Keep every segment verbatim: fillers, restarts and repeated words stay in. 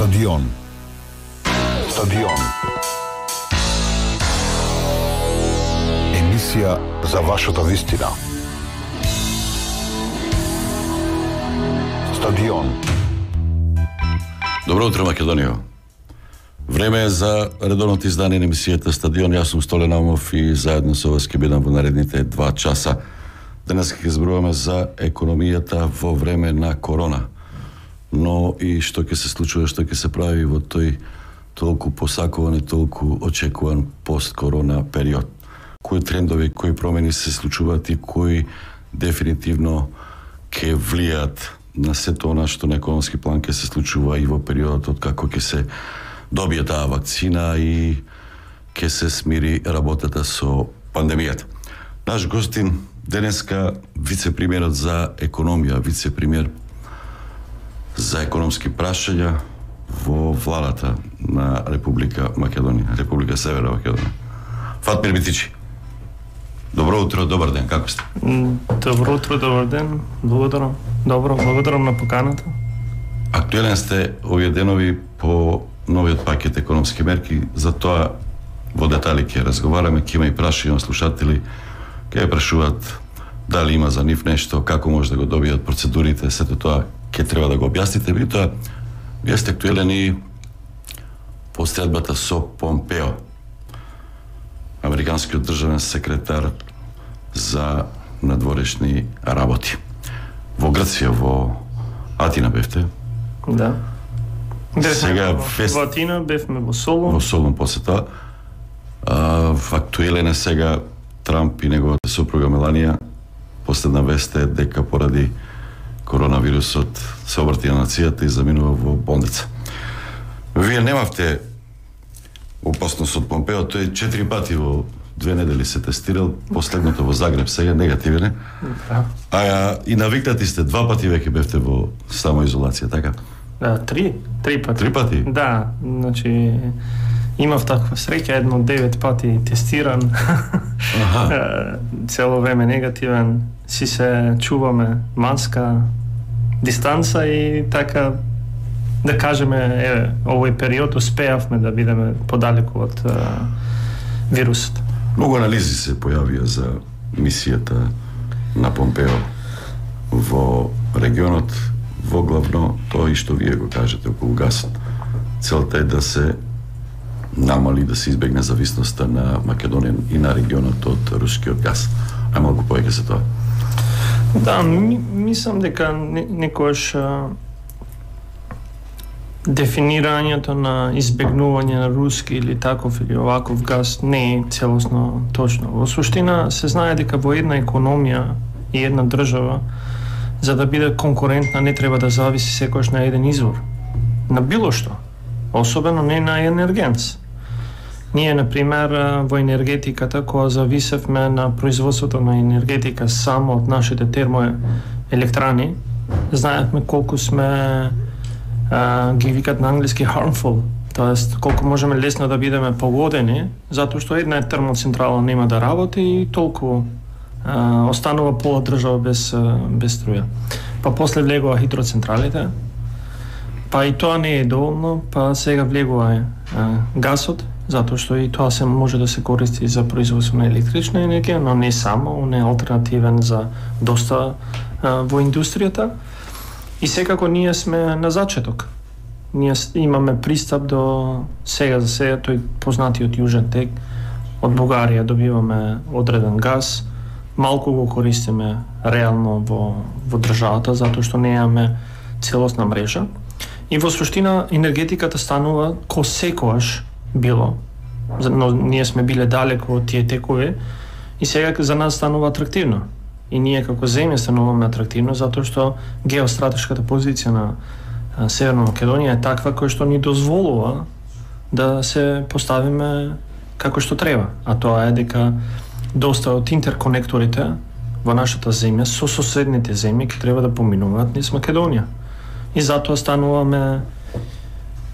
Стадион. Стадион. Емисија за вашата вистина. Стадион. Добро утро, Македонија. Време е за редовното издание на емисијата Стадион. Јас сум Столе Наумов и заедно со вас ќе бидам во наредните два часа. Денес ќе зборуваме за економијата во време на корона. Но и што ќе се случува, што ќе се прави во тој толку посакуван и толку очекуван пост-корона период. Кои трендови, кои промени се случуваат и кои дефинитивно ќе влијаат на сето она што на економски план ќе се случува и во периодот од како ќе се добие таа вакцина и ќе се смири работата со пандемијата. Наш гостин денеска вице-премиерот за економија, вице-премиер за економски прашања во владата на Република Македонија, Република Северна Македонија. Фатмир Битичи. Добро утро, добар ден, како сте? Добро утро, добар ден. Благодарам. Добро, благодарам на поканата. Актуелен сте овие денови по новиот пакет економски мерки, за тоа во детали ќе разговараме, ќе има и прашања слушатели, ќе ја прашуваат дали има за нив нешто, како може да го добијат процедурите, сето тоа ќе треба да го објасните. Би тоа, вие сте актуелен и по средбата со Помпео, американскиот државен секретар за надворешни работи. Во Грција, во Атина бевте? Да. Бевме Сега во, фест... во Атина, бевме во Солун. Во Солун после тоа. А, актуелен е сега Трамп и неговата сопруга Меланија. Последна вест е дека поради коронавирусот се обрати на нацијата и заминува во болница. Вие немавте опасност од Помпео, тој четири пати во две недели се тестирал, последното во Загреб, сега негативен е. Да. А и навикнати сте, два пати веќе бевте во самоизолација, така? Да, три, три пати. Три пати? Да, значи имав таква среќа, едно девет пати тестиран. Аха. Цело време негативен, си се чуваме маска, дистанца и така да кажеме, еве, овој период успеавме да бидеме подалеку од е, вирусот. Многу анализи се појавија за мисијата на Помпео во регионот, во главно тоа и што вие го кажете околу гасот. Целта е да се намали, да се избегне зависноста на Македонија и на регионот од рускиот газ. Ај малку повеќе за тоа. Да, ми, мислам дека не, некојаш а, дефинирањето на избегнување на руски или таков или оваков газ не е целосно точно. Во суштина се знае дека во една економија и една држава за да биде конкурентна не треба да зависи секојаш на еден извор, на било што, особено не на енергенс. Ние, например, во енергетиката, кога зависевме на производството на енергетика само од нашите термоелектрани, знаевме колку сме, а, ги викат на англиски harmful, тоест колку можеме лесно да бидеме погодени, затоа што една термоцентрала нема да работи и толку а, останува пола држава без, без струја. Па после влегува хидроцентралите, па и тоа не е доволно, па сега влегува а, гасот, затоа што и тоа се може да се користи за производство на електрична енергија, но не само, он е алтернативен за доста а, во индустријата. И секако ние сме на зачеток. Ние имаме пристап до сега за сега тој познатиот Јужен тек. Од Бугарија добиваме одреден газ, малку го користиме реално во, во државата, затоа што немаме целосна мрежа. И во суштина енергетиката станува ко секојаш било, но ние сме биле далеко од тие текови и сега за нас станува атрактивно. И ние како земја стануваме атрактивно затоа што геостратешката позиција на Северна Македонија е таква која што ни дозволува да се поставиме како што треба. А тоа е дека доста од интерконекторите во нашата земја со соседните земји ќе треба да поминуваат низ Македонија. И затоа стануваме,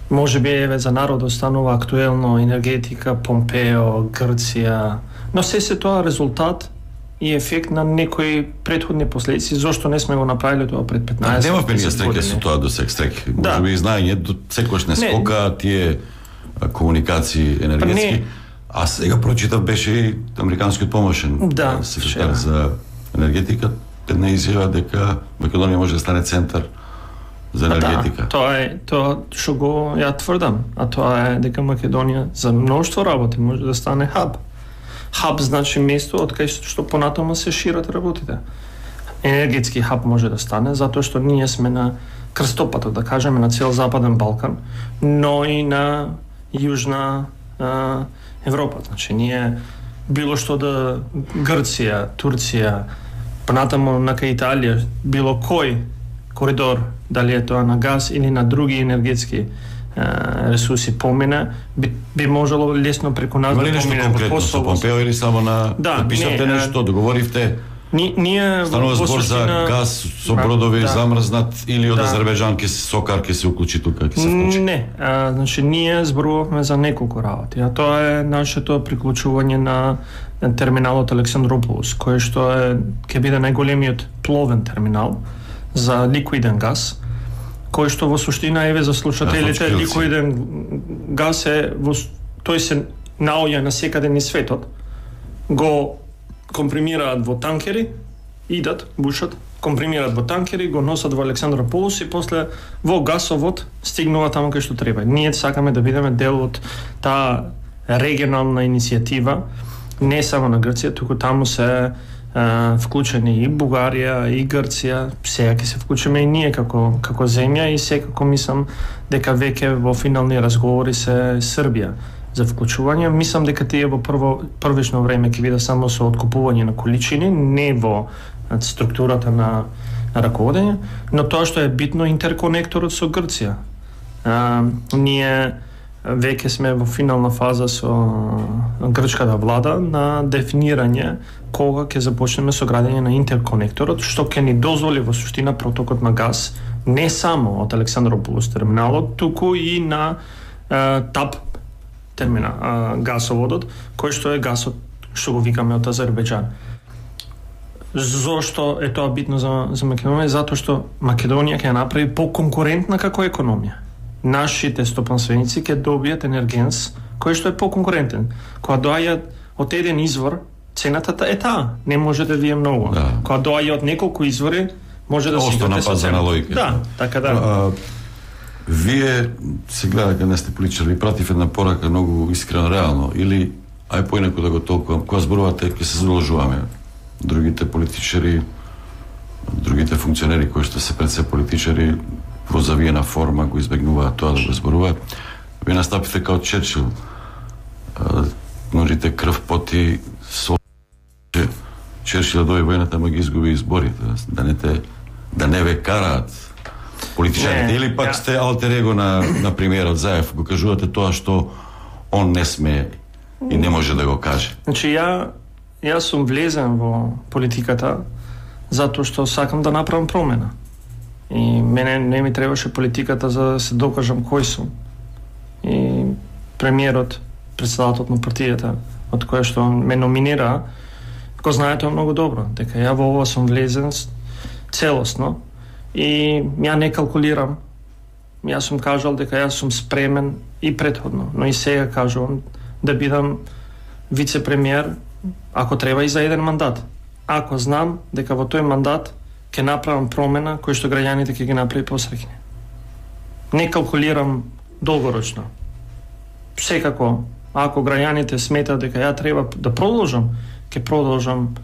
може би еве за народот станува актуелно енергетика, Помпео, Грција, но се се тоа резултат и ефект на некои претходни последици, зошто не сме го направиле тоа пред петнаесет години. Немавме ние години. стреке со тоа до сек стреке. Да. Може би и знаење до секојаш не скока тие комуникации енергетски. А сега прочитав беше и американскиот помошен да, секретар за енергетика, една изјава дека Македонија може да стане центар за енергетика. Да, тоа е тоа што го ја тврдам, а тоа е дека Македонија за мноштво работи може да стане хаб. Хаб значи место од кај што понатаму се шират работите. Енергетски хаб може да стане затоа што ние сме на крстопатот, да кажеме, на цел Западен Балкан, но и на Јужна а, Европа. Значи ние било што да Грција, Турција, понатаму на кај Италија, било кој коридор, дали е тоа на газ или на други енергетски ресурси помина, би, би можело лесно преку нас да помине. Има ли нешто конкретно со Помпео или само на да, пишавте не, нешто, договоривте? Ни, ние станува збор за газ со бродови да, замрзнат или од да. Азербејџан ке Сокар ке се уклучи тука, ке се вклучи? Не, а, значи ние зборувавме за неколку работи, а тоа е нашето приклучување на терминалот Александрополос, кој што е ќе биде најголемиот пловен терминал за ликвиден газ, кој што во суштина, еве за слушателите, ликвиден газ е во, тој се наоѓа на секаде низ светот, го компримираат во танкери, идат, бушат, компримираат во танкери, го носат во Александрополос и после во гасовод стигнува таму кај што треба. Ние сакаме да бидеме дел од таа регионална иницијатива, не само на Грција, туку таму се Uh, вклучени и Бугарија, и Грција, сега ќе се вклучиме и ние како, како земја и секако мислам дека веќе во финални разговори се Србија за вклучување. Мислам дека тие во прво, првично време ќе биде само со откупување на количини, не во структурата на, на раководење, но тоа што е битно интерконекторот со Грција. Uh, ние веќе сме во финална фаза со грчката влада на дефинирање кога ќе започнеме со градење на интерконекторот, што ќе ни дозволи во суштина протокот на газ не само од Александрополос терминалот, туку и на е, ТАП термина, е, гасоводот, кој што е гасот што го викаме од Азербејџан. Зошто е тоа битно за, за Македонија? Затоа што Македонија ќе направи поконкурентна како економија. Нашите стопанственици ќе добијат енергенс кој што е поконкурентен. Кога доаѓаат од еден извор, цената е таа, не може да ви е многу. Да. Кога доаѓа од неколку извори, може да се играте со цената. Да, така да. А, вие се гледа дека не сте политичар, ви пратив една порака многу искрено, реално, или ај поинаку да го толкувам, кога зборувате ќе се задолжуваме. Другите политичари, другите функционери кои што се пред се политичари во завиена форма го избегнуваат тоа да го зборуваат. Вие настапите као Черчил. Ножите крв, поти, со Черчил да дојде војната, ама ги изгуби изборите, да не те да не ве караат политичарите, или пак сте алтер его на на премиерот Заев, го кажувате тоа што он не сме и не може да го каже. Значи ја јас сум влезен во политиката затоа што сакам да направам промена. И мене не ми требаше политиката за да се докажам кој сум. И премиерот, председателот на партијата, од која што ме номинира, го знае тоа многу добро, дека ја во ова сум влезен целосно и ја не калкулирам. Јас сум кажал дека јас сум спремен и претходно, но и сега кажувам да бидам вице-премиер ако треба и за еден мандат. Ако знам дека во тој мандат ќе направам промена кој што граѓаните ќе ги направи посреќни. Не калкулирам долгорочно. Секако, ако граѓаните сметаат дека ја треба да продолжам, ќе продолжам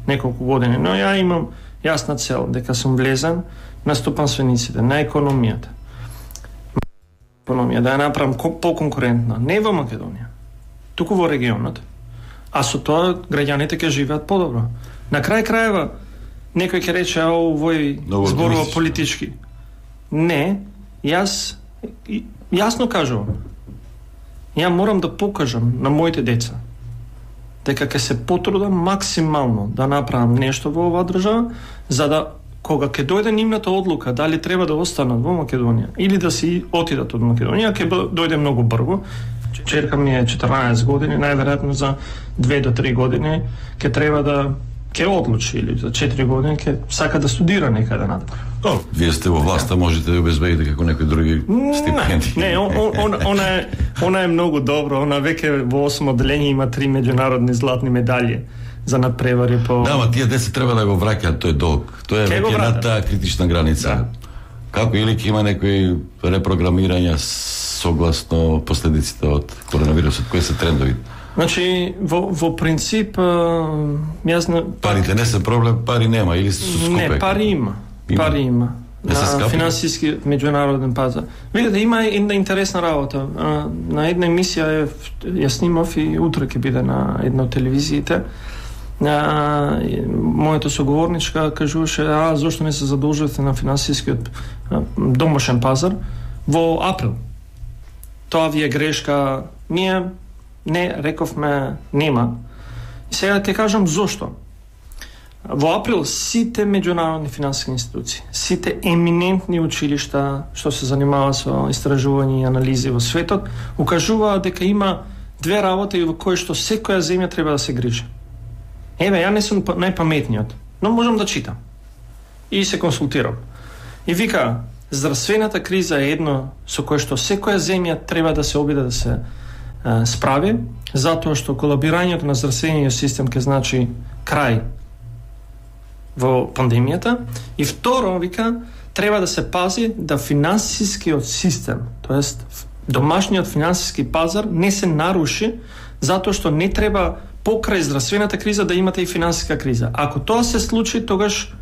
неколку години. Но ја имам јасна цел дека сум влезен на стопанствениците, на економијата. Економија да ја направам поконкурентна, не во Македонија, туку во регионот. А со тоа граѓаните ќе живеат подобро. На крај крајева некој ќе рече, а овој зборува политички. Не, јас јасно кажувам. Ја морам да покажам на моите деца дека ќе се потрудам максимално да направам нешто во оваа држава, за да кога ќе дојде нивната одлука дали треба да останат во Македонија или да си отидат од Македонија, ќе дојде многу брзо. Черка ми е четрнаесет години, најверојатно за две до три години ќе треба да ќе одлучи или за четири години ќе сака да студира некаде надвор. О, вие сте во власта, можете да обезбедите како некои други стипендии. Не, не, он, он, она е она е многу добро, она веќе во осмо одделение има три меѓународни златни медалји за надпревари по. Да, ма тие деца треба да го враќаат, тој долг. Тоа е веќе над таа критична граница. Да. Како или ќе има некои репрограмирања согласно последиците од коронавирусот, кои се трендови? Значи, во, во принцип, јас не... Парите не се проблем, пари нема или се скупе? Не, пари има. Има. Пари има. Не на финансиски меѓународен пазар. Видите, има една интересна работа. На една емисија ја снимав и утре ќе биде на една од телевизиите. А, мојата соговорничка кажуваше, а зошто не се задолжувате на финансискиот домашен пазар во април. Тоа ви е грешка. Ние не рековме нема. И сега ќе кажам зошто. Во април сите меѓународни финансиски институции, сите еминентни училишта што се занимава со истражување и анализи во светот, укажуваат дека има две работи во кои што секоја земја треба да се грижи. Еве, ја не сум најпаметниот, но можам да читам. И се консултирам. И вика, здравствената криза е едно со кое што секоја земја треба да се обиде да се е, справи, затоа што колабирањето на здравствениот систем ќе значи крај во пандемијата. И второ, вика, треба да се пази да финансискиот систем, тоест домашниот финансиски пазар не се наруши, затоа што не треба покрај здравствената криза да имате и финансиска криза. Ако тоа се случи, тогаш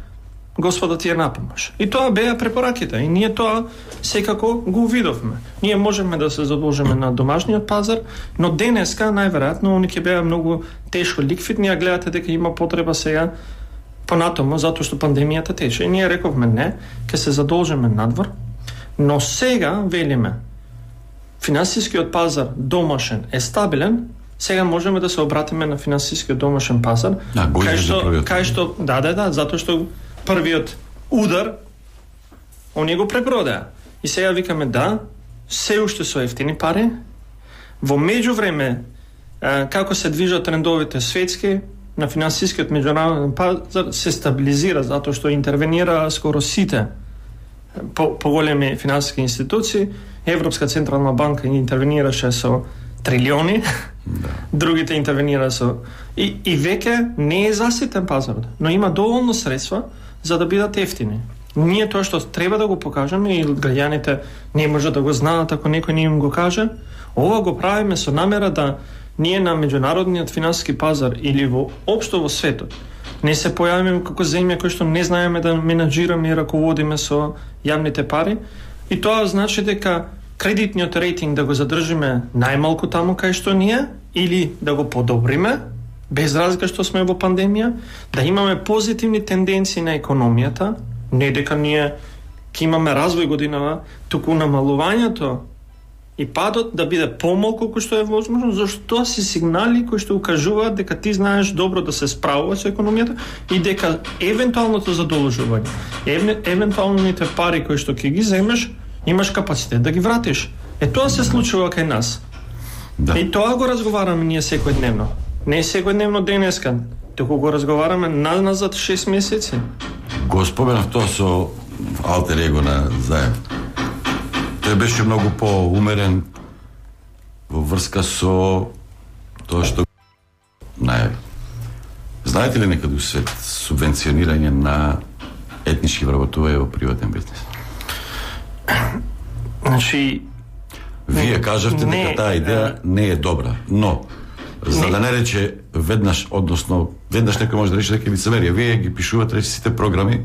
Господа ти е напомаш. И тоа беа препораките. И ние тоа секако го увидовме. Ние можеме да се задолжиме на домашниот пазар, но денеска најверојатно они ќе беа многу тешко ликвидни, а гледате дека има потреба сега понатомо, затоа што пандемијата тече. И ние рековме не, ќе се задолжиме надвор, но сега велиме финансискиот пазар домашен е стабилен, сега можеме да се обратиме на финансискиот домашен пазар, да, кај што, кај што, да, да, да, затоа што првиот удар они го препродаа. И сега викаме да, се уште со ефтини пари, во меѓувреме како се движат трендовите светски, на финансискиот меѓународен пазар се стабилизира затоа што интервенира скоро сите по поголеми финансиски институции. Европска централна банка интервенираше со трилиони, да. Другите интервенира со и и веќе не е заситен пазарот, но има доволно средства за да бидат ефтини. Ние тоа што треба да го покажеме и граѓаните не може да го знаат ако некој не им го каже, ова го правиме со намера да ние на меѓународниот финансиски пазар или во општо во светот не се појавиме како земја кој што не знаеме да менаџираме и раководиме со јавните пари. И тоа значи дека кредитниот рейтинг да го задржиме најмалку таму кај што ние или да го подобриме, без разлика што сме во пандемија, да имаме позитивни тенденции на економијата, не дека ние ќе имаме развој годинава, туку намалувањето и падот да биде помалку кој што е возможно, зашто тоа се сигнали кои што укажуваат дека ти знаеш добро да се справуваш со економијата и дека евентуалното задолжување, еве, евентуалните пари кои што ќе ги земеш, имаш капацитет да ги вратиш. Е тоа се случува кај нас. Да. И тоа го разговараме ние секојдневно. Не секојдневно денеска, туку го разговараме назад шест месеци. Го споменав тоа со алтер его на Заев. Тој беше многу поумерен во врска со тоа што најави. Знаете ли некаде у свет субвенционирање на етнички вработувања во приватен бизнес? Значи, вие кажавте не, дека таа идеја не е добра, но за не. Да не рече веднаш, односно веднаш некој може да рече дека е лицемерие. Вие ги пишувате рече сите програми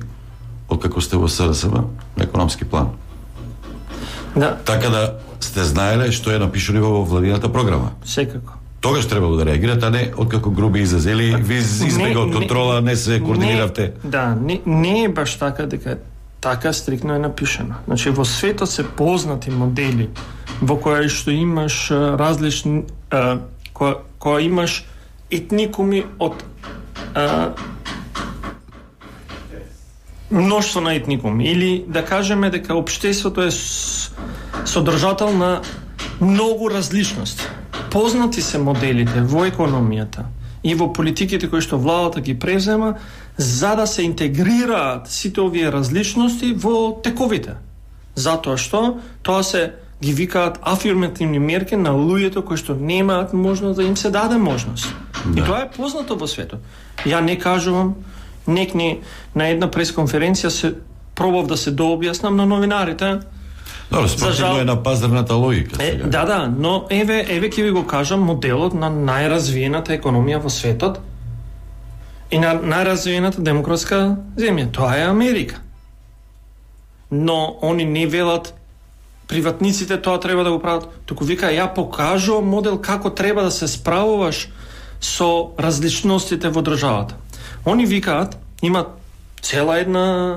од како сте во СРСМ на економски план. Да. Така да сте знаеле што е напишано во владината програма. Секако. Тогаш требало да реагирате, а не откако груби изрази или ви избега од контрола, не се координиравте. Не, да, не, не е баш така дека така стрикно е напишано. Значи во светот се познати модели во кои што имаш различни а, која, која имаш етникуми од а, мноштво на етникуми или да кажеме дека општеството е содржател на многу различности. Познати се моделите во економијата и во политиките кои што владата ги презема, за да се интегрираат сите овие различности во тековите. Затоа што тоа се ги викаат афирмативни мерки на луѓето кои што немаат можност да им се даде можност. Да. И тоа е познато во светот. Ја не кажувам, некни на една пресконференција се пробав да се дообјаснам на новинарите. Добро, спротивно е на пазарната логика. Е, да, да, но еве, еве ќе ви го кажам моделот на најразвиената економија во светот и на најразвиената демократска земја. Тоа е Америка. Но они не велат приватниците тоа треба да го прават. Туку вика, ја покажувам модел како треба да се справуваш со различностите во државата. Они викаат, има цела една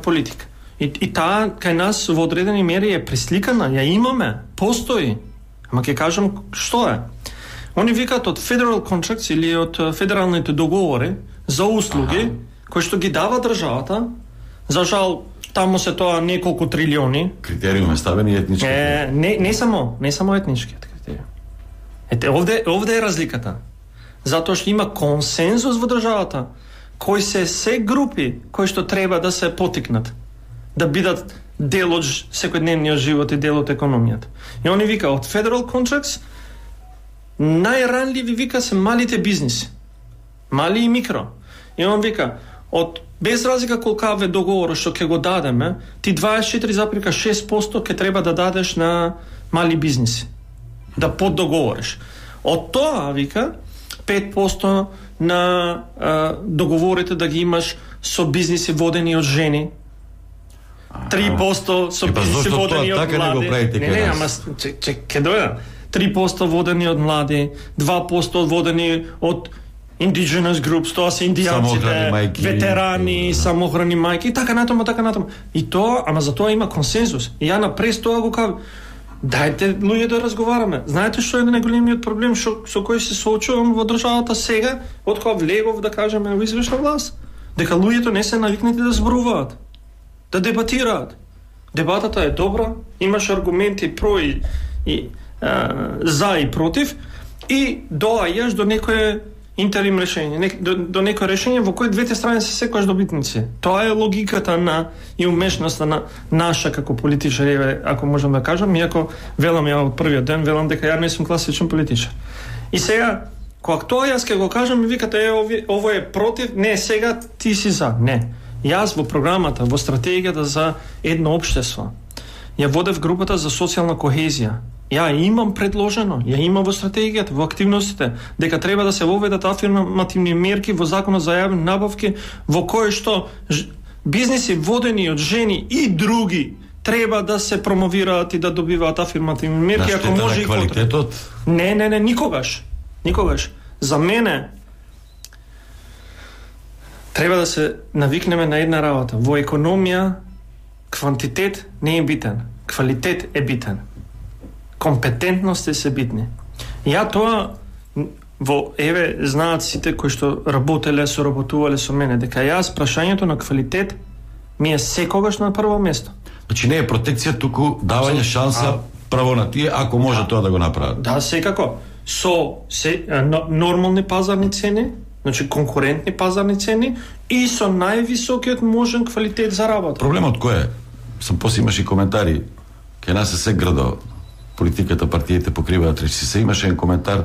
политика. И, и таа кај нас во одредени мери е пресликана, ја имаме, постои. Ама ќе кажам што е. Они викаат од federal contracts или од федералните договори за услуги, ага, кои што ги дава државата. За жал, таму се тоа неколку трилиони. Критериум е ставени етнички. Е, не, не само, не само етничкиот критериум. Ете, овде, овде е разликата. Затоа што има консензус во државата, кои се се групи кои што треба да се потикнат, да бидат дел од секојдневниот живот и дел од економијата. И они вика, од federal contracts, најранливи вика се малите бизниси. Мали и микро. И он вика, од без разлика колкаве договор што ќе го дадеме, ти дваесет и четири запирка шест проценти ќе треба да дадеш на мали бизниси. Да поддоговориш. Од тоа, вика, пет проценти на а, договорите да ги имаш со бизниси водени од жени, три проценти со бизниси водени од млади. Не, не, ама ќе дојда. три проценти водени од млади, два проценти водени од indigenous groups, тоа се индијанците, ветерани, самохрани мајки и така натаму, така натаму. И тоа, ама за тоа има консензус. И ја на прес тоа го кажам. Дајте луѓе да разговараме. Знаете што е најголемиот проблем шо, со кој се соочувам во државата сега, од кога влегов да кажеме во извршна власт? Дека луѓето не се навикнати да зборуваат, да дебатираат. Дебатата е добра, имаш аргументи про и, и а, за и против и доаѓаш до некое интерим решење, не, до, до некое решење во кој двете страни се секогаш добитници. Тоа е логиката на и умешноста на наша како политичари, ако можам да кажам, иако велам ја од првиот ден, велам дека ја не сум класичен политичар. И сега, кога тоа јас ќе го кажам, ми викате, е, ово, ово е против, не, сега ти си за. Не. Јас во програмата, во стратегијата за едно општество, ја водев групата за социјална кохезија. Ја имам предложено, ја имам во стратегијата, во активностите, дека треба да се воведат афирмативни мерки во законот за јавни набавки, во кои што бизниси водени од жени и други треба да се промовираат и да добиваат афирмативни мерки, ако може и квалитетот. Не, не, не, никогаш. Никогаш. За мене треба да се навикнеме на една работа. Во економија квантитет не е битен, квалитет е битен. Компетентности се битни. Ја тоа во еве знаат сите кои што работеле, соработувале со мене, дека јас прашањето на квалитет ми е секогаш на прво место. Значи не е протекција, туку давање шанса право на тие ако може тоа да го направат. Да, секако. Со се, нормални пазарни цени, значи конкурентни пазарни цени и со највисокиот можен квалитет за работа. Проблемот кој е? Сам после имаш и коментари кај нас се градо политиката, партиите покриваат речи. Се имаше еден коментар,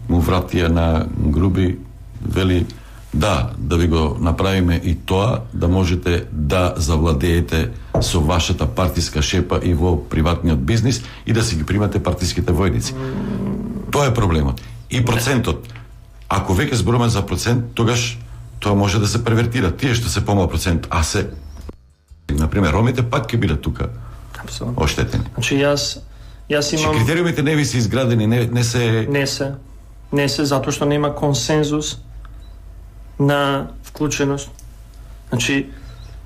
му вратија на Груби, вели да, да ви го направиме и тоа, да можете да завладеете со вашата партиска шепа и во приватниот бизнис и да си ги примате партиските војници. Тоа е проблемот. И процентот. Ако веќе зборуваме за процент, тогаш тоа може да се превертира. Тие што се помал процент, а се, например, ромите пак ќе бидат тука оштетени. Значи јас јас имам. Че критериумите не ви се изградени, не не се не се. Не се затоа што нема консензус на вклученост. Значи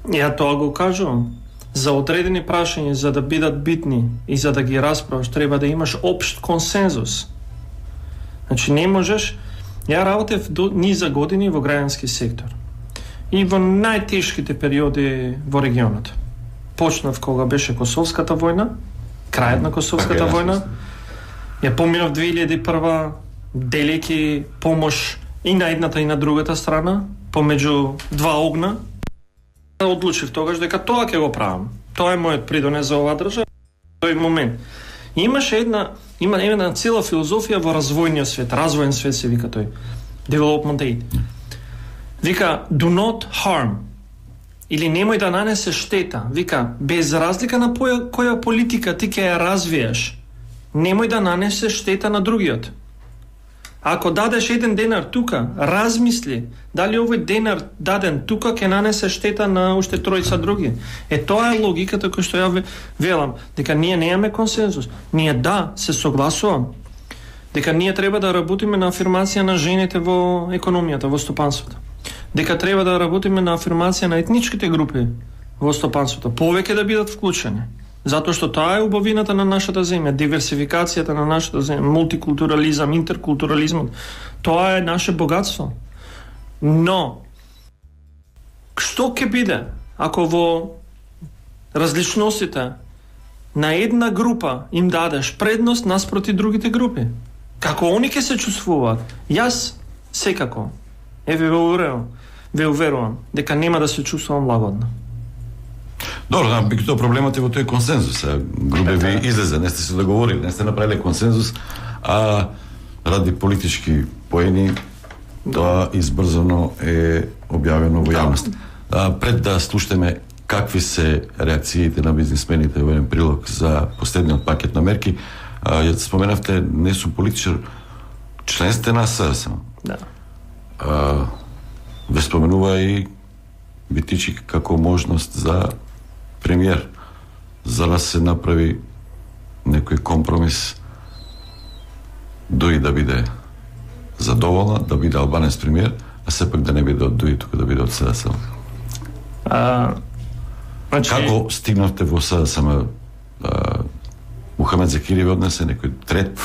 ја тоа го кажувам. За одредени прашања за да бидат битни и за да ги расправаш треба да имаш општ консензус. Значи не можеш. Ја работев до низа години во граѓански сектор. И во најтешките периоди во регионот. Почнав кога беше Косовската војна, крајот на Косовската војна. Ја поминав две илјади и прва делејќи помош и на едната и на другата страна, помеѓу два огна, одлучив тогаш дека тоа ќе го правам. Тоа е мојот придонес за оваа држава. Тој момент. И имаше една, има една цела филозофија во развојниот свет, развоен свет се вика тој. Development aid. Вика, do not harm. Или немој да нанесе штета. Вика, без разлика на поја, која политика ти ќе ја развиеш, немој да нанесе штета на другиот. Ако дадеш еден денар тука, размисли дали овој денар даден тука ќе нанесе штета на уште тројца други. Е, тоа е логиката која што ја велам, дека ние немаме консензус. Ние да, се согласувам, дека ние треба да работиме на афирмација на жените во економијата, во стопанството. Дека треба да работиме на афирмација на етничките групи во стопанството, повеќе да бидат вклучени. Затоа што таа е убавината на нашата земја, диверсификацијата на нашата земја, мултикултурализам, интеркултурализмот. Тоа е наше богатство. Но, што ќе биде ако во различностите на една група им дадеш предност наспроти другите групи? Како они ќе се чувствуваат? Јас секако, еве ве уверувам, ве уверувам дека нема да се чувствувам лагодно. Добро, да, бикто проблемот е во тој консензус. Грубе ви излезе, не сте се договорили, не сте направиле консензус, а ради политички поени тоа избрзано е објавено во јавност. А, пред да слушаме какви се реакциите на бизнисмените во еден прилог за последниот пакет на мерки, а, ја споменавте, не сум политичар, член сте на СДСМ. Да. А, ве споменува и Битичи како можност за премиер, за да се направи некој компромис, Дуи да биде задоволна, да биде албанец премиер, а сепак да не биде од Дуи, тука да биде од СДСМ. А, значи... Како стигнавте во СДСМ? Мухамед Закири ви однесе некој трет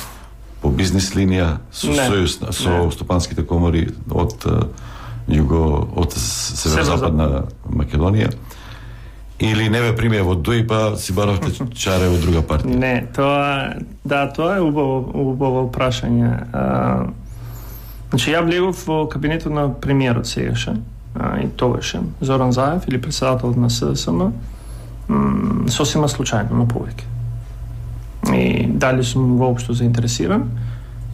по бизнис линија со не, сојуз со не. Стопанските комори од југо, од северозападна Македонија, или не ве примија во Дуи, па си баравте чаре во друга партија? Не, тоа, да, тоа е убаво, убаво прашање. А, значи, ја влегов во кабинетот на премиерот сегашен, а, и тогашен, Зоран Заев, или председателот на СДСМ, сосема случајно, но повеќе. И дали сум воопшто заинтересиран,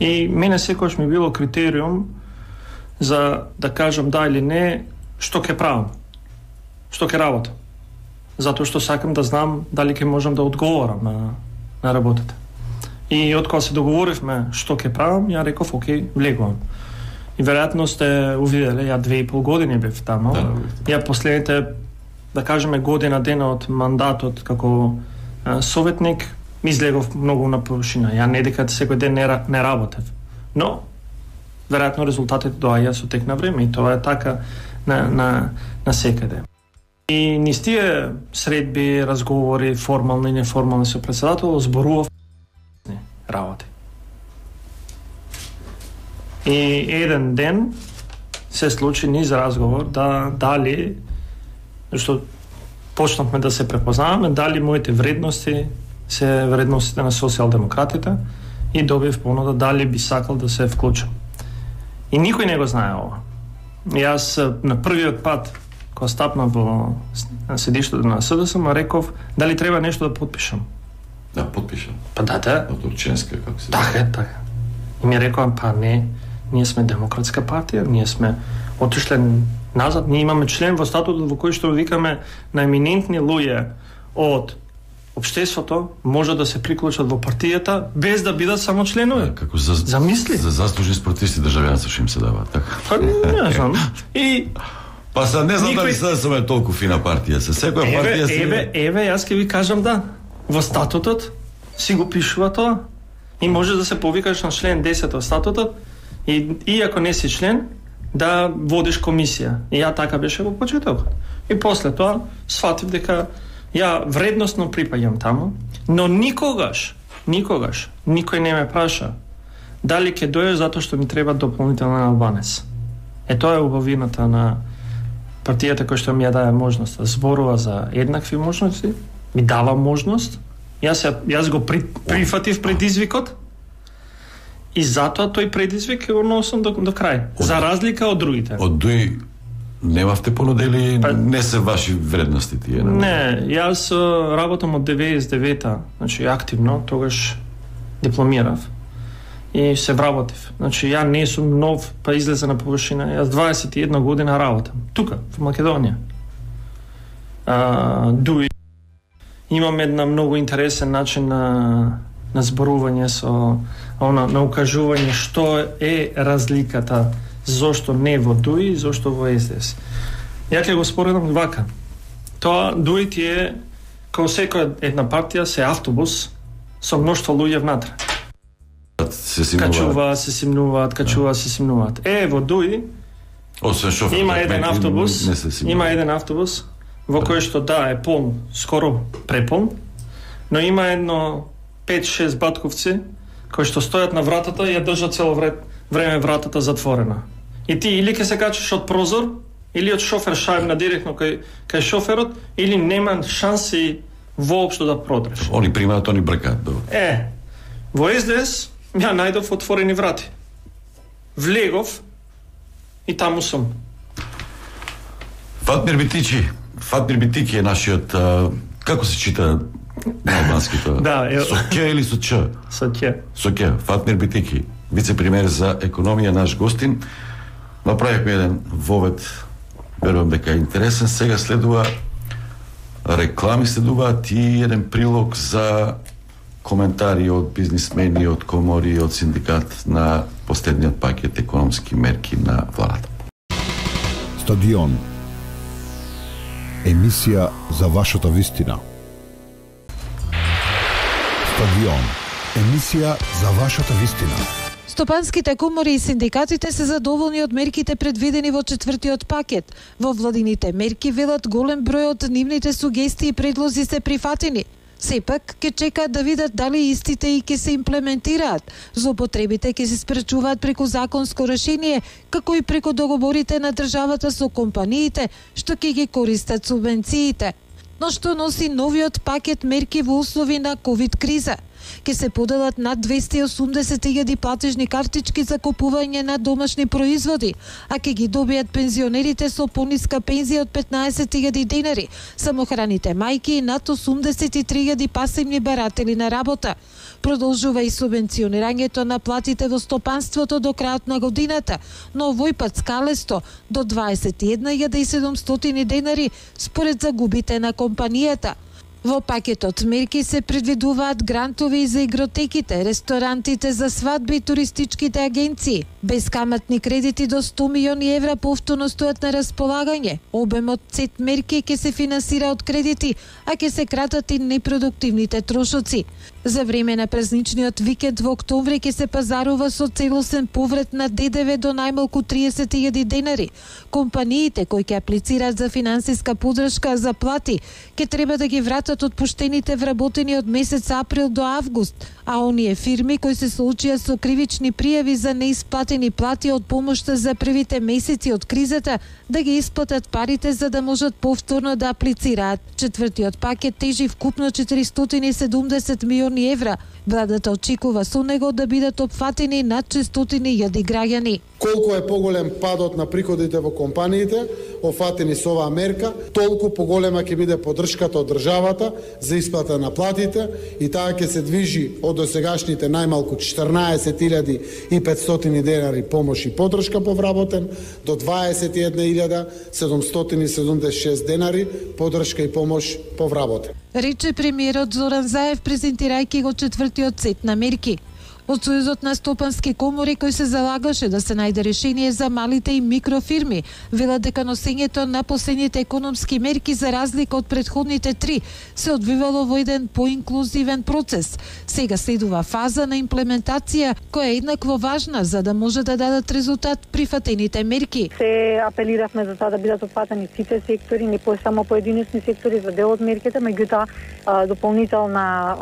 и мене секогаш ми било критериум за да кажам да или не што ќе правам, што ќе работам. Затоа што сакам да знам дали ќе можам да одговорам на, на работата. И од кога се договоривме што ќе правам, ја реков, окей, влегувам. И веројатно сте увиделе, ја две и пол години бев таму. Да, ја последните, да кажеме, година дена од мандатот како а, советник, излегов многу на површина. Ја не дека секој ден не, не работев. Но, веројатно резултатите доаѓаат со тек на време, и тоа е така на, на, на секаде. И низ тие средби, разговори, формални и неформални со председател, зборував работи. И еден ден се случи низ разговор да дали, што почнавме да се препознаваме, дали моите вредности се вредностите на социјалдемократите, и добив понуда дали би сакал да се вклучам. И никој не го знае ова. И јас на првиот пат кога стапнав во седиштето на СДСМ, реков дали треба нешто да подпишам. Да, подпишам. Па да, да. Од Турченска, како се. Така, така. И ми рекоа, па не, ние сме демократска партија, ние сме отишле назад, ние имаме член во статутот во кој што викаме на еминентни луѓе од општеството може да се приклучат во партијата без да бидат само членови. Како за замисли. За заслужени спортисти државјанство што им се дава, така. Па не знам. И па са не знам никој... дали СДСМ е толку фина партија, се секоја партија се. Еве, еве, јас ќе ви кажам да. Во статутот си го пишува тоа. И може да се повикаш на член десет од статутот и иако не си член да водиш комисија. И ја така беше во почетокот. И после тоа сфатив дека ја вредносно припаѓам таму, но никогаш, никогаш, никој не ме праша дали ќе дојдеш затоа што ми треба дополнителен албанец. Е, тоа е убавината на партијата која што ми ја даде можност да зборува за еднакви можности, ми дава можност, јас, ја, јас го при, прифатив предизвикот И затоа тој предизвик го носам до, до крај. Од, за разлика од другите. Од дуи немавте понудели, па, не се ваши вредности тие? Не, не јас работам од деветдесет и девета, значи активно, тогаш дипломирав и се вработив. Значи ја не сум нов, па излезе на површина. Јас дваесет и една година работам тука во Македонија. А, дуи имам една многу интересен начин на на зборување со она на укажување што е разликата, зошто не во дуи и зошто во Ес Де Ес. Ја ќе го споредам вака. Тоа дуи ти е како секоја една партија се автобус со мноштво луѓе внатре. Се симнуваат. Качуваат, се симнуваат, качуваат, се симнуваат. Е, во дуи Освен шофер, има еден автобус, има еден автобус во кој што да е полн, скоро преполн, но има едно пет-шест батковци кои што стојат на вратата и ја држат цело време вратата затворена. И ти или ќе се качиш од прозор, или од шофер шајбна директно кај, кај шоферот, или нема шанси воопшто да продреш. Они примаат, они бркаат. Е, во Ес Де Ес ја најдов отворени врати. Влегов и таму сум. Фатмир Битичи, Фатмир Битики е нашиот, а, како се чита на албански тоа? Да, е... Со Ке или со Ч? Со Ке. Со Ке. Фатмир Битики, вице-премиер за економија, наш гостин. Направивме еден вовед, верувам дека е интересен. Сега следува реклами, следуваат и еден прилог за коментари од бизнисмени, од комори, од синдикат на последниот пакет економски мерки на владата. Стадион. Емисија за вашата вистина. Стадион. Емисија за вашата вистина. Стопанските комори и синдикатите се задоволни од мерките предвидени во четвртиот пакет. Во владините мерки велат голем број од нивните сугестии и предлози се прифатени. Сепак, ќе чекаат да видат дали истите и ќе се имплементираат. Злоупотребите ќе се спречуваат преку законско решение, како и преку договорите на државата со компаниите, што ќе ги користат субвенциите. Но што носи новиот пакет мерки во услови на ковид криза? Ке се поделат над двесте и осумдесет илјади платежни картички за купување на домашни производи, а ке ги добијат пензионерите со пониска пензија од петнаесет илјади денари, самохраните мајки и над осумдесет и три илјади пасивни баратели на работа. Продолжува и субвенционирањето на платите во стопанството до крајот на годината, но овој пат скалесто до дваесет и една илјада и седумстотини денари според загубите на компанијата. Во пакетот мерки се предвидуваат грантови и за игротеките, ресторантите за свадби и туристичките агенции. Бескаматни кредити до сто милиони евра повторно стојат на располагање. Обемот сет мерки ќе се финансира од кредити, а ќе се кратат и непродуктивните трошоци. За време на празничниот викенд во октомври ќе се пазарува со целосен поврат на Д Д В до најмалку триесет илјади денари. Компаниите кои ќе аплицираат за финансиска поддршка за плати ќе треба да ги вратат отпуштените вработени од месец април до август, а оние фирми кои се соочија со кривични пријави за неисплатени плати од помошта за првите месеци од кризата да ги исплатат парите за да можат повторно да аплицираат. Четвртиот пакет тежи вкупно четиристотини и седумдесет милиони евра. Владата очекува со него да бидат опфатени над шестстотини илјади граѓани. Колку е поголем падот на приходите во компаниите, офатени со оваа мерка, толку поголема ќе биде поддршката од државата за исплата на платите и таа ќе се движи од досегашните најмалку четрнаесет илјади и петстотини денари помош и поддршка по вработен до дваесет и една илјада седумстотини и седумдесет и шест денари поддршка и помош по вработен. Рече премиерот Зоран Заев презентирајќи го четвртиот сет на мерки. Од Сојузот на стопански комори кој се залагаше да се најде решение за малите и микрофирми, велат дека носењето на последните економски мерки за разлика од претходните три се одвивало во еден поинклузивен процес. Сега следува фаза на имплементација која е еднакво важна за да може да дадат резултат прифатените мерки. Се апелиравме за тоа да бидат опфатени сите сектори, не по само поединечни сектори за дел од мерките, меѓутоа дополнителна,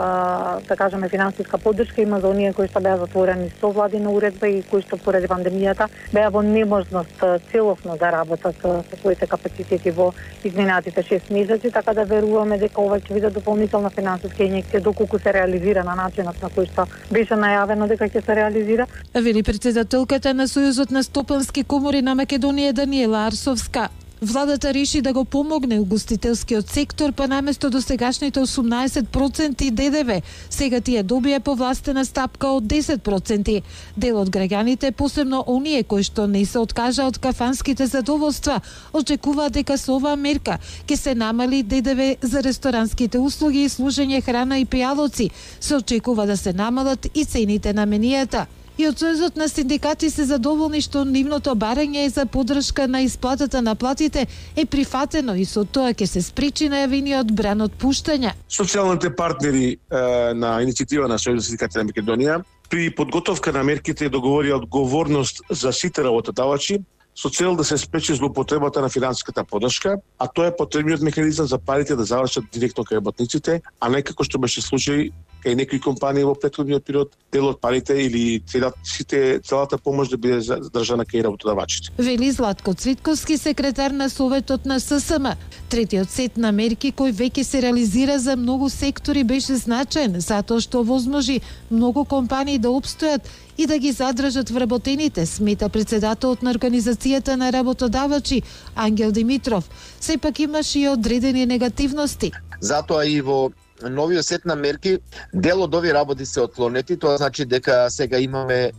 да кажеме, финансиска поддршка има за оние кои предпријатишта беа затворени со владина уредба и кои што поради пандемијата беа во неможност целосно да работат со своите капацитети во изминатите шест месеци, така да веруваме дека ова ќе биде дополнителна финансиска инјекција доколку се реализира на начинот на кој што беше најавено дека ќе се реализира. Вели председателката на Сојузот на стопански комори на Македонија Даниела Арсовска. Владата реши да го помогне угостителскиот сектор, па наместо досегашните осумнаесет проценти Д Д В, сега тие добија повластена стапка од десет проценти. Дел од граѓаните, посебно оние кои што не се откажа од кафанските задоволства, очекуваат дека со оваа мерка ќе се намали Д Д В за ресторанските услуги и служење храна и пијалоци. Се очекува да се намалат и цените на менијата. И од Сојузот на синдикати се задоволни што нивното барање за поддршка на исплатата на платите е прифатено и со тоа ќе се спречи најавениот бран од пуштања. Социјалните партнери е, на иницијатива на Сојузот на синдикати на Македонија при подготовка на мерките договорија одговорност за сите работодавачи со цел да се спречи злоупотребата на финансиската поддршка, а тоа е потребниот механизам за парите да завршат директно кај работниците, а не како што беше случај кај некои компании во претходниот период, дел од парите или целата, сите, целата помош да биде задржана кај работодавачите. Вели Златко Цвитковски, секретар на Советот на С С М. Третиот сет на мерки кој веќе се реализира за многу сектори беше значаен, затоа што возможи многу компании да опстојат и да ги задржат вработените, смета председателот на Организацијата на работодавачи Ангел Димитров. Сепак имаше и одредени негативности. Затоа и во новиот сет на мерки дел од овие работи се отклонети, тоа значи дека сега имаме е,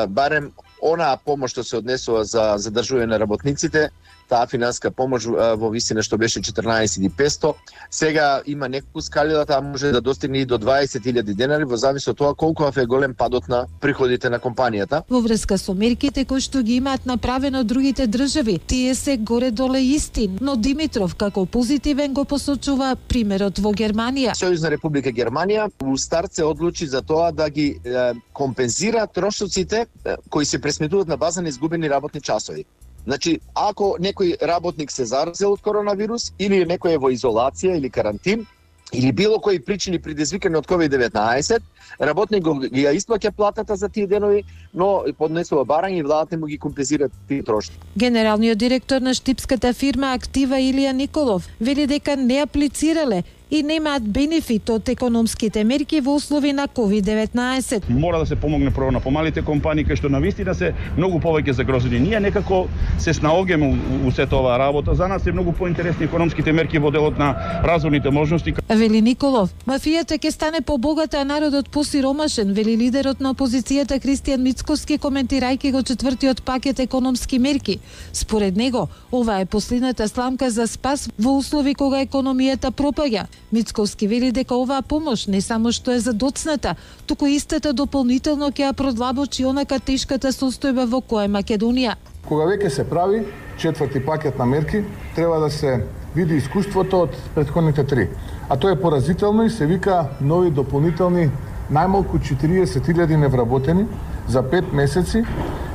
барем онаа помош што се однесува за задржување на работниците, таа финанска помош во висина што беше четрнаесет и петсто, сега има неколку скалила, таа може да достигне и до дваесет илјади денари во зависи од тоа колку е голем падот на приходите на компанијата. Во врска со мерките кои што ги имаат направено другите држави, тие се горе-доле исти, но Димитров како позитивен го посочува примерот во Германија. Сојузна република Германија у старт се одлучи за тоа да ги е, компензира трошоците е, кои се пресметуваат на база на изгубени работни часови. Значи, ако некој работник се заразил од коронавирус или некој е во изолација или карантин, или било кои причини предизвикани од ковид деветнаесет, работник ги ја исплаќа платата за тие денови, но поднесува барање и владата му ги компензира тие трошоци. Генералниот директор на штипската фирма Актива Илија Николов вели дека не аплицирале и немаат бенефит од економските мерки во услови на ковид деветнаесет. Мора да се помогне прво на помалите компании кои што навистина се многу повеќе загрозени. Ние некако се снаогеме у, у сета оваа работа. За нас е многу поинтересни економските мерки во делот на развојните можности. Вели Николов, мафијата ќе стане побогата, а народот посиромашен, вели лидерот на опозицијата Кристијан Мицкоски, коментирајќи го четвртиот пакет економски мерки. Според него, ова е последната сламка за спас во услови кога економијата пропаѓа. Мицковски вели дека оваа помош не само што е за доцната, туку истата дополнително ќе ја продлабочи онака тешката состојба во која е Македонија. Кога веќе се прави четврти пакет на мерки, треба да се види искуството од претходните три. А тоа е поразително и се вика нови дополнителни најмалку четириесет илјади невработени за пет месеци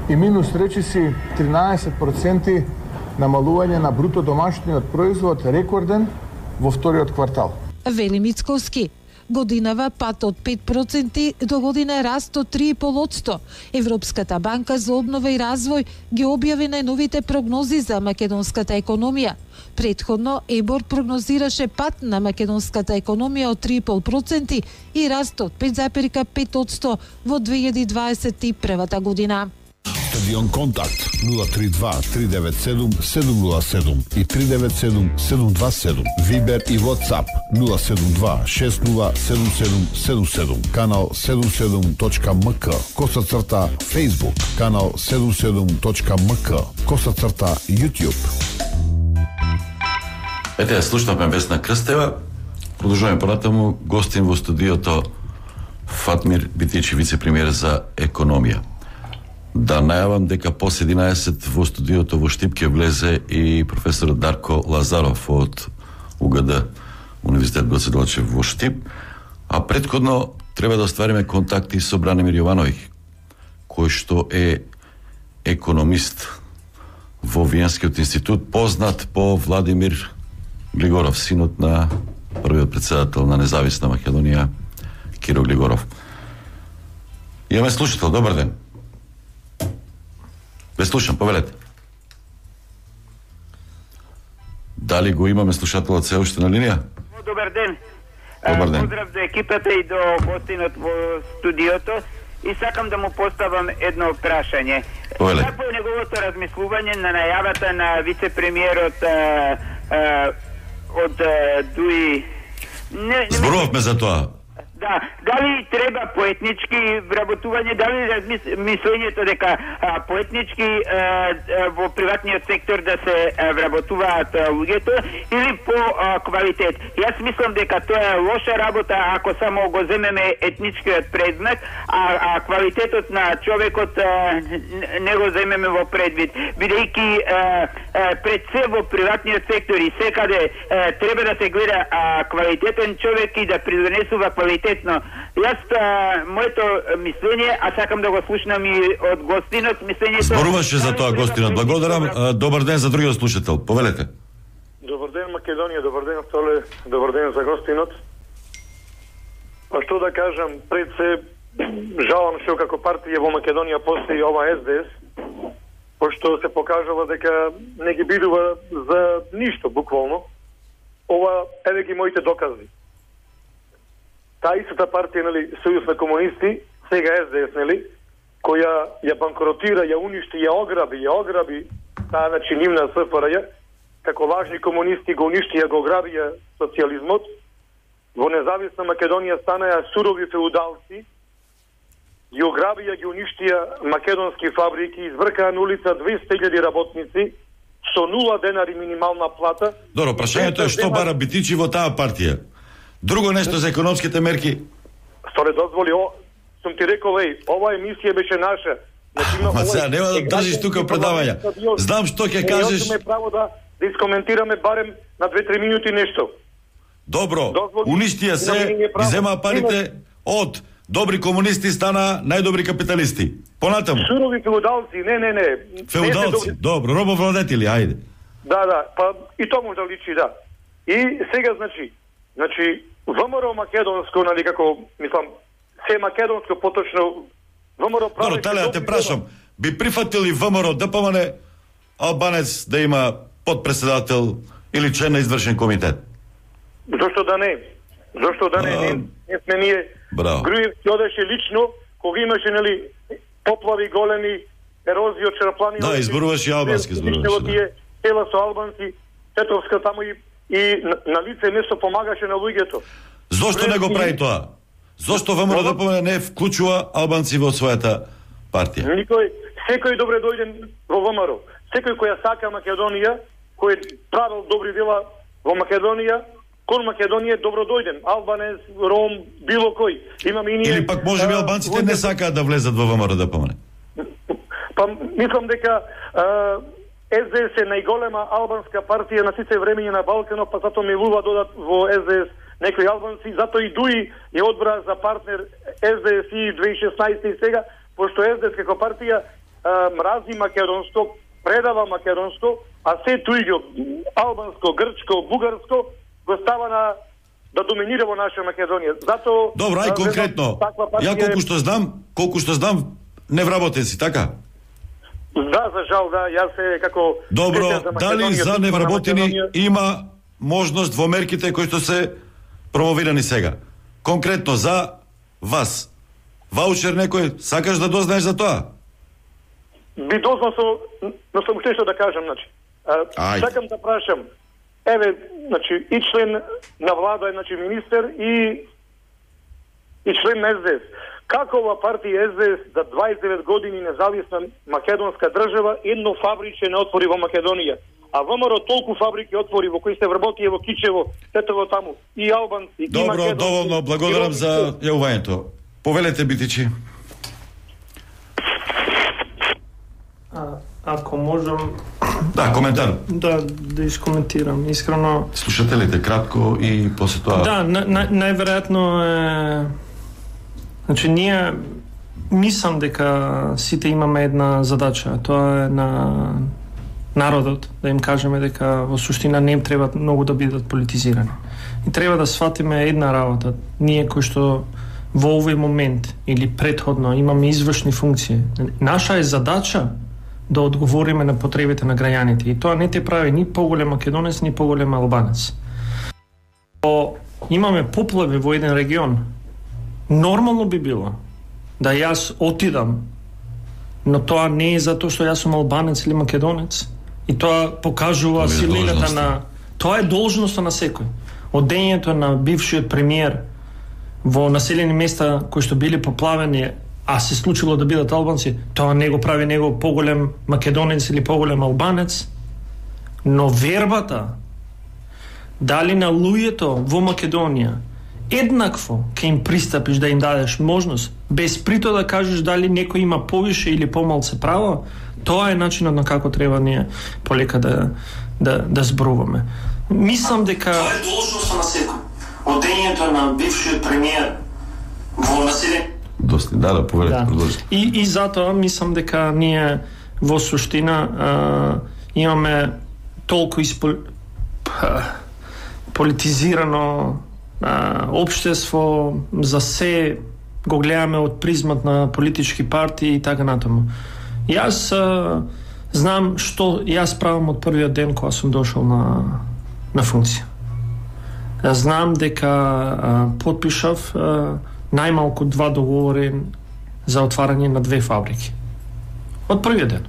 и минус речиси тринаесет проценти намалување на бруто домашниот производ, рекорден во вториот квартал. Вели Мицковски, годинава пат од пет проценти до година раст од три и пол одсто. Европската банка за обнова и развој ги објави најновите прогнози за македонската економија. Претходно ЕБОР прогнозираше пат на македонската економија од три и пол проценти и раст од пет запирка пет одсто во две илјади дваесет и прва година. Стадион Контакт нула три два три девет седум седум нула седум и три девет седум седум два седум. Вибер и WhatsApp нула седум два шест нула седум седум седум седум. Канал седум седум точка ем ка. Коса црта Facebook. Канал седум седум точка ем ка. Коса црта YouTube. Ете, слушнавме Весна Крстева. Продолжуваме понатаму. Гостин во студиото Фатмир Битичи, вице-премиер за економија. Да најавам дека после единаесет во студиото во Штип ќе влезе и професор Дарко Лазаров од У Г Д, Универзитет Гоце Делчев во Штип, а претходно треба да оствариме контакти со Бранимир Јовановиќ, кој што е економист во Виенскиот институт, познат по Владимир Глигоров, синот на првиот председател на Независна Македонија, Киро Глигоров. Имаме слушател, добар ден. Ве слушам, повелете. Дали го имаме слушателот се уште на линија? Добар ден. Добар ден. Поздрав до екипата и до гостинот во студиото. И сакам да му поставам едно прашање. Повеле. Какво е неговото размислување на најавата на вице-премиерот а, а, од а, Дуи? Не, не Зборувавме за тоа. Да, дали треба поетнички вработување, дали размислењето дека а, поетнички а, а, во приватниот сектор да се а, вработуваат а, луѓето или по а, квалитет. Јас мислам дека тоа е лоша работа ако само го земеме етничкиот предмет, а, а квалитетот на човекот а, не го земеме во предвид. Бидејќи пред се во приватниот сектор и секаде а, треба да се гледа а, квалитетен човек и да придонесува квалитет. Јас а, моето мислење, а сакам да го слушнам и од гостинот, мислењето... Зборуваше за тоа гостинот. Благодарам. Добар ден за другиот слушател. Повелете. Добар ден, Македонија, добар ден, Столе, добар ден за гостинот. А што да кажам, пред се жалам што како партија во Македонија постои ова Ес Де Ес, пошто се покажала дека не ги бидува за ништо, буквално. Ова, еве ги моите докази. Таа истата партија, нели, Сојуз на комунисти, сега Ес Де Ес, нели, која ја банкротира, ја уништи, ја ограби, ја ограби таа, значи, нивна Ес Ф Р Ј, како лажни комунисти го уништи, ја го ограбија социјализмот, во независна Македонија станаја сурови феудалци, ги ограбија, ги уништија македонски фабрики, избркаа на улица двеста илјади работници, со нула денари минимална плата. Добро, прашањето е што бара Битичи во таа партија. Друго нешто за економските мерки. Сторе, дозволи, о, сум ти рекол, еј, ова емисија беше наша. Ма сега, нема да држиш тука предавања. Знам што ќе кажеш. Имаме право да, да искоментираме барем на две-три минути нешто. Добро, уништија се, ги земаа парите од добри комунисти, стана најдобри капиталисти. Понатаму. Сурови феудалци, не, не, не. Феудалци, добро, робовладетели, ајде. Да, да, па и тоа може да личи, да. И сега, значи, значи, ВМРО македонско, нали, како, мислам, се македонско, поточно, ВМРО прави... Добро, Талија, те прашам, би прифатили ВМРО Д П М Н албанец да има подпредседател или член на извршен комитет? Зошто да не? Зошто да не? А... Не, не сме ние... Браво. Груевски одеше лично, кога имаше, нели, поплави големи, ерозија од черплани... Да, изборуваше и албански, изборуваше, да. Села со албанци, Тетовска таму и и на, на лице место помагаше на луѓето. Зошто не го прави тоа? Зошто ВМРО Д П М Н не вклучува албанци во својата партија? Никој, секој добре дојден во ВМРО. Секој кој ја сака Македонија, кој правил добри дела во Македонија, кон Македонија добро дојден. Албанец, Ром, било кој. Имаме и ние... Или пак може би албанците не сакаат да влезат во ВМРО Д П М Н? Па мислам дека а, Ес Де Ес е најголема албанска партија на сите времења на Балканот, па затоа милува додат во Ес Де Ес некои албанци, затоа и Дуи ја одбра за партнер Ес Де Ес и две илјади и шеснаесета и сега, пошто Ес Де Ес како партија а, мрази македонско, предава македонско, а се туѓо, албанско, грчко, бугарско, го става на да доминира во наша Македонија. Затоа добро, ај конкретно. Ја колку што знам, колку што знам, не вработен си, така? Да, за жал, да, јас се како... Добро, дали за невработени има можност во мерките кои што се промовирани сега? Конкретно за вас. Ваучер некој, сакаш да дознаеш за тоа? Би дознал со... но сам уште што да кажам, значи. А, сакам да прашам, еве, значи, и член на влада, значи, министер и и член на Ес Де Ес. Како ова партија Ес Де Ес за дваесет и девет години независна македонска држава едно фабриче не отвори во Македонија, а ВМРО толку фабрики отвори во кои се вработи во Кичево, сето таму, и албанци, добро, и македонци. Добро, доволно, благодарам и... за јавувањето. Повелете, Битичи. А, ако можам... Да, коментар. Да, да искоментирам. Искрено... Слушателите кратко и после тоа... Да, на, на, најверојатно е... Значи, ние мислам дека сите имаме една задача. Тоа е на народот, да им кажеме дека во суштина не им треба многу да бидат политизирани. И треба да сватиме една работа. Ние кои што во овој момент или претходно имаме извршни функции. Наша е задача да одговориме на потребите на граѓаните и тоа не те прави ни поголем македонец, ни поголем албанец. О, имаме поплави во еден регион. Нормално би било да јас отидам, но тоа не е затоа што јас сум албанец или македонец. И тоа покажува силината на... Тоа е должноста на секој. Одењето на бившиот премиер во населени места кои што били поплавени, а се случило да бидат албанци, тоа не го прави него поголем македонец или поголем албанец. Но вербата дали на луѓето во Македонија еднакво ќе им пристапиш да им дадеш можност, без прито да кажеш дали некој има повише или помалце право, тоа е начинот на како треба ние полека да да да зборуваме. Мислам дека тоа е должноста на секој. Одењето на бившиот премиер во населени Доста, да, да, повелете, да. Продолжи. И, и затоа мислам дека ние во суштина а, имаме толку испол... политизирано а, општество, за се го гледаме од призмат на политички партии и така натаму. Јас а, знам што јас правам од првиот ден кога сум дошол на, на функција. Знам дека а, подпишав а, најмалку два договори за отварање на две фабрики. Од првиот ден.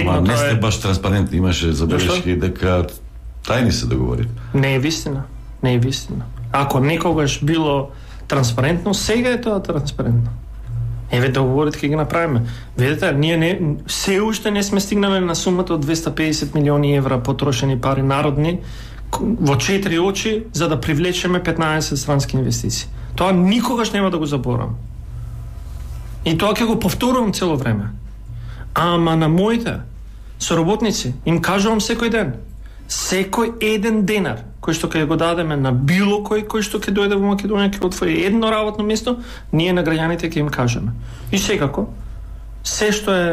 Ма не сте баш транспарентни, имаше забелешки дека тајни се договори. Не е вистина. Не е вистина. Ако некогаш било транспарентно, сега е тоа транспарентно. Еве договорите ќе ги направиме. Видете, ние не се уште не сме стигнале на сумата од двеста педесет милиони евра потрошени пари народни во четири очи за да привлечеме петнаесет странски инвестиции. Тоа никогаш нема да го заборам. И тоа ќе го повторувам цело време. Ама на моите соработници им кажувам секој ден, секој еден денар кој што ќе го дадеме на било кој кој што ќе дојде во Македонија, ќе отвори едно работно место, ние на граѓаните ќе им кажеме. И секако, се што е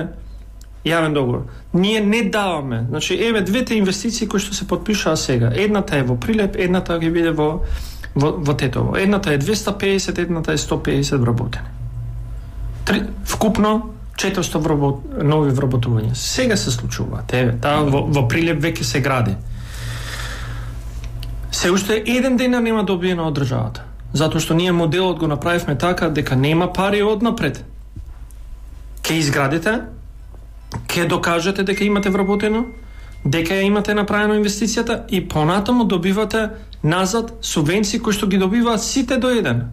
јавен договор, ние не даваме. Значи, еве двете инвестиции кои што се потпишаа сега. Едната е во Прилеп, едната ќе биде во во, во Тетово. Едната е двеста педесет, едната е сто педесет вработени. Три, вкупно четиристо вработ, нови вработувања. Сега се случуваат. Еве, таа во, во Прилеп веќе се гради. Се уште еден денар нема добиено од државата. Затоа што ние моделот го направивме така дека нема пари однапред. Ке изградите, ке докажете дека имате вработено, дека ја имате направено инвестицијата и понатаму добивате назад субвенции кои што ги добиваат сите до еден.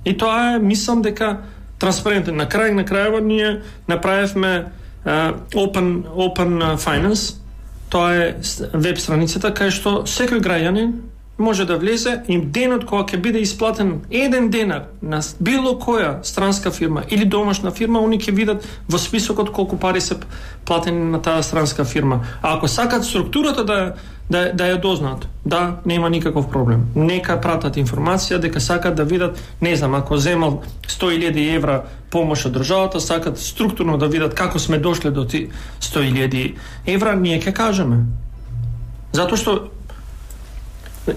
И тоа е, мислам дека транспарентно. На крај на крајава ние направивме uh, Open Open Finance. Тоа е веб страницата кај што секој граѓанин може да влезе и денот кога ќе биде исплатен еден денар на било која странска фирма или домашна фирма, они ќе видат во списокот колку пари се платени на таа странска фирма. А ако сакат структурата да да да ја дознаат, да, нема никаков проблем. Нека пратат информација дека сакат да видат, не знам, ако земал сто илјади евра помош од државата, сакат структурно да видат како сме дошле до ти сто илјади евра, ние ќе кажеме. Затоа што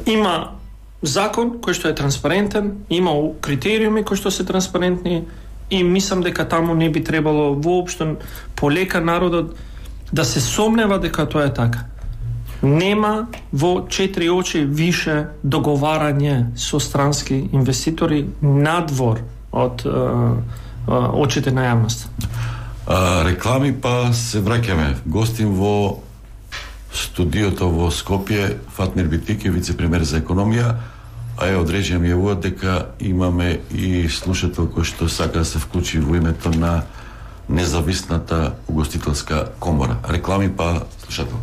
има закон кој што е транспарентен, има критериуми кои што се транспарентни и мислам дека таму не би требало воопшто полека народот да се сомнева дека тоа е така. Нема во четири очи више договарање со странски инвеститори надвор од а, а, очите на јавност. А, реклами па се враќаме. Гостим во студиото во Скопје Фатмир Битики, вице-премиер за економија, а е одрежам јавуваат дека имаме и слушател кој што сака да се вклучи во името на независната угостителска комора. Реклами па слушател.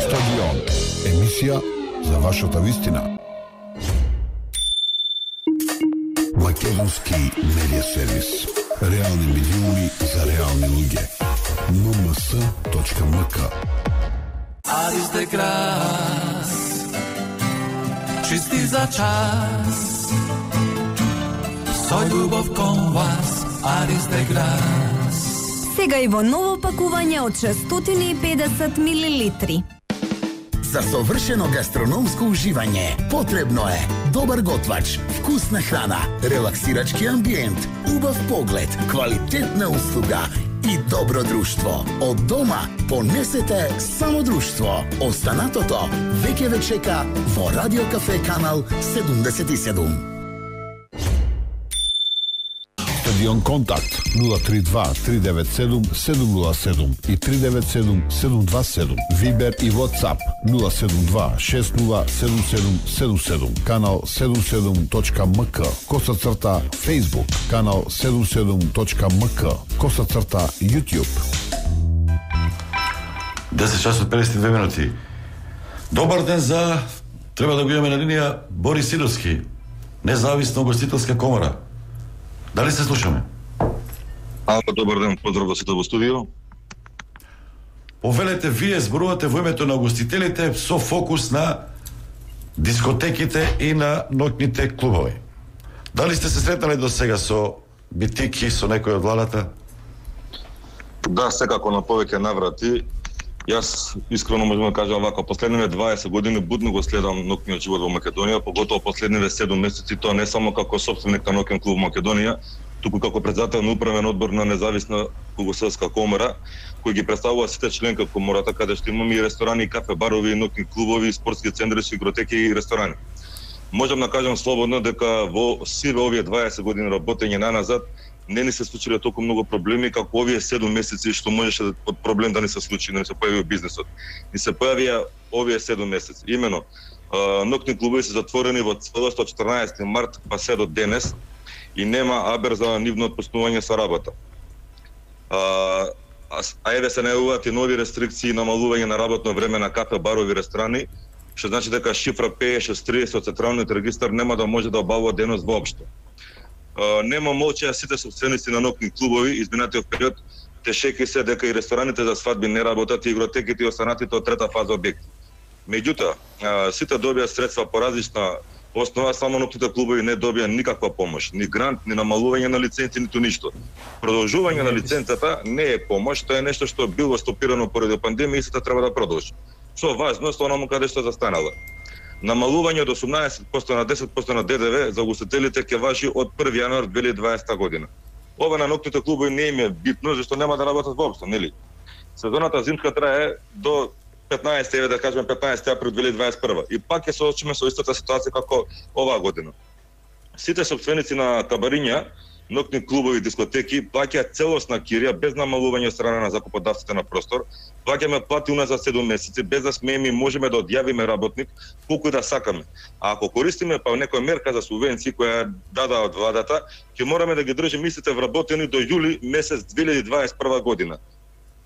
Стадион. Емисија за вашата вистина. Македонски медија сервис. Реални медиуми за реални луѓе. ен ем ес точка ем ка. Aris de gras, чисти за час, со љубов кон вас, Aris de gras. Сега и во ново пакување од шестстотини и педесет милилитри. За совршено гастрономско уживање потребно е добар готвач, вкусна храна, релаксирачки амбиент, убав поглед, квалитетна услуга и добро друштво. Од дома понесете само друштво. Останатото веќе ве чека во Радио Кафе канал седумдесет и седум. Стадион Контакт нула три два три девет седум седум нула седум и три девет седум седум два седум. Вибер и WhatsApp нула седум два шест нула седум седум седум седум. Канал седум седум точка ем ка. Коса црта Facebook. Канал седум седум точка ем ка. Коса црта YouTube. десет часот педесет и две минути. Добар ден за... Треба да го имаме на линија Борис Сидовски, независна гостителска комора. Дали се слушаме? Ало, добар ден, поздрав до сите во студио. Повелете, вие зборувате во името на гостителите со фокус на дискотеките и на ноќните клубови. Дали сте се сретнали до сега со битики, со некој од владата? Да, секако на повеќе наврати. Јас искрено можам да кажам вака, последниве дваесет години будно го следам ноќниот живот во Македонија, поготово последниве седум месеци, тоа не само како сопственик на ноќен клуб Македонија, туку како председател на управен одбор на независна Југословска комора, кој ги представува сите членки комората, каде што имаме и ресторани, и кафе, барови, и ноќни клубови, и спортски центри, игротеки и ресторани. Можам да кажам слободно дека во сиве овие дваесет години работење наназад не ни се случиле толку многу проблеми како овие седум месеци што можеше од проблем да не се случи, да не се појави бизнесот. Ни се појавија овие седум месеци. Имено, ноќни клубови се затворени во целост од четрнаесети март па се до денес и нема абер за нивно отпуснување со работа. А, а еве се најавуваат и нови рестрикции и намалување на работно време на кафе, барови, ресторани, што значи дека шифра петдесет шест тридесет од централниот регистар нема да може да обавува деност воопшто. Uh, нема молчеа сите собственици на ноќни клубови, изминатиот период тешеки се дека и рестораните за свадби не работат и игротеките и останатите од трета фаза објекти. Меѓутоа, uh, сите добија средства по различна основа, само ноќните клубови не добија никаква помош, ни грант, ни намалување на лиценци, ниту ништо. Продолжување на лиценцата не е помош, тоа е нешто што било стопирано поради пандемија и сите треба да продолжи. Што важно, со онаму каде што застанало. Намалување од осумнаесет проценти на десет проценти на Д Д В за гостителите ќе важи од први јануар две илјади и дваесета година. Ова на ноќните клубови не им е битно, зашто нема да работат воопшто, нели? Сезоната зимска трае до петнаесети, еве да кажеме петнаесети април две илјади и дваесет и прва. И пак ќе се соочиме со истата ситуација како оваа година. Сите собственици на кабариња, ноќни клубови и дискотеки плаќаат целосна кирија без намалување од страна на закуподавците на простор. Плаќаме плати уназад седум месеци без да смееме и можеме да одјавиме работник колку и да сакаме. А ако користиме па некоја мерка за субвенции која дада од владата, ќе мораме да ги држиме истите вработени до јули месец две илјади и дваесет и прва година.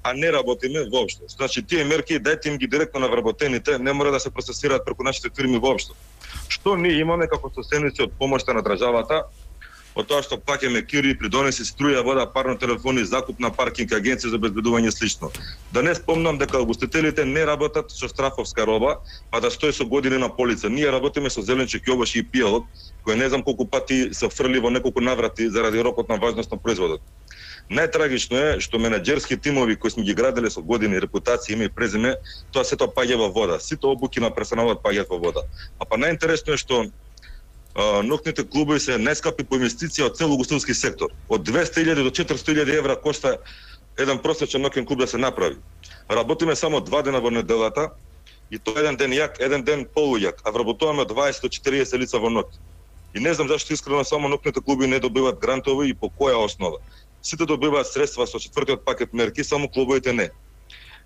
А не работиме воопшто. Значи тие мерки дајте им ги директно на вработените, не мора да се процесираат преку нашите фирми воопшто. Што ние имаме како собственици од помошта на државата? Од тоа што плаќаме кири, придонеси, струја, вода, парно телефони, закуп на паркинг, агенција за обезбедување и слично. Да не спомнам дека гостителите не работат со страфовска роба, па да стои со години на полица. Ние работиме со зеленчук, јогурт и пијалок, кој не знам колку пати се фрли во неколку наврати заради рокот на важност на производот. Најтрагично е што менаџерски тимови кои сме ги граделе со години, репутација, име и презиме, тоа сето паѓа во вода. Сите обуки на персоналот паѓаат во вода. А па најинтересно е што ноќните клубови се најскапи по инвестиција од цел угостителски сектор. Од двесте илјади до четиристотини илјади евра кошта еден просечен ноќен клуб да се направи. Работиме само два дена во неделата и тоа еден ден јак, еден ден полујак, а вработуваме од дваесет до четириесет лица во ноќ. И не знам зашто искрено само ноќните клуби не добиваат грантови и по која основа. Сите добиваат средства со четвртиот пакет мерки, само клубовите не.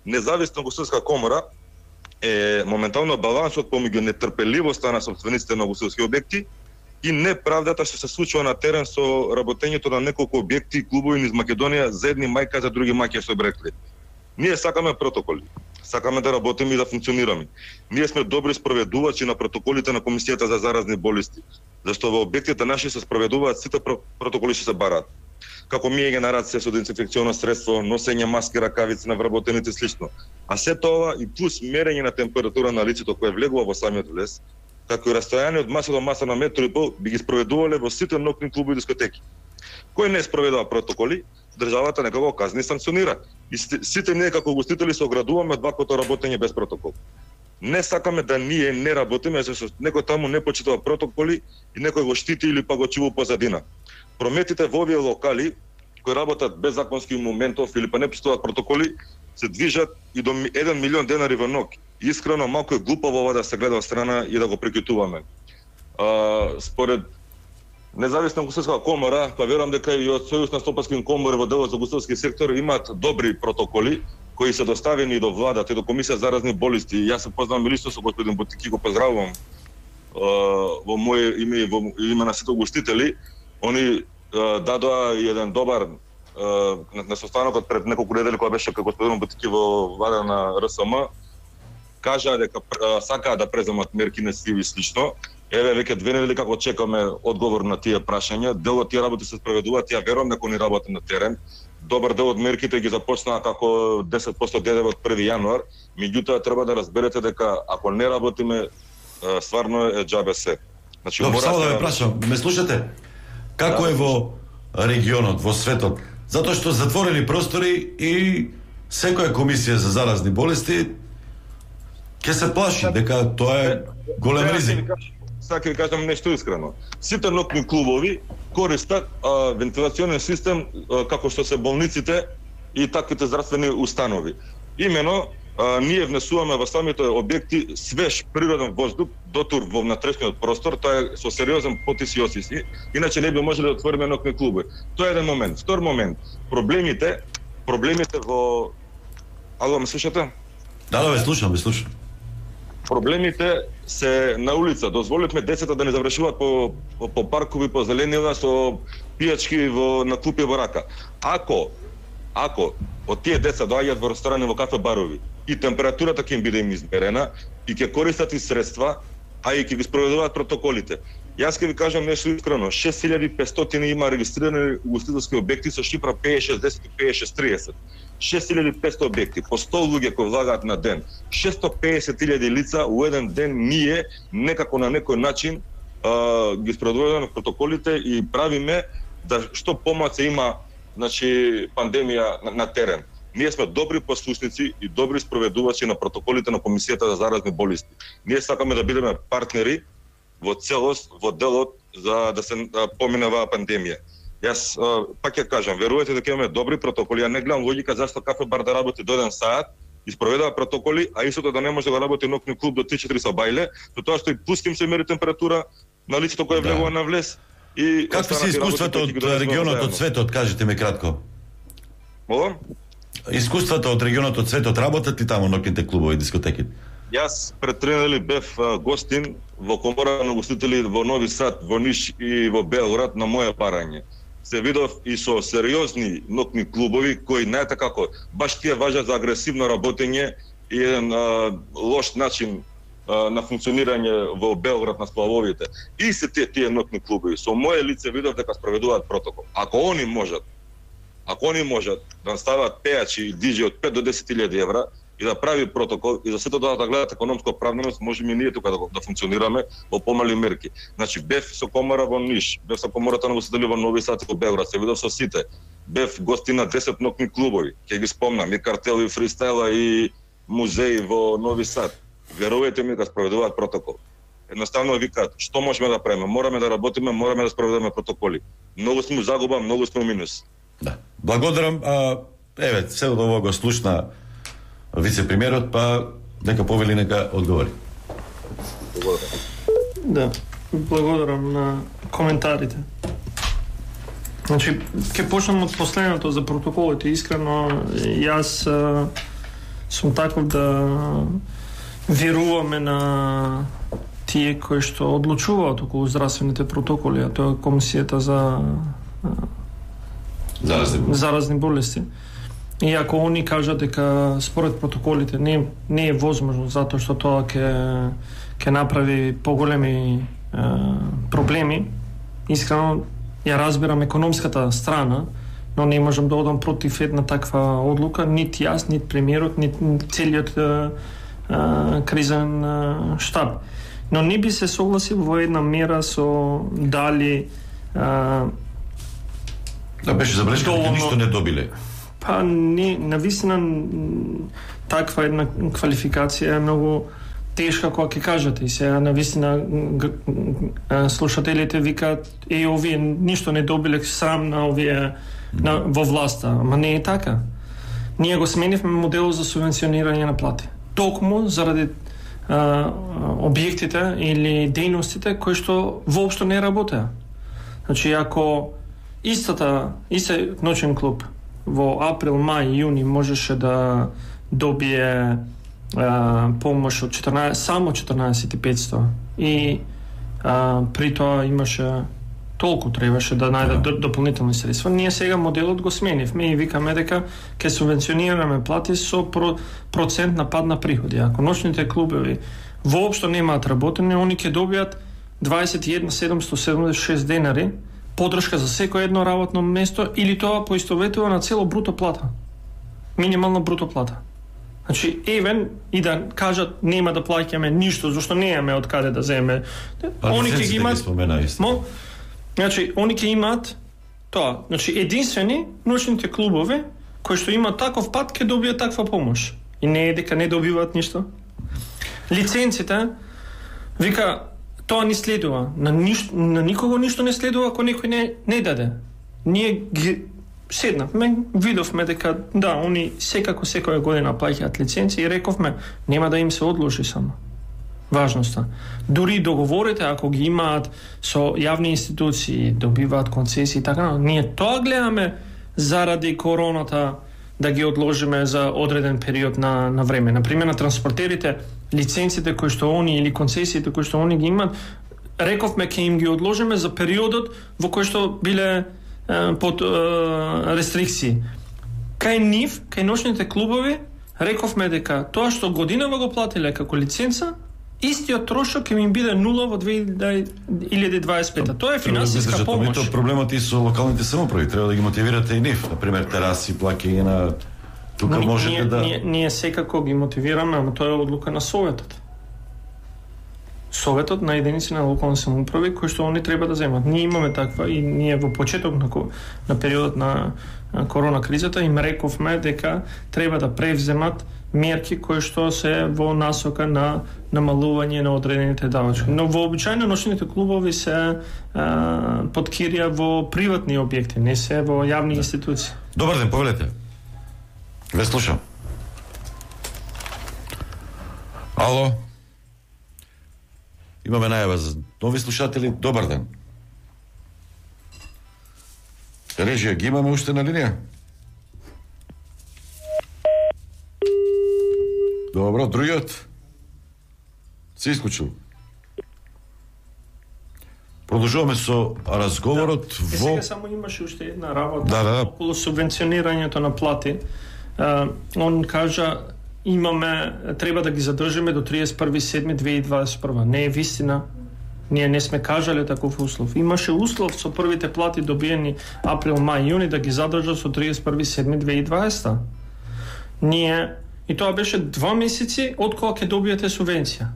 Независна гостителска комора е моментално балансот помеѓу нетрпеливоста на собствениците на гостителски објекти и неправдата што се случува на терен со работењето на неколку објекти и клубови низ Македонија, за едни мајка, за други мајки, што би рекли. Ние сакаме протоколи, сакаме да работиме и да функционираме. Ние сме добри спроведувачи на протоколите на Комисијата за заразни болести, зашто во објектите наши се спроведуваат сите протоколи што се бараат. Како миење на раце со дезинфекционо средство, носење маски, ракавици на вработените и слично. А се тоа и плюс мерење на температура на лицето кое влегува во самиот влез, како и растојание од маса до маса на метро и пол, би ги спроведувале во сите ноќни клубови и дискотеки. Кој не спроведува протоколи, државата нека го казни и санкционира. И сите ние како гостители се оградуваме од ваквото работење без протокол. Не сакаме да ние не работиме, зашто некој таму не почитува протоколи и некој го штити или па го чува позадина. Прометите во овие локали кои работат без законски моментов или па не почитуваат протоколи се движат и до еден милион денари во ног. Искрено малку е глупаво ова да се гледа од страна и да го прекитуваме. А, според Независна гостителска комора, па верувам дека и од Сојуз на стопански комори во делот за гостителски сектор имаат добри протоколи кои се доставени до владата и до Комисија за заразни болести. Јас се познавам лично со господин Бутики, го поздравувам во моје име и во име на сите гостители. Они дадоа еден добар на состанокот пред неколку недели кога беше како господин Бутики во влада на РСМ, кажа дека сакаат да преземат мерки на сиви слично. Еве веќе две недели како чекаме одговор на тие прашања. Дел од тие работи се спроведуваат, ја верувам дека они работат на терен. Добар дел од мерките ги започнаа како десет проценти ДДВ од први јануар, меѓутоа треба да разберете дека ако не работиме, стварно е џабе се. Значи, Добре, само да ве прашам, ме слушате? Како е во регионот, во светот? Затоа што затворени простори и секоја комисија за заразни болести ќе се плаши дека тоа е голем ризик. Сака ви кажам нешто искрено. Сите ноќни клубови користат а, вентилационен систем а, како што се болниците и таквите здравствени установи. Имено а, ние внесуваме во самите објекти свеж природен воздух дотур во внатрешниот простор, тоа е со сериозен потис и осиси, иначе не би можеле да отвориме ноќни клубови. Тоа е еден момент. Втор момент, проблемите, проблемите во Ало, ме слушате? Да, да, ве слушам, ве слушам. Проблемите се на улица. Дозволивме децата да не завршуваат по, по, по паркови, по зеленила, со пијачки во, на клупи во рака. Ако, ако од тие деца доаѓаат во ресторани, во кафе барови и температурата ќе им биде им измерена и ќе користат и средства, а и ќе ги спроведуваат протоколите. Јас ќе ви кажам нешто искрено, шест илјади и петстотини има регистрирани угостителски објекти со шифра пе е шесдесет и пе е шест триесет. шест илјади и петстотини објекти, по сто луѓе кои влагаат на ден. шестстотини и педесет илјади лица у еден ден ние некако на некој начин а, ги спроведуваме протоколите и правиме да што помалку има, значи, пандемија на, на терен. Ние сме добри послушници и добри спроведувачи на протоколите на Комисијата за заразни болести. Ние сакаме да бидеме партнери во целост, во делот за да се да помине оваа пандемија. Јас пак ја кажам, верувате дека имаме добри протоколи, ја не гледам логика зашто кафе бар да работи до еден саат и спроведува протоколи, а истото да не може да работи ноќни клуб до три-четири со бајле, затоа што и пуским се мери температура на лицето кое влегува на влез и какви се искуството од регионот, од светот, кажете ми кратко. Молам? Искуството од регионот, од светот, работат ли таму ноќните клубови и дискотеки? Јас пред три недели бев гостин во комора на гостители во Нови Сад, во Ниш и во Белград на моје барање. Се видов и со сериозни ноќни клубови кои знаете како баш тие важат за агресивно работење и еден а, лош начин а, на функционирање во Белград на сплавовите. И се тие, тие ноќни клубови со моје лице видов дека спроведуваат протокол. Ако они можат, ако они можат да стават пејачи и диџеи од пет до десет илјади евра и да прави протокол и за сето тоа да гледат економска оправданост, можеме и ние тука да, да функционираме во помали мерки. Значи бев со комора во Ниш, бев со комората на гостители во Нови Сад и во Белград, се видов со сите. Бев гостин на десет ноќни клубови, ќе ги спомнам, и картел и фристайла и музеи во Нови Сад. Верувајте ми дека спроведуваат протокол. Едноставно викаат, што можеме да правиме? Мораме да работиме, мораме да спроведуваме протоколи. Многу сме загуба, многу сме минус. Да. Благодарам. А, еве, се од ово го слушна вице-премиерот, па нека повели, нека одговори. Благодарам. Да, благодарам на коментарите. Значи, ќе почнам од последното за протоколите. Искрено, јас а, сум таков да веруваме на тие кои што одлучуваат околу здравствените протоколи, а тоа е Комисијата за заразни болести. заразни болести. И ако они кажат дека според протоколите не, не е возможно затоа што тоа ќе ќе направи поголеми е, проблеми, искрено ја разбирам економската страна, но не можам да одам против една таква одлука, нити јас, нити премиерот, нити целиот е, е, кризен е, штаб. Но не би се согласил во една мера со дали е, да беше забелешка дека доволно... ништо не добиле. Па не, навистина таква една квалификација е многу тешка кога ќе кажете и сега навистина слушателите викаат е овие ништо не добиле, срам на овие на, во власта, ама не е така. Ние го сменивме моделот за субвенционирање на плати. Токму заради а, објектите или дејностите кои што воопшто не работеа. Значи, ако истата, истиот ноќен клуб во април, мај, јуни можеше да добие а, помош од четрнаесет, само четрнаесет тисучи и петстотини и а, при тоа имаше толку требаше да најдат yeah. дополнителни средства. Ние сега моделот го сменивме и викаме дека ќе субвенционираме плати со про, процент на пад на приходи. Ако ночните клубови воопшто немаат работење, они ќе добијат дваесет и еден седумстотини седумдесет и шест денари поддршка за секој едно работно место или тоа поистоветува на цело бруто плата. Минимална бруто плата. Значи, евен и да кажат нема да плаќаме ништо, зашто немаме од каде да земе. Они ќе ги имаат. Мо, значи, они ќе имаат тоа. Значи, единствени ночните клубови кои што имаат таков пат ќе добијат таква помош. И не е дека не добиваат ништо. Лиценците вика тоа не следува. На, ништо, на никого ништо не следува ако некој не, не даде. Ние ги седнавме, видовме дека да, они секако секоја година плаќаат лиценци и рековме нема да им се одложи само важноста. Дури договорите ако ги имаат со јавни институции, добиваат концесии и така, ние тоа гледаме заради короната да ги одложиме за одреден период на на време. Например, на транспортерите лиценците кои што они или концесиите кои што они ги имаат, рековме ќе им ги одложиме за периодот во кој што биле е, под е, рестрикции. Кај нив, кај ночните клубови, рековме дека тоа што годинава го платиле како лиценца, истиот трошок ќе им биде нула во две илјади дваесет и пета. Тоа е финансиска помош. Тоа проблемот и со локалните самоуправи, треба да ги мотивирате и нив, на пример тераси, плаќање на тука ние, можете ние, да ние, ние секако ги мотивираме, ама тоа е одлука на советот. Советот на единици на локални самоуправи кои што они треба да земат. Ние имаме таква и ние во почеток на, на периодот на корона кризата им рековме дека треба да превземат мерки кои што се во насока на намалување на одредените давачки. Но вообичајно ночните клубови се а, под кирија во приватни објекти, не се во јавни институции. Добар ден, повелете. Ве слушам. Ало? Имаме најава за нови слушатели. Добар ден. Режија, ги имаме уште на линија? Добро, другиот? Се исклучил. Продолжуваме со разговорот да. во... Сега само имаше уште една работа да, да. околу субвенционирањето на плати. Uh, он кажа имаме, треба да ги задржиме до триесет и први седми две илјади дваесет и прва. Не е вистина. Ние не сме кажале таков услов. Имаше услов со првите плати добиени април, мај, јуни да ги задржат со триесет и први седми две илјади и дваесета. Ние и тоа беше два месеци од кога ќе добиете субвенција.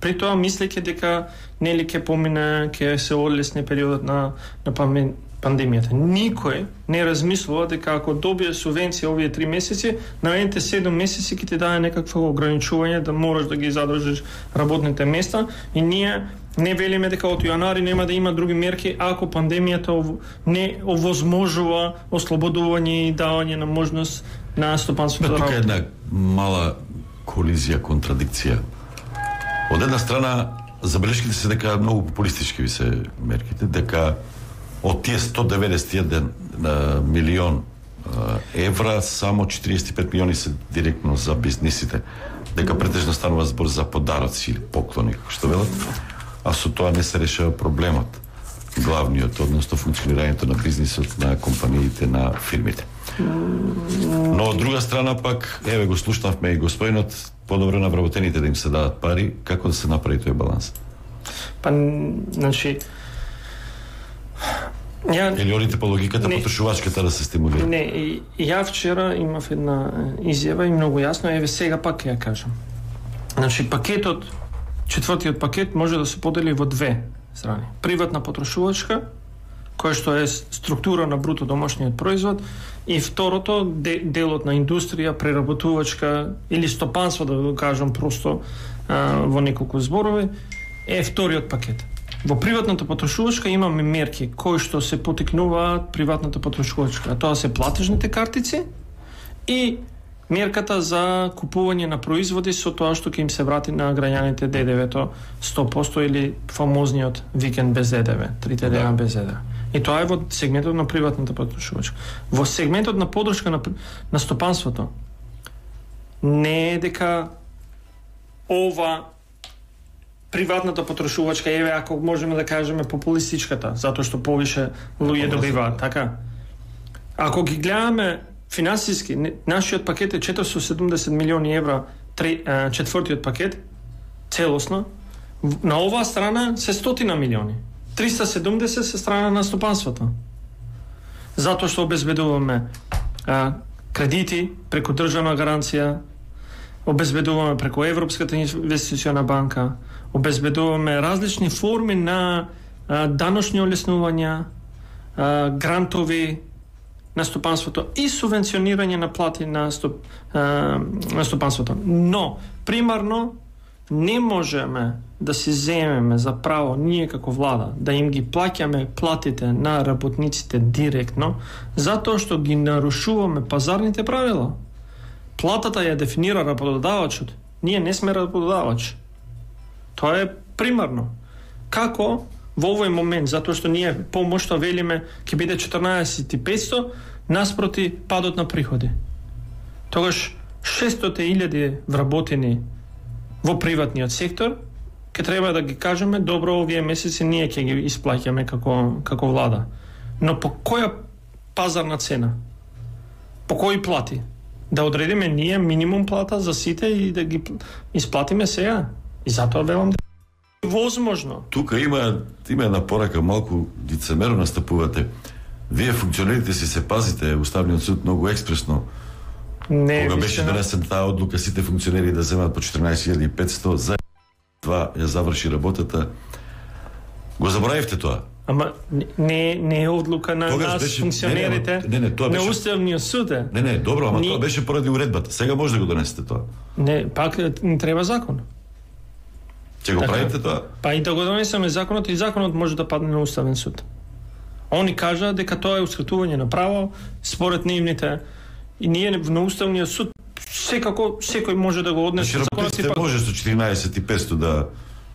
При тоа мислејќи дека нели ќе помине, ќе се одлесни периодот на на пандемијата. Никој не размислува дека ако добие субвенција овие три месеци, наредните седум месеци ќе ти даде некакво ограничување да мораш да ги задржиш работните места и ние не велиме дека од јанари нема да има други мерки ако пандемијата не овозможува ослободување и давање на можност на стопанството да работи. Тука е една мала колизија, контрадикција. Од една страна, забелешките се дека многу популистички ви се мерките, дека од тие сто деветдесет и еден милион евра, само четириесет и пет милиони се директно за бизнисите, дека претежно станува збор за подароци или поклони, како што велат, а со тоа не се решава проблемот, главниот, односно функционирањето на бизнисот, на компаниите, на фирмите. Но од друга страна пак, еве го слушнавме и господинот, подобро на вработените да им се дадат пари, како да се направи тој баланс? Па, значи, ја... Или одите по логиката не, потрошувачката да се стимулира? Не, и, ја вчера имав една изјава и многу јасно, еве сега пак ја кажам. Значи, пакетот, четвртиот пакет може да се подели во две страни. Приватна потрошувачка, која што е структура на бруто домашниот производ, и второто, де, делот на индустрија, преработувачка или стопанство, да го кажам просто, а, во неколку зборови, е вториот пакет. Во приватната потрошувачка имаме мерки кои што се потикнуваат приватната потрошувачка. Тоа се платежните картици и мерката за купување на производи со тоа што ќе им се врати на граѓаните Д Д В-то сто проценти или фамозниот викенд без Д Д В, трите дена без Д Д В. И тоа е во сегментот на приватната потрошувачка. Во сегментот на подршка на, на стопанството не е дека ова приватната потрошувачка е, ако можеме да кажеме, популистичката, затоа што повише луѓе добиваат, така? Ако ги гледаме финансиски, нашиот пакет е четиристотини и седумдесет милиони евра, четвртиот пакет, целосно. На оваа страна се стотина милиони. триста и седумдесет се страна на стопанството. Затоа што обезбедуваме а, кредити преку државна гаранција, обезбедуваме преку Европската инвестициона банка, обезбедуваме различни форми на а, даношни олеснувања, а, грантови на стопанството и субвенционирање на плати на, стоп, а, на стопанството. Но, примарно, не можеме да си земеме за право ние како влада да им ги плаќаме платите на работниците директно, затоа што ги нарушуваме пазарните правила. Платата ја дефинира работодавачот. Ние не сме работодавач. Тоа е примарно. Како во овој момент, затоа што ние помошта велиме ќе биде четрнаесет и петсто наспроти падот на приходи. Тогаш шестстотини илјади вработени во приватниот сектор ќе треба да ги кажеме добро овие месеци ние ќе ги исплаќаме како како влада. Но по која пазарна цена? По кои плати? Да одредиме ние минимум плата за сите и да ги исплатиме сега. И затоа велам да е возможно. Тука има има една порака, малку лицемерно настапувате. Вие функционерите си се пазите, Уставниот суд многу експресно. Не, кога беше донесен таа одлука сите функционери да земат по четрнаесет илјади и петсто, за два ја заврши работата. Го заборавивте тоа? Ама не не е одлука на Тогаш нас беше, функционерите. Не, не, не, тоа беше на Уставниот суд е. Не, не, добро, ама Ни... тоа беше поради уредбата. Сега може да го донесете тоа. Не, пак не треба закон. Ќе го така, правите тоа? Па и да го донесеме законот, и законот може да падне на Уставен суд. Они кажа дека тоа е ускратување на право според нивните, и ние на Уставниот суд секако секој може да го однесе. Работниците пак... може со четрнаесет и петсто да...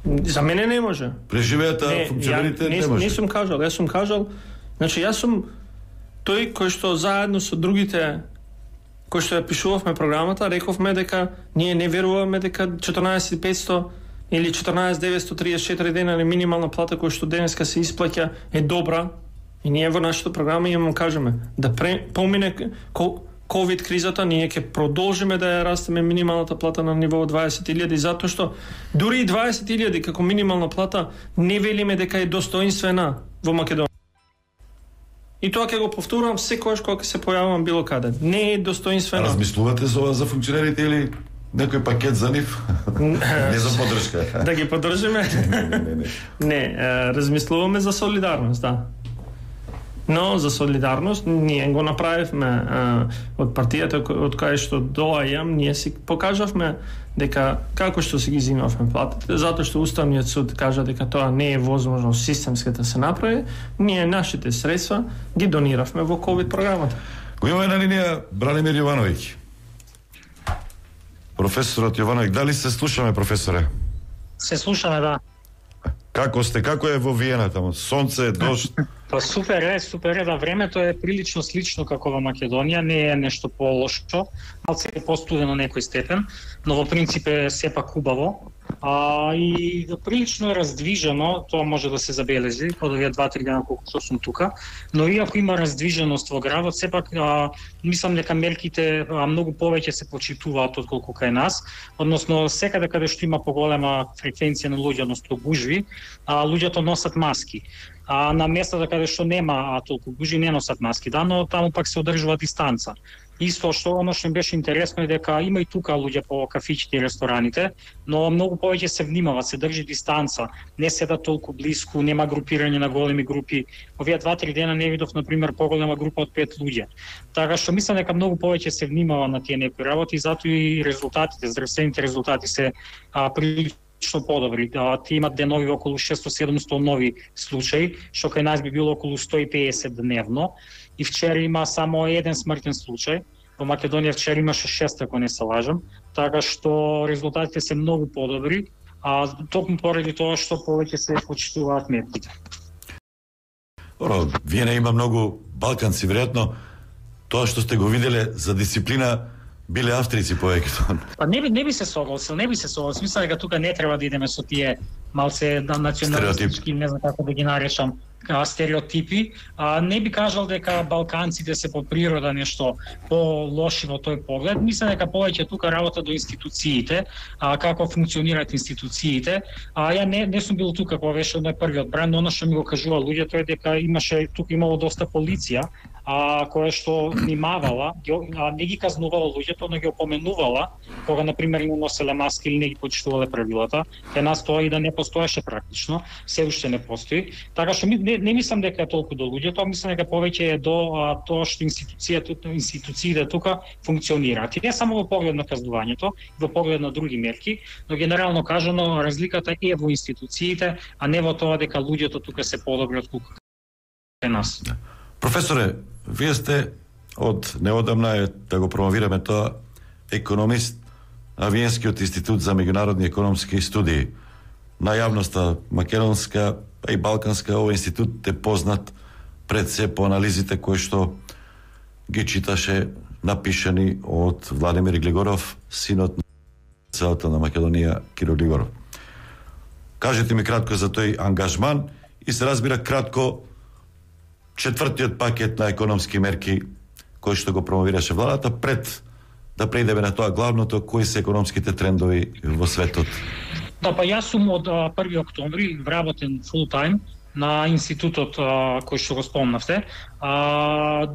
За мене не може. Преживеата функционерите не, не може. Не сум кажал, јас сум кажал, значи јас сум тој кој што заедно со другите кој што ја пишувавме програмата, рековме дека ние не веруваме дека четрнаесет и петсто или четрнаесет деветстотини триесет и четири дена на минимална плата која што денеска се исплаќа е добра, и ние во нашата програма имаме кажеме да пре, помине ковид кризата, ние ќе продолжиме да ја растеме минималната плата на ниво дваесет илјади, затоа што дури и дваесет илјади како минимална плата не велиме дека е достоинствена во Македонија. И тоа ќе го повторувам секогаш кога се појавам било каде. Не е достоинствена. Размислувате за ова за функционерите или некој пакет за нив? Не за поддршка. Да ги поддржиме? Не, не, не. Не, размислуваме за солидарност, да. Но за солидарност ние го направивме а, од партијата од кај што доаѓам, ние си покажавме дека како што си ги зимавме платите, затоа што Уставниот суд кажа дека тоа не е возможно системски да се направи, ние нашите средства ги дониравме во ковид програмата. Го имаме на линија Бранимир Јовановиќ. Професорот Јовановиќ, дали се слушаме, професоре? Се слушаме, да. Како сте? Како е во Виена таму? Сонце, дожд? Па супер е, супер е, да, времето е прилично слично како во Македонија, не е нешто по-лошо, малце е постудено на некој степен, но во принцип е сепак убаво. А, и да, прилично е раздвижено, тоа може да се забележи од овие два-три дена колку што сум тука, но иако има раздвиженост во градот, сепак а, мислам дека мерките а, многу повеќе се почитуваат отколку кај нас, односно секаде каде што има поголема фреквенција на луѓе, односно гужви, а, луѓето носат маски. А на местата каде што нема а, толку гужви не носат маски, да, но таму пак се одржува дистанца. Исто што оно што им беше интересно е дека има и тука луѓе по кафиќите и рестораните, но многу повеќе се внимава, се држи дистанца, не седат толку блиску, нема групирање на големи групи. Овие два-три дена не видов на пример поголема група од пет луѓе. Така што мислам дека многу повеќе се внимава на тие некои работи и затоа и резултатите, здравствените резултати се а, прилично подобри. А, тие имат денови околу шесто-седумсто нови случаи, што кај нас би било околу сто и педесет дневно. И вчера има само еден смртен случај. Во Македонија вчера имаше шест, ако не се лажам, така што резултатите се многу подобри, а токму поради тоа што повеќе се почитуваат мерките. Оро, вие не има многу балканци, веројатно тоа што сте го виделе за дисциплина биле австрици повеќето. Па не би не би се согласил, не би се согласил. Мислам дека тука не треба да идеме со тие малце националистички, не знам како да ги наречам, стереотипи. А, не би кажал дека балканците се по природа нешто по-лоши во тој поглед. Мислам дека повеќе тука работа до институциите, а, како функционираат институциите. А, ја не, не сум бил тука кога беше на првиот бран, но оно што ми го кажува луѓето е дека имаше тука имало доста полиција, а, која што внимавала, а, не ги казнувала луѓето, но ги опоменувала кога на пример не носеле маски или не ги почитувале правилата. Кај нас тоа и да не постоеше практично, се уште не постои. Така што ми, не, не мислам дека е толку до луѓето, мислам дека повеќе е до а, тоа што институцијата, институциите тука функционираат. И не само во поглед на казнувањето, во поглед на други мерки, но генерално кажано разликата е во институциите, а не во тоа дека луѓето тука се подобри од колку кај нас. Професоре, вие сте од неодамна е да го промовираме тоа економист на Виенскиот институт за меѓународни економски студии. На јавноста македонска и балканска овој институт е познат пред се по анализите кои што ги читаше напишани од Владимир Глигоров, синот на целата на Македонија Киро Глигоров. Кажете ми кратко за тој ангажман и се разбира кратко четвртиот пакет на економски мерки кој што го промовираше владата пред да преидеме на тоа главното, кои се економските трендови во светот. Да, па јас сум од први октомври вработен фул тајм на институтот а, кој што го спомнавте. А,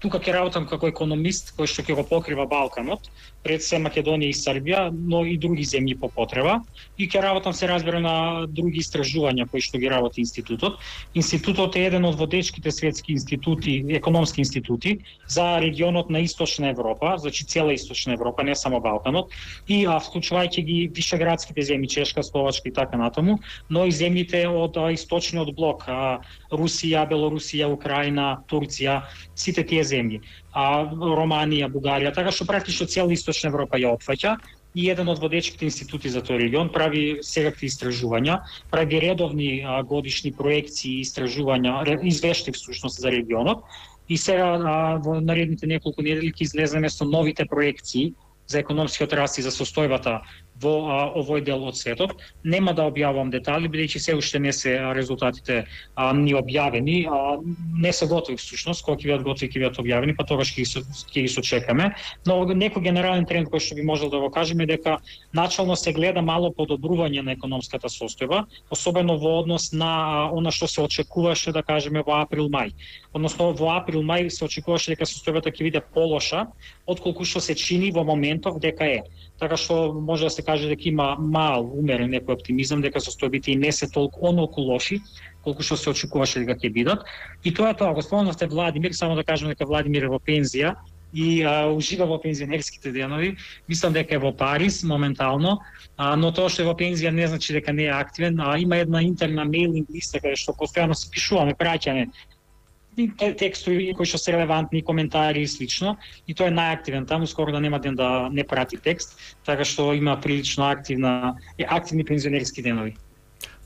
тука ќе работам како економист кој што ќе го покрива Балканот, пред се Македонија и Србија, но и други земји по потреба. И ќе работам се разбира на други истражувања кои што ги работи институтот. Институтот е еден од водечките светски институти, економски институти за регионот на Источна Европа, значи цела Источна Европа, не само Балканот, и а, вклучувајќи ги вишеградските земји, Чешка, Словачка и така натаму, но и земјите од а, источниот блок, а, Русија, Белорусија, Украина, Турција, сите тие земји, а Романија, Бугарија, така што практично цела Источна Европа ја опфаќа и еден од водечките институти за тој регион прави секакви истражувања, прави редовни а, годишни проекции, истражувања, извештаи всушност за регионот и сега а, во наредните неколку недели ќе излеземе со новите проекции за економскиот раст и за состојбата во а, овој дел од светот. Нема да објавам детали, бидејќи се уште не се резултатите а, ни објавени, а, не се готови всушност, кога ќе бидат готови ќе бидат објавени, па тогаш ќе ги, ги сочекаме. Но некој генерален тренд кој што би можел да го кажеме е дека начално се гледа мало подобрување на економската состојба, особено во однос на а, она што се очекуваше да кажеме во април-мај. Односно во април-мај се очекуваше дека состојбата ќе биде полоша отколку што се чини во моментов дека е. Така што може да се каже дека има мал умерен некој оптимизам дека состојбите и не се толку онолку лоши колку што се очекуваше дека ќе бидат. И тоа е тоа. Го спомнавте Владимир, само да кажам дека Владимир е во пензија и а, ужива во пензионерските денови. Мислам дека е во Париз моментално, а, но тоа што е во пензија не значи дека не е активен. А, има една интерна мейлинг листа каде што постојано се пишуваме, праќаме текстови кои што се релевантни, коментари и слично, и тој е најактивен таму, скоро да нема ден да не прати текст, така што има прилично активна активни пензионерски денови.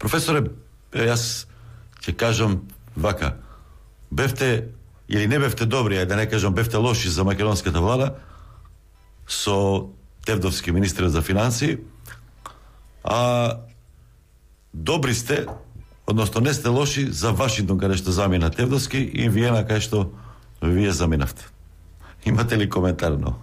Професоре, јас ќе кажам вака, бевте или не бевте добри, ајде да не кажам бевте лоши за македонската влада со Тевдовски министр за финансии, а добри сте, односно не сте лоши за Вашингтон каде што замина Тевдовски и Виена каде што вие заминавте. Имате ли коментар? Но?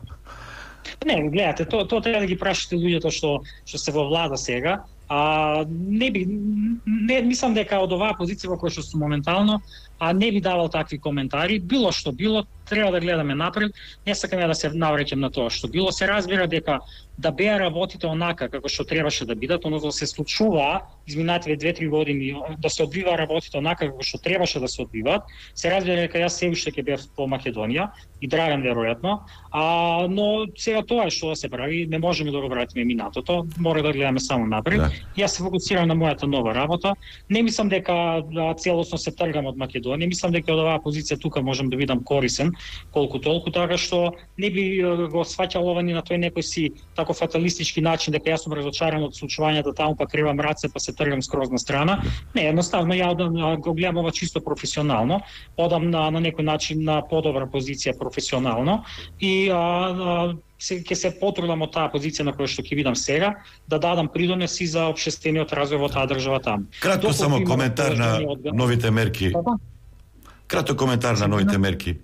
Не, гледате, тоа то треба да ги прашате луѓето што што се во влада сега. А не би не мислам дека од оваа позиција во која што сум моментално, а не би давал такви коментари, било што било, треба да гледаме напред, не сакаме да се навраќам на тоа што било, се разбира дека да беа работите онака како што требаше да бидат, односно се случува изминативе две-три години да се одвива работите онака како што требаше да се одвиваат, се разбира дека јас се уште ќе бев по Македонија и Драган веројатно, а но сега тоа е што да се прави, не можеме да го вратиме минатото, мора да гледаме само напред. Да. Јас се фокусирам на мојата нова работа. Не мислам дека да, целосно се тргам од Македонија, мислам дека од оваа позиција тука можам да бидам корисен колку толку, така што не би го сваќал ова ни на тој некој си тако фаталистички начин дека јас сум разочаран од случувањата таму, па кривам раце, па се тргам скроз на страна. Не, едноставно ја одам, го гледам ова чисто професионално, одам на, на некој начин на подобра позиција професионално и а, а, се ќе се потрудам од таа позиција на која што ќе видам сега да дадам придонес и за општествениот развој во таа држава таму. Кратко само коментар на новите мерки. Кратко коментар на новите мерки.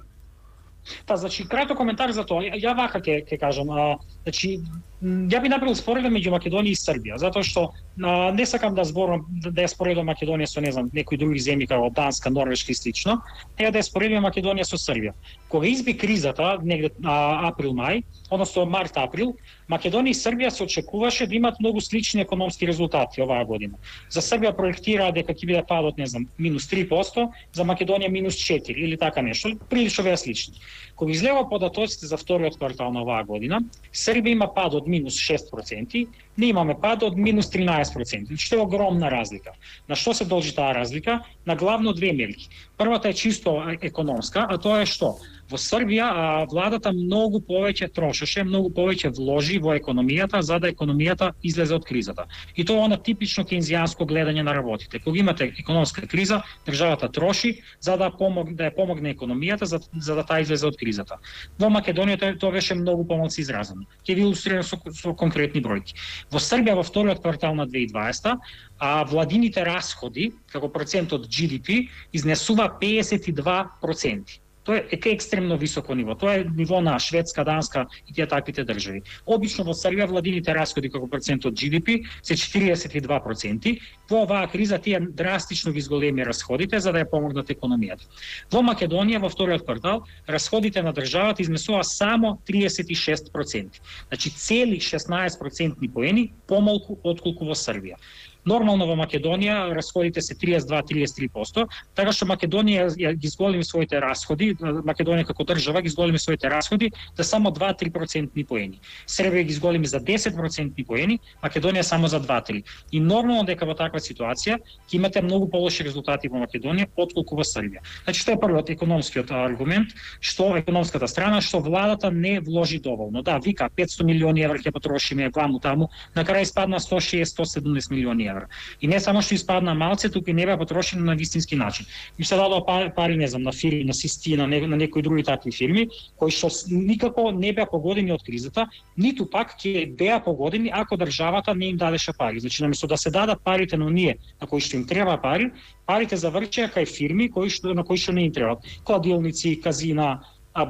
Та, значи, кратко коментар за тоа. Ја вака ќе ќе кажам, а, значи, ја би направил споредба меѓу Македонија и Србија, затоа што а, не сакам да зборам да ја споредам Македонија со, не знам, некои други земји како Данска, Норвешка и слично, тега да ја споредим Македонија со Србија. Кога изби кризата, негде април-мај, односно март-април, Македонија и Србија се очекуваше да имат многу слични економски резултати оваа година. За Србија проектираа дека ќе биде падот, не знам, минус три проценти, за Македонија минус четири или така нешто, прилично беа слични. Кога излева податоците за вториот квартал на оваа година, Србија има пад од минус шест проценти, ние имаме пад од минус тринаесет проценти, што е огромна разлика. На што се должи таа разлика? На главно две мерки. Првата е чисто економска, а тоа е што? Во Србија а, владата многу повеќе трошеше, многу повеќе вложи во економијата за да економијата излезе од кризата. И тоа е она типично кейнзијанско гледање на работите. Кога имате економска криза, државата троши за да помог да ја помогне економијата за, за да таа излезе од кризата. Во Македонија тоа, тоа беше многу помалку изразено. Ќе ви илустрирам со, со конкретни бројки. Во Србија во вториот квартал на две илјади и дваесета а владините расходи како процент од Джи Ди Пи изнесува педесет и два проценти. Тоа е екстремно високо ниво. Тоа е ниво на Шведска, Данска и тие таквите држави. Обично во Србија владините расходи како процент од Джи Ди Пи се четиридесет и два проценти. Во оваа криза тие драстично ги зголеми расходите за да ја помогнат економијата. Во Македонија во вториот квартал расходите на државата изнесува само тридесет и шест проценти. Значи цели шеснаесет процентни поени помалку отколку во Србија. Нормално во Македонија расходите се тридесет и два до тридесет и три проценти, така што Македонија ги зголеми своите расходи, Македонија како држава ги зголеми своите расходи за само два до три процентни поени. Србија ги зголеми за десет процентни поени, Македонија само за два до три. И нормално дека во таква ситуација ќе имате многу полоши резултати во Македонија отколку во Србија. Значи тоа е првиот економскиот аргумент, што економската страна, што владата не вложи доволно. Да, вика петстотини милиони евра ќе потрошиме ваму таму, на крај испадна сто шеесет до сто седумнаесет милиони евра. И не само што испадна малце, туку и не беа потрошени на вистински начин. Ми се дадоа пари, не знам, на фирми, на Систи, на, не, на некои други такви фирми, кои што никако не беа погодени од кризата, ниту пак ќе беа погодени ако државата не им дадеше пари. Значи, наместо да се дадат парите на оние на кои што им треба пари, парите завршеа кај фирми кои што, на кои што не им требаат. Кладилници, казина,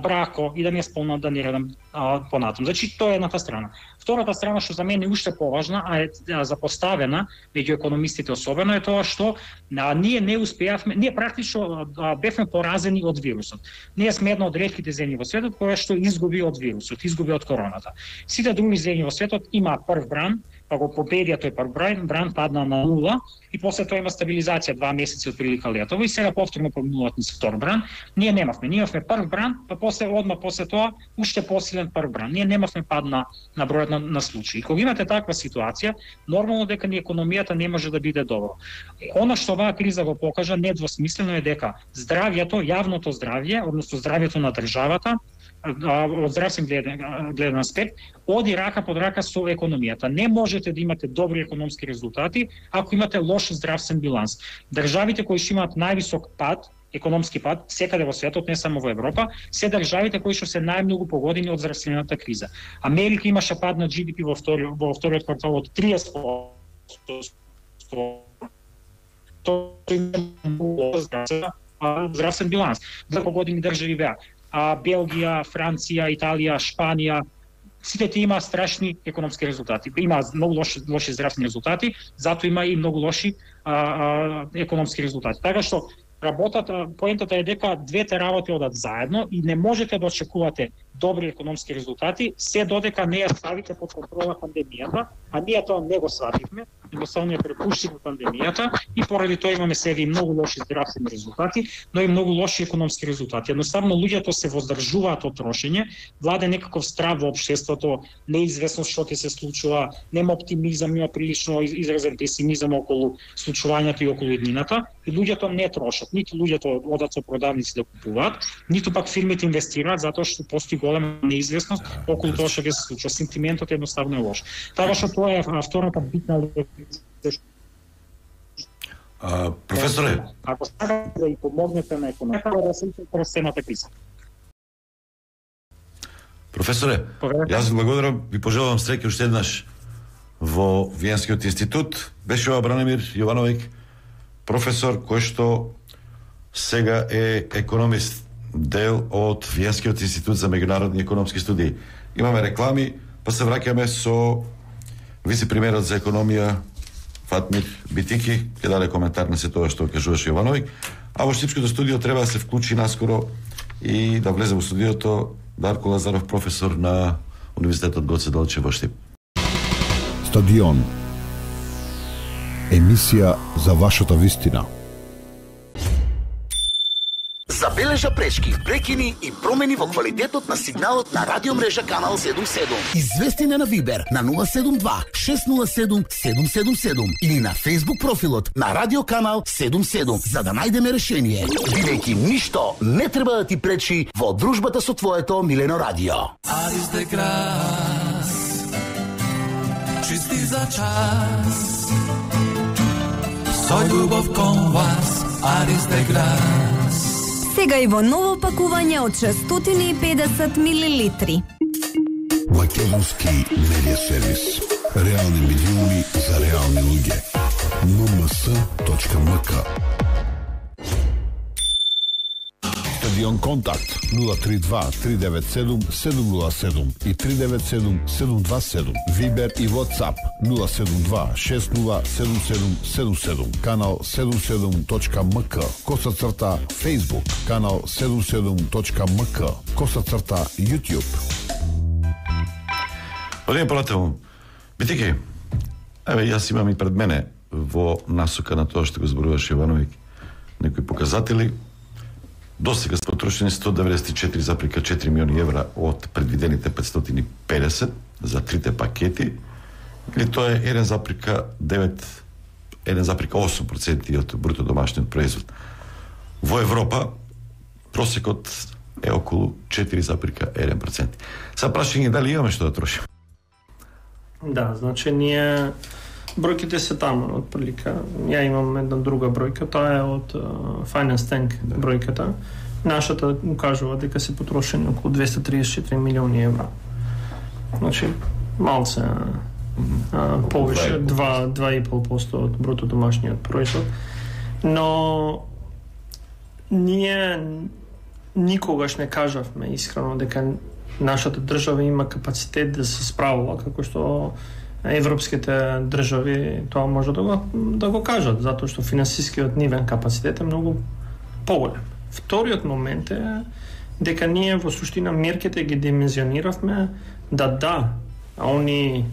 брако и да не спомнам да не редам а, понатам. Значи тоа е едната страна. Втората страна што за мене е уште поважна, а е запоставена меѓу економистите особено е тоа што а, ние не успеавме, ние практично а, бевме поразени од вирусот. Ние сме една од ретките земји во светот која што изгуби од вирусот, изгуби од короната. Сите други земји во светот има прв бран, па го победија тој прв бран, бран падна на нула и после тоа има стабилизација два месеци од прилика летово и сега повторно поминуваат низ втор бран. Ние немавме, ние имавме прв бран, па после одма после тоа уште посилен прв бран. Ние немавме пад на, на бројот на, на случаи. Кога имате таква ситуација, нормално дека ни економијата не може да биде добро. Она што оваа криза го покажа недвосмислено е дека здравјето, јавното здравје, односно здравјето на државата, од здравствен гледен, гледен аспект, оди рака под рака со економијата. Не можете да имате добри економски резултати ако имате лош здравствен биланс. Државите кои што имаат највисок пад, економски пад, секаде во светот, не само во Европа, се државите кои што се најмногу погодени од здравствената криза. Америка имаше пад на Джи Ди Пи во вториот во вториот квартал од триесет проценти. Тоа здравствен биланс. Две погодени држави беа а Белгија, Франција, Италија, Шпанија, сите тие имаат страшни економски резултати. Има многу лоши, лоши здравствени резултати, затоа има и многу лоши а, а, економски резултати. Така што работата, поентата е дека двете работи одат заедно и не можете да очекувате добри економски резултати се додека не ја ставите под контрола пандемијата, а ние тоа не го свативме, едноставно ја препуштивме пандемијата и поради тоа имаме сега и многу лоши здравствени резултати, но и многу лоши економски резултати. Едноставно луѓето се воздржуваат од трошење, владе некаков страв во општеството, неизвестност што ќе се случува, нема оптимизам, има прилично изразен песимизам околу случувањето и околу иднината, и луѓето не трошат, ниту луѓето одат со продавници да купуваат, ниту пак фирмите инвестираат затоа што постои голема неизвестност околу тоа што ќе се случи. Сентиментот едноставно е лош. Така што тоа е втората битна лекција. А, професоре, ако сакате да и помогнете на економиката, да се през темата криза. Професоре, јас ви благодарам, ви пожелавам среќа уште еднаш во Виенскиот институт. Беше ова Бранимир Јовановиќ, професор кој што сега е економист, дел од Виенскиот институт за меѓународни економски студии. Имаме реклами, па се враќаме со вице-премиерот за економија Фатмир Битики, ќе даде коментар на се тоа што кажуваше Јовановиќ, а во Штипското студио треба да се вклучи наскоро и да влезе во студиото Дарко Лазаров, професор на Универзитетот Гоце Делчев во Штип. Стадион. Емисија за вашата вистина. Забележа пречки, прекини и промени во квалитетот на сигналот на радиомрежа Канал седум седум. Извести на Вибер на нула седум два шест нула седум седум седум седум или на Facebook профилот на Радио Канал седум седум за да најдеме решение. Бидејќи ништо не треба да ти пречи во дружбата со твоето милено радио. Aris de Gras, чисти за час, со љубов кон вас, Aris de Gras. Сега и во ново пакување од шестстотини и педесет милилитри. Македонски медиа сервис. Реални милиони за реални луѓе. ен ем ес точка ем ка. Стадион Контакт нула три два три девет седум седум нула седум и три девет седум седум два седум. Вибер и WhatsApp нула седум два шест нула седум седум седум седум. Канал седум седум точка ем ка. Коса црта Facebook. Канал седум седум точка ем ка. Коса црта YouTube. Одиме понатаму. Битики, еве јас имам и пред мене во насока на тоа што го зборуваше Јовановиќ некои показатели. До сега се потрошени сто деветдесет и четири зарез четири милиони евра од предвидените петстотини и педесет за трите пакети, или тоа е еден зарез девет еден зарез осум проценти од бруто домашниот производ. Во Европа просекот е околу четири зарез еден процент. Са прашање дали имаме што да трошиме? Да, значи ние бројките се таму отприлика. Ја имам една друга бројка, таа е од uh, Finance Tank бројката. Нашата кажува дека се потрошени околу двеста триесет и четири милиони евра. Значи малце а, повише два и пол проценти од бруто домашниот производ. Но ние никогаш не кажавме искрено дека нашата држава има капацитет да се справува како што европските држави тоа може да го, да го кажат, затоа што финансискиот нивен капацитет е многу поголем. Вториот момент е дека ние во суштина мерките ги димензиониравме да да, а они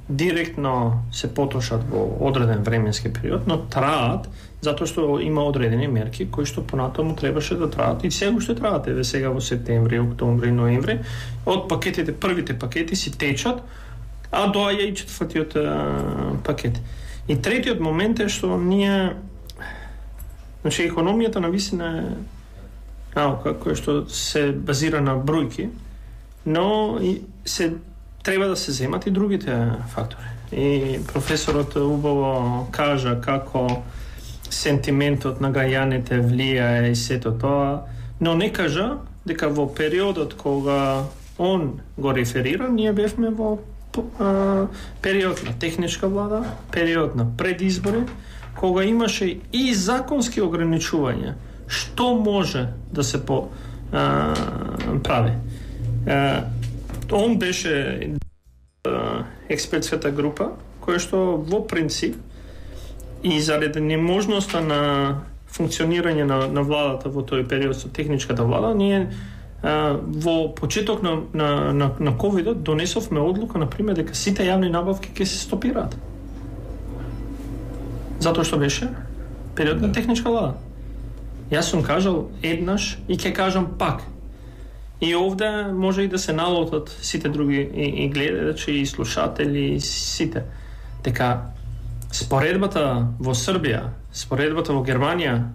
директно се потрошат во одреден временски период, но траат затоа што има одредени мерки кои што понатаму требаше да траат и сега уште траат. Еве сега во септември, октомври, ноември, од пакетите, првите пакети си течат, а доаѓа и четвртиот а, пакет. И третиот момент е што ние, значи економијата на висина е наука која што се базира на бројки, но и се треба да се земат и другите фактори. И професорот убаво кажа како сентиментот на гајаните влијае и сето тоа, но не кажа дека во периодот кога он го реферира, ние бевме во период на техничка влада, период на предизбори, кога имаше и законски ограничувања што може да се по, а, прави. А, он беше а, експертската група која што во принцип и заради неможноста на функционирање на, на владата во тој период со техничката влада, ние а, во почеток на, на, на, на ковидот донесовме одлука, например, дека сите јавни набавки ќе се стопираат. Затоа што беше период на техничка влада. Јас сум кажал еднаш и ќе кажам пак. И овде може и да се налутат сите други и, и гледачи, и слушатели, и сите. Дека споредбата во Србија, споредбата во Германија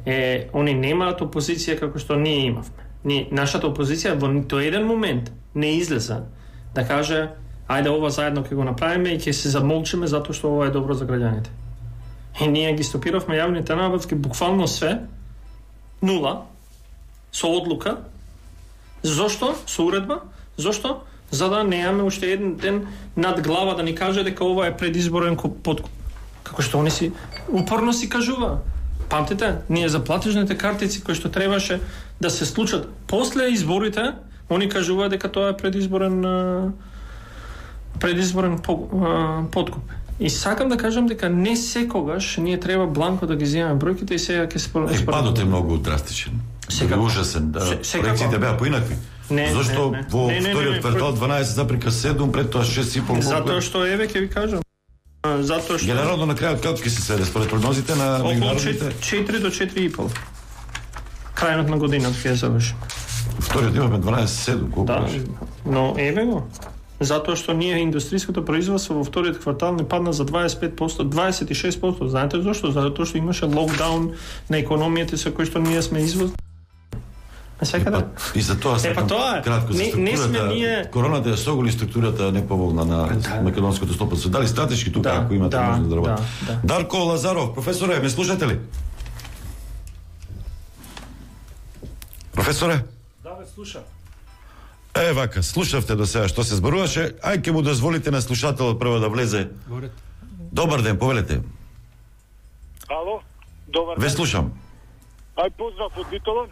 е, они немаат опозиција како што ние имавме. Ни, нашата опозиција во нито еден момент не излезе да каже ајде ова заедно ќе го направиме и ќе се замолчиме затоа што ова е добро за граѓаните. И ние ги стопиравме јавните набавки буквално све, нула, со одлука. Зошто? Со уредба? Зошто? За да неаме уште еден ден над глава да ни каже дека ова е предизборен подкуп. Како што они си упорно си кажува. Памтите, ние за платежните картици кои што требаше да се случат после изборите, они кажува дека тоа е предизборен предизборен подкуп. И сакам да кажам дека не секогаш ние треба бланко да ги земеме бројките и сега ќе спорам. Е, падот е многу драстичен. Секако. Ужасен. Да, проекциите беа поинакви. Не, Зошто не, не. во не, не, вториот не, не, квартал дванаесет запрека седум, пред тоа шест и пол. Затоа што еве ќе ви кажам. Затоа што генерално на крајот како ќе се сведе според прогнозите на меѓународните четири до четири и пол. Крајот на годината ќе заврши. Вториот имаме дванаесет седум, колку да, беше? Но еве го. Затоа што ние индустријското производство во вториот квартал не падна за дваесет и пет проценти, дваесет и шест проценти. Знаете зошто? Затоа што имаше локдаун на економијата со кој што ние сме извоз. Секаде. И за тоа сакам кратко за структурата. Не, не сме ние... Короната ја соголи структурата неповолна на да. македонското стопанство. Дали стратешки тука, да, ако имате да, можност да работите? Да, да. Дарко Лазаров, професоре, ме слушате ли? Професоре? Да, ме слушам. Е, вака, слушавте до сега што се зборуваше. Ај ќе му дозволите на слушателот прво да влезе. Говорете. Добар ден, повелете. Ало, добар ден. Ве слушам. Ај поздрав од Битола.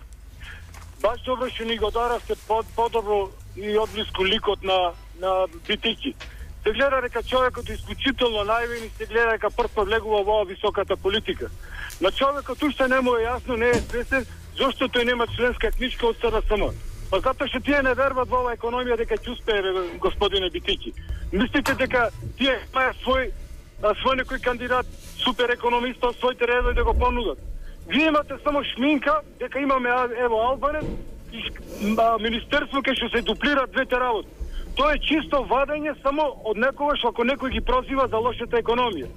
Баш добро што ни го даравте под, подобро и одблиску ликот на, на Битики. Се гледа дека човекот е исклучително наивен и се гледа дека прв влегува во високата политика. На човекот уште не му е јасно, не е свесен, зошто тој нема членска книжка од С R S M. Па затоа што тие не вербат во оваа економија дека ќе успее, господине Битики. Мислите дека тие имаат свој свој некој кандидат супер економист од своите редови да го понудат? Вие имате само шминка дека имаме ево Албанец и министерство кај што се дуплираат двете работи. Тоа е чисто вадење само од некогаш ако некој ги прозива за лошата економија.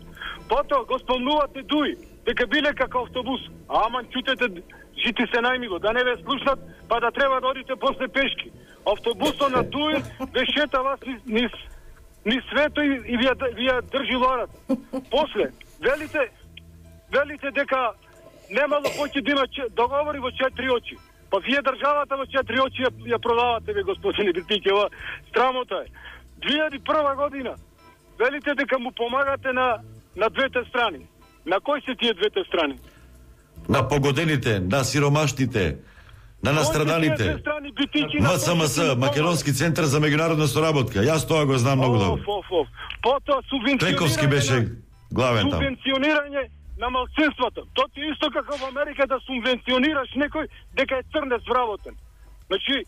Потоа го спомнувате Дуи дека биле како автобус. Аман чутете жити се најмило, да не ве слушнат, па да треба да одите после пешки. Автобусот на Дуи ве шета вас низ, низ, низ свето и, и вие, вие држи лорат. После, велите, велите дека немало поќе да има договори во четири очи. Па вие државата во четири очи ја, ја продавате, ве, господине Битикева. Страмота е. две илјади и прва година, велите дека му помагате на, на двете страни. На кои се тие двете страни? На погодените, на сиромашните, на настраданите. М С М С, Македонски центар за меѓународна соработка. Јас тоа го знам многу добро. Потоа субвенционирање. Трековски беше главен там. Субвенционирање на малцинствата. Тоа е исто како во Америка да субвенционираш некој дека е црнец вработен. Значи,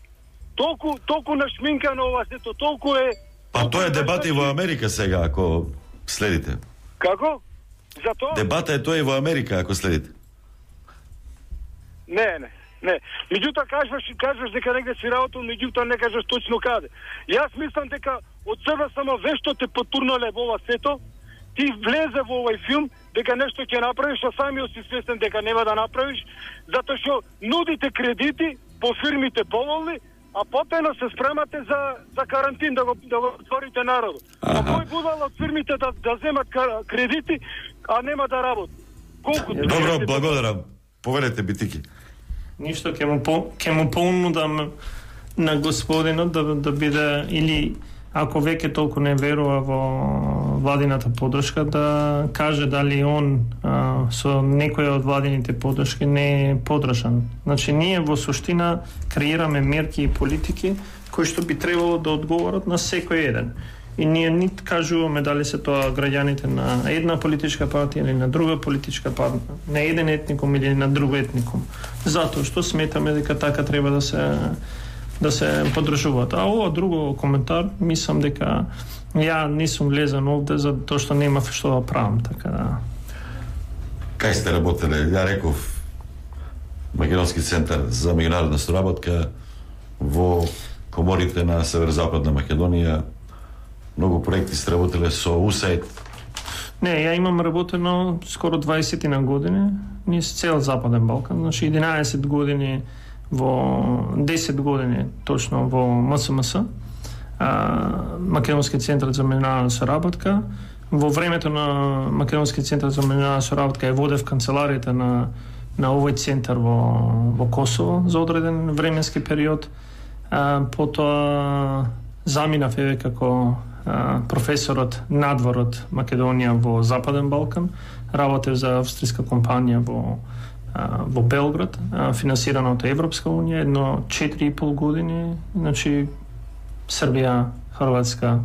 толку толку нашминка на ова сето, толку е. Па тоа е дебата и во Америка сега, ако следите. Како? За тоа? Дебата е тоа и во Америка, ако следите. Не, не, не. Меѓутоа кажуваш, кажуваш дека негде си работел, меѓутоа не кажеш точно каде. Јас мислам дека од себе само вешто те потурнале во ова сето, ти влезе во овој филм дека нешто ќе направиш, а самиот си свесен дека нема да направиш, затоа што нудите кредити по фирмите поволни, а потоа се спремате за за карантин да го да го отворите народот. А кој будал од фирмите да да земат кредити, а нема да работи? Колку? Добро, благодарам. Повелете, Битики. Ништо ќе му по, ќе му понудам на господинот да да биде или ако веќе толку не верува во владината поддршка, да каже дали он а, со некоја од владините поддршки не е подржан. Значи ние во суштина креираме мерки и политики кои што би требало да одговорат на секој еден. И ние ни кажуваме дали се тоа граѓаните на една политичка партија или на друга политичка партија, на еден етникум или на друг етникум. Затоа што сметаме дека така треба да се да се поддржуваат. А ова друго коментар, мислам дека ја не сум влезен овде за тоа што нема што да правам, така да. Кај сте работеле? Ја реков Македонски центар за меѓународна соработка во коморите на Северозападна Македонија. Многу проекти сте работеле со ю ес ей ай ди. Не, ја имам работено скоро дваесет на години низ цел Западен Балкан, значи единаесет години во десет години точно во М С М С, а, Македонски центар за меѓународна соработка. Во времето на Македонски центар за меѓународна соработка е водев канцеларијата на на овој центар во во Косово за одреден временски период. А, потоа заминав еве како а, професорот надвор од Македонија во Западен Балкан. Работев за австријска компанија во а, во Белград, а, финансирана од Европска унија, едно четири и пол години, значи Србија, Хрватска,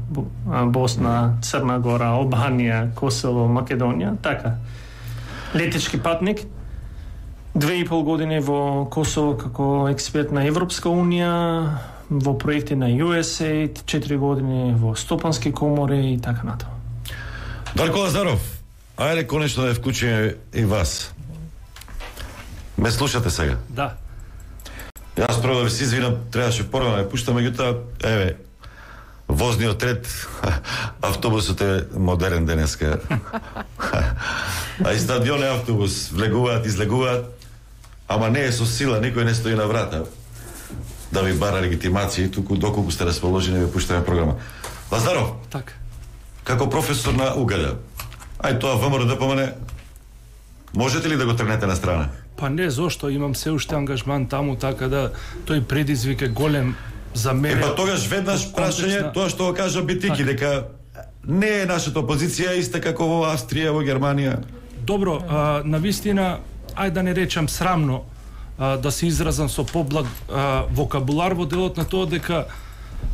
Босна, Црна Гора, Албанија, Косово, Македонија, така. Летечки патник. Две и пол години во Косово како експерт на Европска унија, во проекти на ю ес ей ай ди, четири години во стопански комори и така натаму. Дарко Лазаров, ајде конечно да вклучиме и вас. Ме слушате сега? Да. Јас прво да ви се извинам, требаше порано да ја пуштам, меѓутоа, еве, возниот ред, автобусот е модерен денеска. А и стадион е автобус, влегуваат, излегуваат, ама не е со сила, никој не стои на врата да ви бара легитимација, туку доколку сте расположени ви пуштаме програма. Лазаров, така. Како професор на Угада, ај тоа ВМРО Д П М Н, можете ли да го тргнете на страна? Па не, зошто имам се уште ангажман таму, така да тој предизвик е голем за мене. Е, па тогаш веднаш прашање, тоа што го кажа Битики, дека не е нашата опозиција иста како во Австрија, во Германија. Добро, а, на вистина, ајде да не речам срамно, а, да се изразам со поблаг а, вокабулар во делот на тоа дека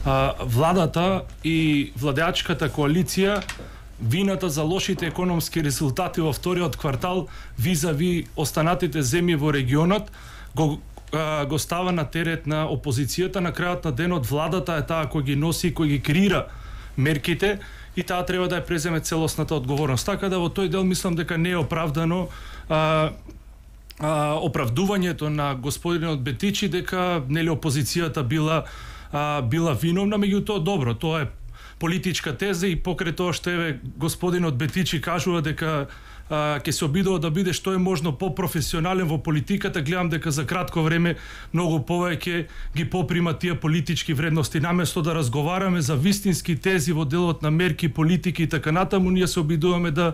а, владата и владеачката коалиција вината за лошите економски резултати во вториот квартал визави останатите земји во регионот го го става на терет на опозицијата. На крајот на денот владата е таа кој ги носи и кој ги креира мерките и таа треба да ја преземе целосната одговорност. Така да во тој дел мислам дека не е оправдано а, а, оправдувањето на господинот Бетичи дека нели опозицијата била а, била виновна, меѓутоа добро, тоа е политичка теза и покрај тоа што еве господинот Бетичи кажува дека а, ќе се обидува да биде што е можно по-професионален во политиката, гледам дека за кратко време многу повеќе ги поприма тие политички вредности. Наместо да разговараме за вистински тези во делот на мерки, политики и така натаму, ние се обидуваме да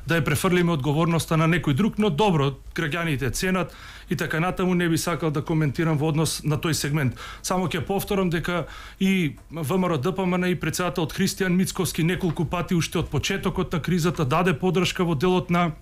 да ја префрлиме одговорноста на некој друг, но добро, граѓаните ценат и така натаму, не би сакал да коментирам во однос на тој сегмент. Само ќе повторам дека и ВМРО Д П М Н и председателот Христијан Мицковски неколку пати уште од почетокот на кризата даде подршка во делот на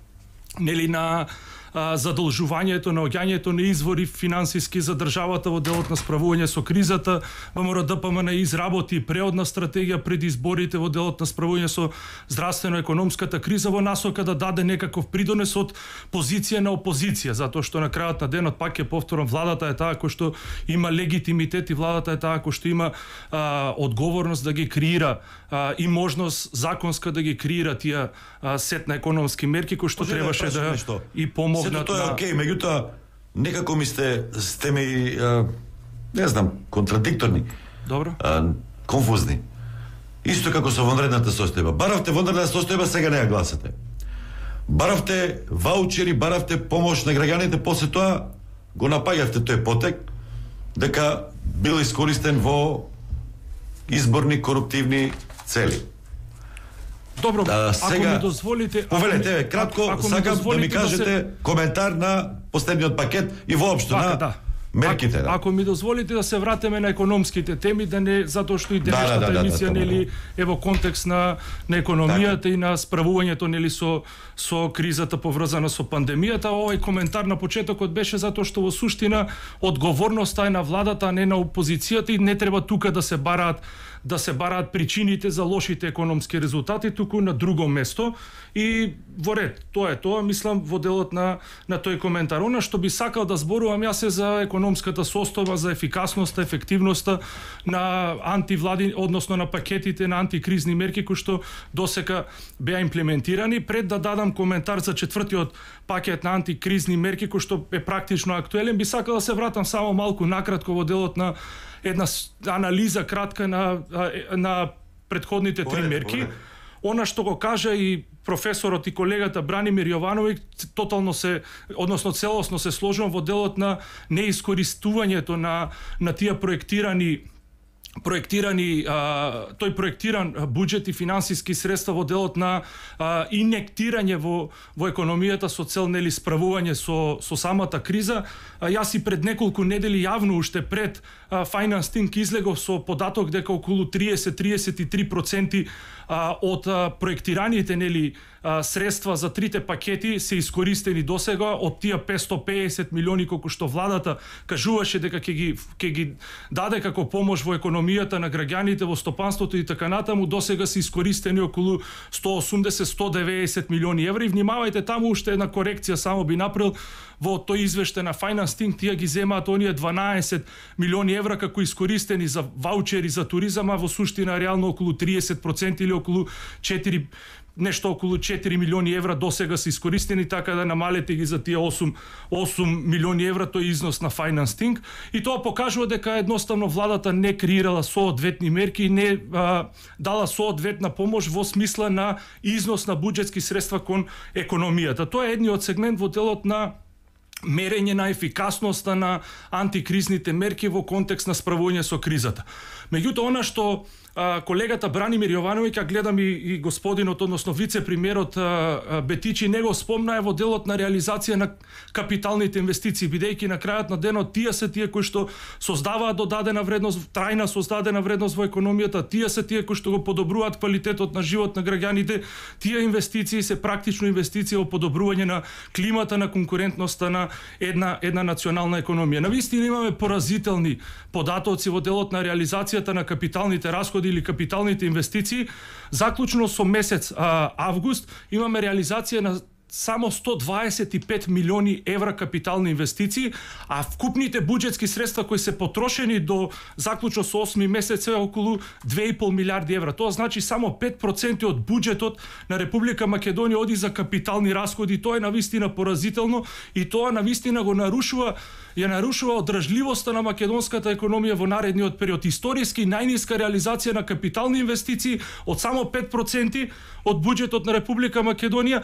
нели на а, задолжувањето, на оѓањето на извори финансиски за државата во делот на справување со кризата. ВМРО Д П М Н изработи преодна стратегија пред изборите во делот на справување со здравствено-економската криза во насока да даде некаков придонес од позиција на опозиција, затоа што на крајот на денот пак ќе повторам, владата е таа кој што има легитимитет и владата е таа кој што има а, одговорност да ги креира а, и можност законска да ги креира тие а, сет на економски мерки кои што требаше да нешто. И помогнат. Сето тоа е окей, меѓутоа некако ми сте сте ми а, не знам, контрадикторни. Добро. А, конфузни. Исто како со вонредната состојба. Баравте вонредна состојба, сега не ја гласате. Баравте ваучери, баравте помош на граѓаните, после тоа го напаѓавте тој потек дека бил искористен во изборни коруптивни цели. Добро, да, сега, ако ми дозволите... Повелете, ако, кратко, ако сакам да ми кажете да се... коментар на последниот пакет и воопшто Вака, на да. мерките. Ако, ако ми дозволите да се вратиме на економските теми, да не затоа што и денешната да, да, да, емисија да, нели е во контекст на на економијата так. И на справувањето нели со со кризата поврзана со пандемијата. Овој коментар на почетокот беше затоа што во суштина одговорноста е на владата, а не на опозицијата и не треба тука да се бараат да се бараат причините за лошите економски резултати, туку на друго место. И во ред, тоа е тоа, мислам, во делот на на тој коментар. Она што би сакал да зборувам јас е за економската состојба, за ефикасноста, ефективноста на антивлади, односно на пакетите на антикризни мерки кои што досека беа имплементирани. Пред да дадам коментар за четвртиот пакет на антикризни мерки кој што е практично актуелен, би сакал да се вратам само малку накратко во делот на една анализа кратка на на претходните три мерки. Она што го кажа и професорот и колегата Бранимир Јовановиќ, тотално се, односно целосно се сложувам во делот на неискористувањето на на тие проектирани проектирани а, тој проектиран буџет и финансиски средства во делот на а, инектирање во во економијата со цел нели справување со со самата криза. А, јас и пред неколку недели јавно уште пред а, Finance Think излегов со податок дека околу триесет до триесет и три проценти а, од а, проектираните нели а, средства за трите пакети се искористени досега од тие петстотини и педесет милиони колку што владата кажуваше дека ќе ги ќе ги даде како помош во економијата на граѓаните, во стопанството и така натаму, досега се искористени околу сто осумдесет до сто деветдесет милиони евра. И внимавајте, таму уште една корекција само би направил во тој извештај на Finance Think, тие ги земаат оние дванаесет милиони евра како искористени за ваучери за туризам, а во суштина реално околу триесет проценти или околу четири нешто околу четири милиони евра досега се искористени, така да намалете ги за тие осум милиони евра, тој износ на Finance Think. И тоа покажува дека едноставно владата не креирала соодветни мерки и не а, дала соодветна помош во смисла на износ на буџетски средства кон економијата. Тоа е едниот сегмент во делот на мерење на ефикасноста на антикризните мерки во контекст на справување со кризата. Меѓутоа, она што а, колегата Бранимир Јовановиќ, а гледам и, и господинот, односно вице-премиерот Бетичи, не го спомна е во делот на реализација на капиталните инвестиции, бидејќи на крајот на денот тие се тие кои што создаваат додадена вредност, трајна создадена вредност во економијата, тие се тие кои што го подобруваат квалитетот на живот на граѓаните, тие инвестиции се практично инвестиции во подобрување на климата, на конкурентноста на една една национална економија. Навистина имаме поразителни податоци во делот на реализацијата на капиталните расходи или капиталните инвестиции. Заклучно со месец а, август имаме реализација на само сто дваесет и пет милиони евра капитални инвестиции, а вкупните буџетски средства кои се потрошени до заклучно со осми месец е околу две и пол милиарди евра. Тоа значи само пет проценти од буџетот на Република Македонија оди за капитални расходи. Тоа е навистина поразително и тоа навистина го нарушува ја нарушува одржливоста на македонската економија во наредниот период. Историски најниска реализација на капитални инвестиции од само пет проценти од буџетот на Република Македонија.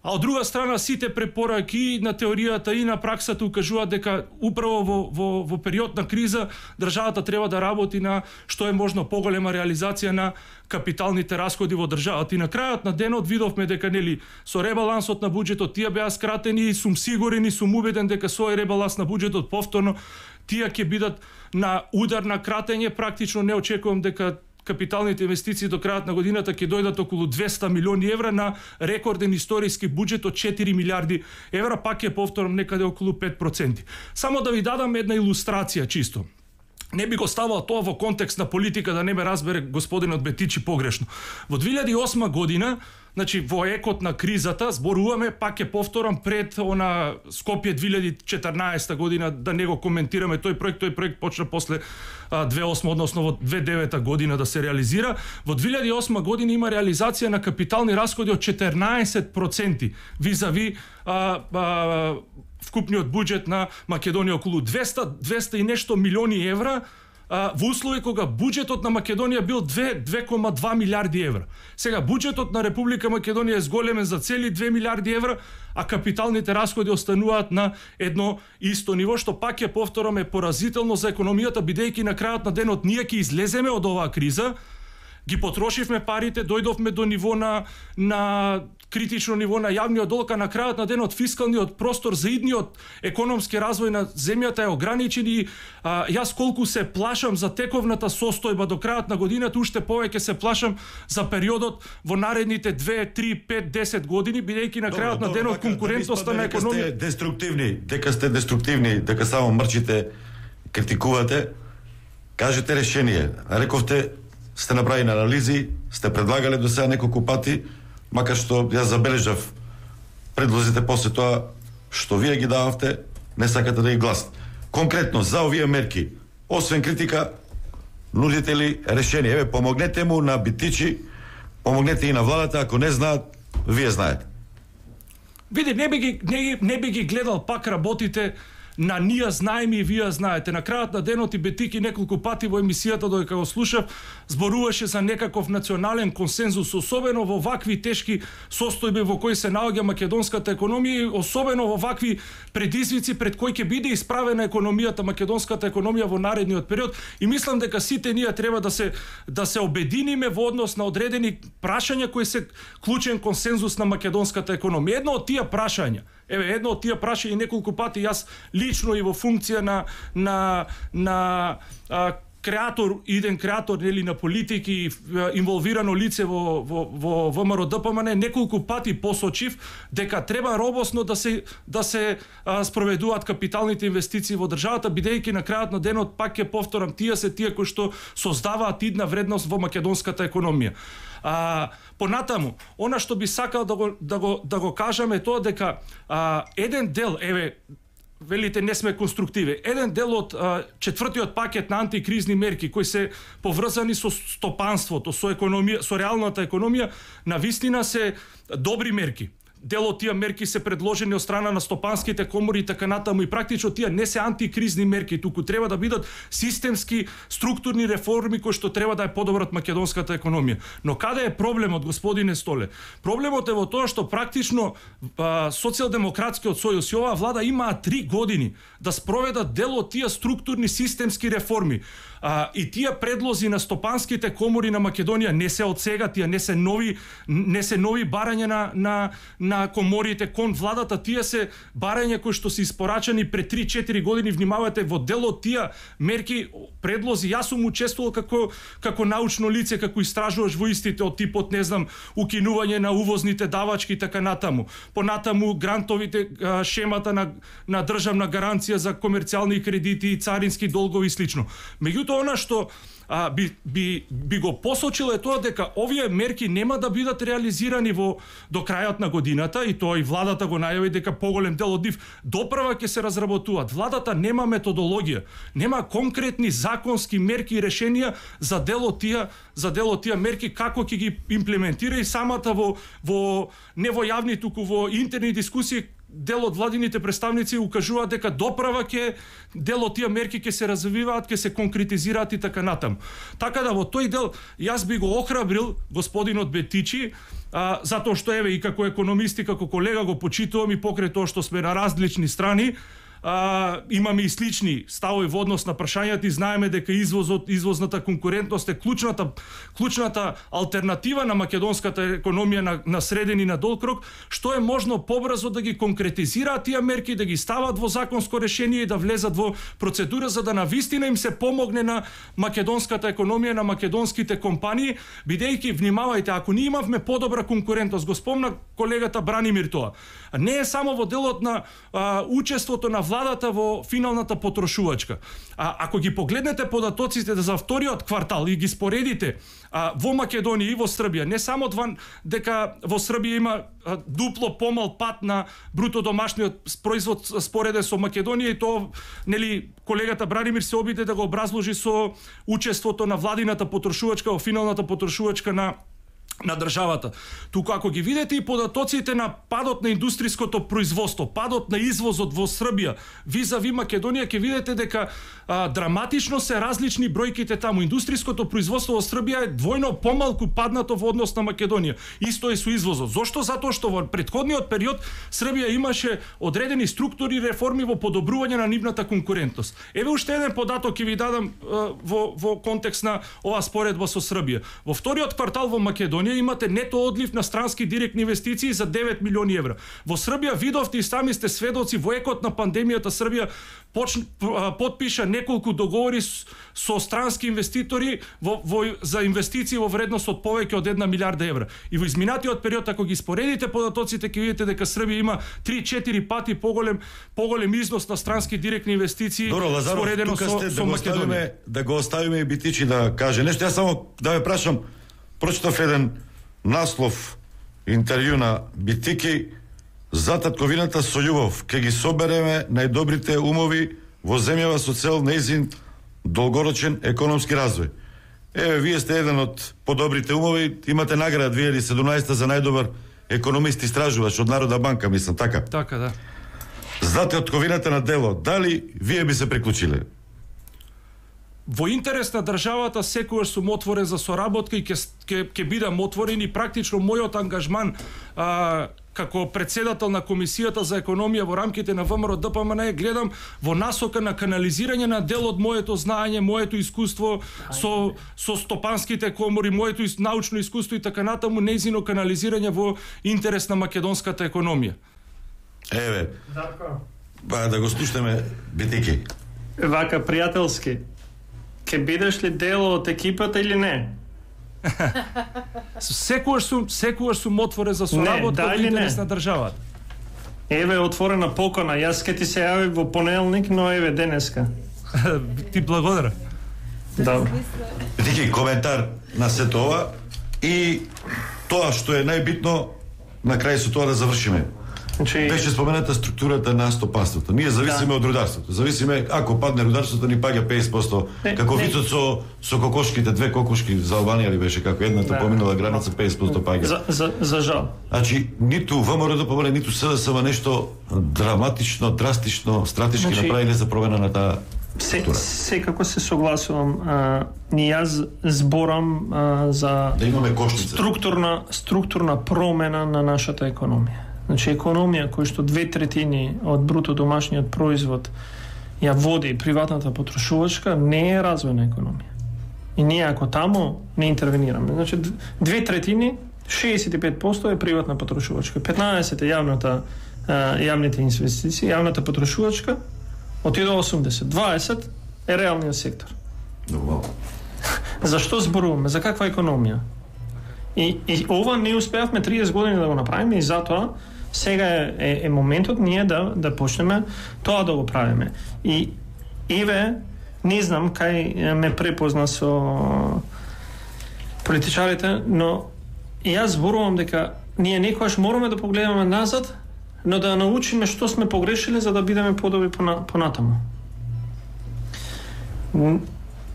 А од друга страна, сите препораки на теоријата и на праксата укажуваат дека управо во, во, во период на криза државата треба да работи на што е можно поголема реализација на капиталните расходи во државата. И на крајот на денот видовме дека нели со ребалансот на буџетот тие беа скратени и сум сигурен и сум убеден дека со ребаланс на буџетот повторно тие ќе бидат на удар на кратење. Практично не очекувам дека капиталните инвестиции до крајот на годината ќе дојдат околу двесте милиони евра на рекорден историски буџет од четири милиарди евра, пак ќе повторам некаде околу пет проценти. Само да ви дадам една илустрација чисто. Не би го ставал тоа во контекст на политика, да не ме разбере господинот Бетичи погрешно. Во две илјади и осма година, значи во екот на кризата, зборуваме, пак ќе повторам, пред она Скопје две илјади и четрнаесета година, да не го коментираме тој проект, тој проект почна после две илјади и осма, односно во две илјади и девета година да се реализира. Во две илјади и осма година има реализација на капитални расходи од четрнаесет проценти визави а, а, вкупниот буџет на Македонија, околу двесте, двесте и нешто милиони евра, а, во услови кога буџетот на Македонија бил две кома два милиарди евра. Сега буџетот на Република Македонија е зголемен за цели две милиарди евра, а капиталните расходи остануваат на едно исто ниво, што пак ќе повторам е поразително за економијата, бидејќи на крајот на денот ние ќе излеземе од оваа криза ги потрошивме парите, дојдовме до ниво на на критично ниво на јавниот долг, а на крајот на денот фискалниот простор за идниот економски развој на земјата е ограничен и а, јас колку се плашам за тековната состојба до крајот на годината, уште повеќе се плашам за периодот во наредните две, три, пет, десет години, бидејќи на крајот на денот конкурентноста на економија... Дека сте деструктивни, дека сте деструктивни, дека само мрчите, критикувате, кажете решение. Рековте, сте направили анализи, сте предлагале до сега неколку пати, макар што јас забележав предлозите после тоа што вие ги дававте, не сакате да ги гласате. Конкретно за овие мерки, освен критика, нудите ли решение? Еве, помогнете му на Битичи, помогнете и на владата, ако не знаат, вие знаете. Види, не би ги, не, не би ги гледал пак работите на ние знаеме и вие знаете. На крајот на денот и Бетики неколку пати во емисијата додека го слушав, зборуваше за некаков национален консензус, особено во вакви тешки состојби во кои се наоѓа македонската економија, особено во вакви предизвици пред кои ќе биде исправена економијата, македонската економија во наредниот период. И мислам дека сите ние треба да се да се обединиме во однос на одредени прашања кои се клучен консензус на македонската економија. Едно од тие прашања, еве едно од тие прашања неколку пати јас лично и во функција на на на а, креатор, иден креатор нели на политики и инволвирано лице во во во ВМРО-ДПМН неколку пати посочив дека треба робосно да се да се а, спроведуваат капиталните инвестиции во државата, бидејќи на крајот на денот пак ќе повторам, тие се тие кои што создаваат идна вредност во македонската економија. А, понатаму, она што би сакал да го да го да го кажам е тоа дека а, еден дел, еве велите не сме конструктиви. Еден дел од а, четвртиот пакет на антикризни мерки кои се поврзани со стопанството, со економија, со реалната економија, навистина се добри мерки. Дел од тие мерки се предложени од страна на стопанските комори и така натаму и практично тие не се антикризни мерки, туку треба да бидат системски структурни реформи кои што треба да ја подобрат македонската економија. Но каде е проблемот, господине Столе? Проблемот е во тоа што практично а, социјалдемократскиот сојуз и оваа влада имаа три години да спроведат дел од тие структурни системски реформи. А, и тие предлози на стопанските комори на Македонија не се од сега, тие не се нови не се нови барања на на на коморите кон владата, тие се барања кои што се испорачани пред три-четири години. Внимавате, во дел од тие мерки, предлози, јас сум учествувал како како научно лице, како истражуваш во истите од типот, не знам, укинување на увозните давачки и така натаму. Понатаму грантовите, а, шемата на на државна гаранција за комерцијални кредити и царински долгови и слично. Меѓутоа, она што а, би, би, би го посочил е тоа дека овие мерки нема да бидат реализирани во до крајот на годината, и тоа и владата го најави дека поголем дел од нив допрва ќе се разработуваат. Владата нема методологија, нема конкретни законски мерки и решенија за дел од тие за дел од тие мерки како ќе ги имплементира, и самата во во не во јавни, туку во интерни дискусии дел од владините представници укажуваат дека доправа ќе дел од тие мерки ќе се развиваат, ќе се конкретизираат и така натаму. Така да во тој дел јас би го охрабрил господинот Бетичи, а, затоа што еве и како економист и како колега го почитувам, и покрај тоа што сме на различни страни, а, имаме и слични ставови во однос на прашањата и знаеме дека извозот, извозната конкурентност е клучната клучната алтернатива на македонската економија на, на среден и на долг рок, што е можно побрзо да ги конкретизираат тие мерки, да ги стават во законско решение и да влезат во процедура, за да навистина им се помогне на македонската економија, на македонските компании, бидејќи, внимавајте, ако ние имавме подобра конкурентност, го спомна колегата Бранимир тоа, не е само во делот на а, учеството на владата во финалната потрошувачка. А ако ги погледнете податоците за вториот квартал и ги споредите а, во Македонија и во Србија, не само два, дека во Србија има а, дупло помал пат на бруто домашниот производ спореден со Македонија, и тоа нели колегата Бранимир се обиде да го образложи со учеството на владината потрошувачка во финалната потрошувачка на на државата. Туку ако ги видите и податоците на падот на индустријското производство, падот на извозот во Србија, визави Македонија, ќе видите дека а, драматично се различни бројките таму. Индустријското производство во Србија е двојно помалку паднато во однос на Македонија. Исто е со извозот. Зошто? Затоа што во претходниот период Србија имаше одредени структури реформи во подобрување на нивната конкурентност. Еве уште еден податок ќе ви дадам а, во во контекст на оваа споредба со Србија. Во вториот квартал во Македонија имате нето одлив на странски директни инвестиции за девет милиони евра. Во Србија видовте и сами сте сведоци, во екот на пандемијата Србија почна, подпиша неколку договори со странски инвеститори во, во, за инвестиции во вредност од повеќе од една милиарда евра. И во изминатиот период, ако ги споредите податоците, ќе видите дека Србија има три-четири пати поголем поголем износ на странски директни инвестиции. Добро, Лазаров, споредено тука со, сте, со да Македонија. Да го оставиме и Битичи да каже нешто. Јас само да ве прашам, прочитав еден наслов интервју на Битики за татковината со љубов. Ке ги собереме најдобрите умови во земјава со цел нејзин долгорочен економски развој. Еве, вие сте еден од подобрите умови, имате награда две илјади и седумнаесета за најдобар економист истражувач од Народна банка, мислам, така? Така, да. За татковината на дело, дали вие би се приклучиле? Во интерес на државата секогаш сум отворен за соработка и ќе ќе ќе бидам отворен и практично мојот ангажман а, како председател на Комисијата за економија во рамките на ВМРО Д П М Н гледам во насока на канализирање на дел од моето знаење, моето искуство со со стопанските комори, моето научно искуство и така натаму, нејзино канализирање во интерес на македонската економија. Еве. Ба да го слушнеме Битики. Вака пријателски. Ке бидеш ли дел од екипата или не? Секогаш сум, секогаш сум отворен за соработка во интерес на државата. Еве отворена покана, јас ке ти се јави во понеделник, но еве денеска. Ти благодарам. Добро. Битики, коментар на сето ова и тоа што е најбитно на крај со тоа да завршиме. Значи... Беше спомената структурата на стопанството. Ние зависиме да. од рударството. Зависиме, ако падне рударството, ни паѓа петдесет проценти. Не, како не. Вицот со, со кокошките, две кокошки за Албанија ли беше, како едната да. поминала граница, петдесет проценти паѓа. За, за, за жал. Значи, ниту ВМРО да помине, ниту С Д С М нешто драматично, драстично, стратешки значи... направиле за промена на таа структура. Се, секако се согласувам. А, ни јас зборам а, за да имаме кошница. Структурна, структурна промена на нашата економија. Значи, економија која што две третини од бруто домашниот производ ја води приватната потрошувачка, не е развојна економија. И ние ако таму не интервенираме. Значи, две третини, шеесет и пет проценти е приватна потрошувачка, петнаесет е јавната, јавните инвестиции, јавната потрошувачка, отиде осумдесет, дваесет е реалниот сектор. Нормално. Зашто зборуваме? За каква економија? И, и ова не успеавме триесет години да го направиме и затоа сега е, е, е моментот ние да, да почнеме тоа да го правиме. И еве, не знам кај ме препозна со политичарите, но јас зборувам дека ние некојаш мораме да погледаме назад, но да научиме што сме погрешили за да бидеме подобри понатаму.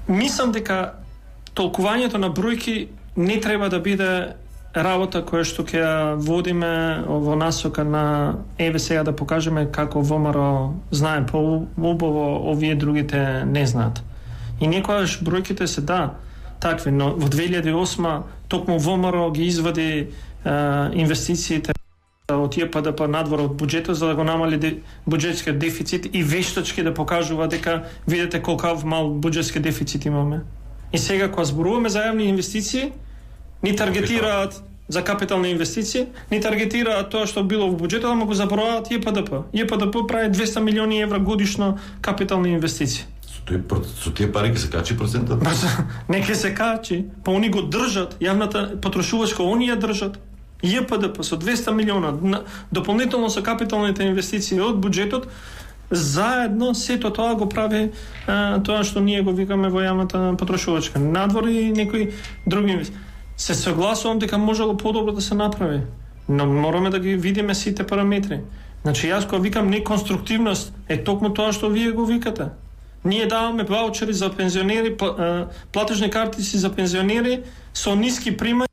Мислам дека толкувањето на бројки не треба да биде работа која што ќе ја водиме во насока на еве сега да покажеме како ВМРО знае по-убаво, овие другите не знаат. И некојаш бројките се да такви, но во две илјади и осма токму ВМРО ги извади е, инвестициите од Ј П Д П надвор од буџетот за да го намали де, буџетскиот дефицит и вештачки да покажува дека видите колкав мал буџетски дефицит имаме. И сега кога зборуваме за јавни инвестиции, ни таргетираат за капитални инвестиции, ни таргетираат тоа што било во буџетот, ама го забораваат Ј П Д П. Ј П Д П прави двеста милиони евра годишно капитални инвестиции. Со, тој, со тие пари ќе се качи процентот? Не ќе се качи, па они го држат, јавната потрошувачка они ја држат. Ј П Д П со двеста милиона, дополнително со капиталните инвестиции од буџетот, заедно сето тоа го прави а, тоа што ние го викаме во јавната потрошувачка. Надвор и некои други инвестиции. Се согласувам дека можело подобро да се направи, но мораме да ги видиме сите параметри. Значи јас кога викам неконструктивност е токму тоа што вие го викате. Ние даваме ваучери за пензионери, платежни картици за пензионери со ниски примања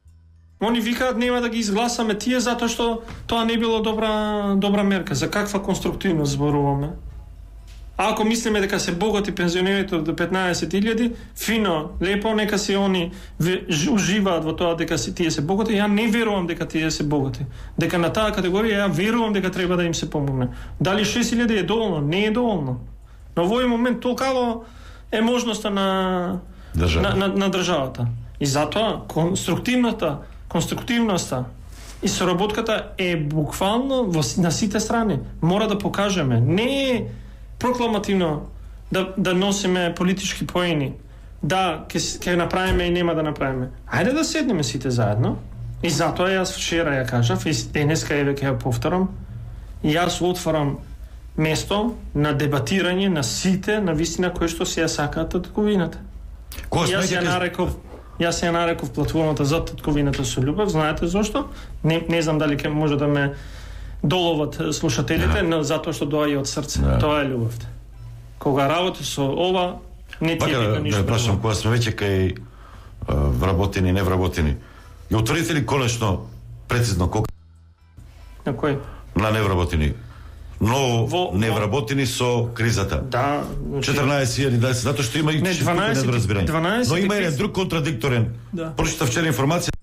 Они викаат нема да ги изгласаме тие затоа што тоа не било добра добра мерка. За каква конструктивност зборуваме? А ако мислиме дека се богати пензионерите до петнаесет илјади, фино, лепо, нека се они уживаат во тоа дека се тие се богати. Ја не верувам дека тие се богати. Дека на таа категорија ја верувам дека треба да им се помогне. Дали шест илјади е доволно? Не е доволно. Но во овој момент толкаво е можноста на на, на, на државата. И затоа конструктивната, конструктивноста и соработката е буквално во, на сите страни. Мора да покажеме. Не е прокламативно да, да носиме политички поени. Да, ке, ке направиме и нема да направиме. Ајде да седнеме сите заедно. И затоа јас вчера ја кажав, и денеска еве ќе ја повторам, и јас отварам место на дебатирање на сите на вистина кои што се ја сакаат татковината. Јас ја нареков Јас ја нареков платформата за татковината со љубов. Знаете зошто? Не, не знам дали ќе може да ме доловат слушателите, но затоа што доаѓа од срце. Да. Тоа е љубовта. Кога работи со ова, не ти е да ништо. Да прашам, кога сме веќе кај вработени, невработени, ја утврдите ли конечно прецизно колку на кој? На невработени. Но во, невработени со кризата. Да, четрнаесет илјади, да, затоа што има и недоразбирање. Но има еден друг контрадикторен. Да. Прочитав вчера информација.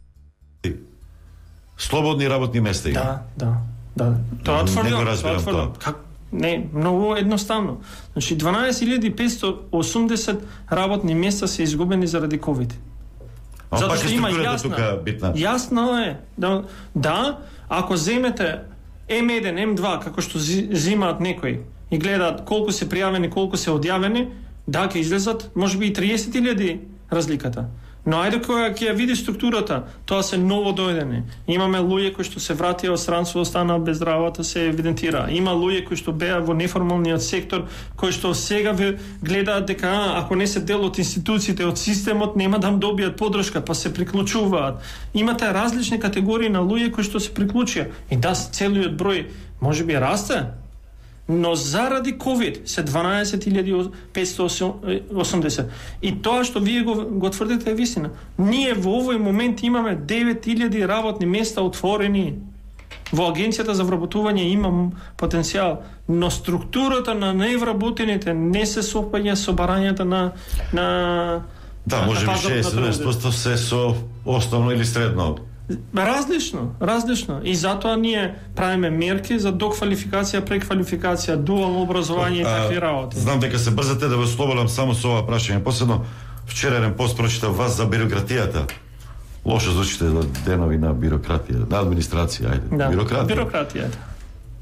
Слободни работни места има. Да, да. Да, тоа тврдо, тоа тврдо. Как не, многу едноставно. Значи дванаесет илјади петстотини и осумдесет работни места се изгубени заради ковид. Затоа што има јасна, јасно е да, да, ако земете М еден, М два, како што зимаат некои и гледаат колку се пријавени, колку се одјавени, да, ќе излезат можеби и триесет илјади разликата. Но ајде која ќе ја види структурата, тоа се ново дојдени. Имаме луѓе кои што се вратија од странство, останаа без работа, се евидентира. Има луѓе кои што беа во неформалниот сектор, кои што сега гледаат дека а, ако не се дел од институциите, од системот, нема да добијат поддршка, па се приклучуваат. Имате различни категории на луѓе кои што се приклучија. И да, целиот број можеби расте, но заради ковид се дванаесет илјади петстотини и осумдесет. И тоа што вие го, го тврдите е вистина. Ние во овој момент имаме девет илјади работни места отворени. Во Агенцијата за вработување има потенцијал, но структурата на невработените не се сопаѓа со барањата на на Да, може би шест до седемдесет проценти се со основно или средно. Различно, различно. И затоа ние правиме мерки за доквалификација, преквалификација, дуално образование и такви работи. Знам дека се брзате да ве ослободам само со ова прашање. Последно, вчерарен пост прочитав вас за бирократијата. Лошо звучите денови на бирократија, на администрација, ајде. Да, бирократија. бирократијата.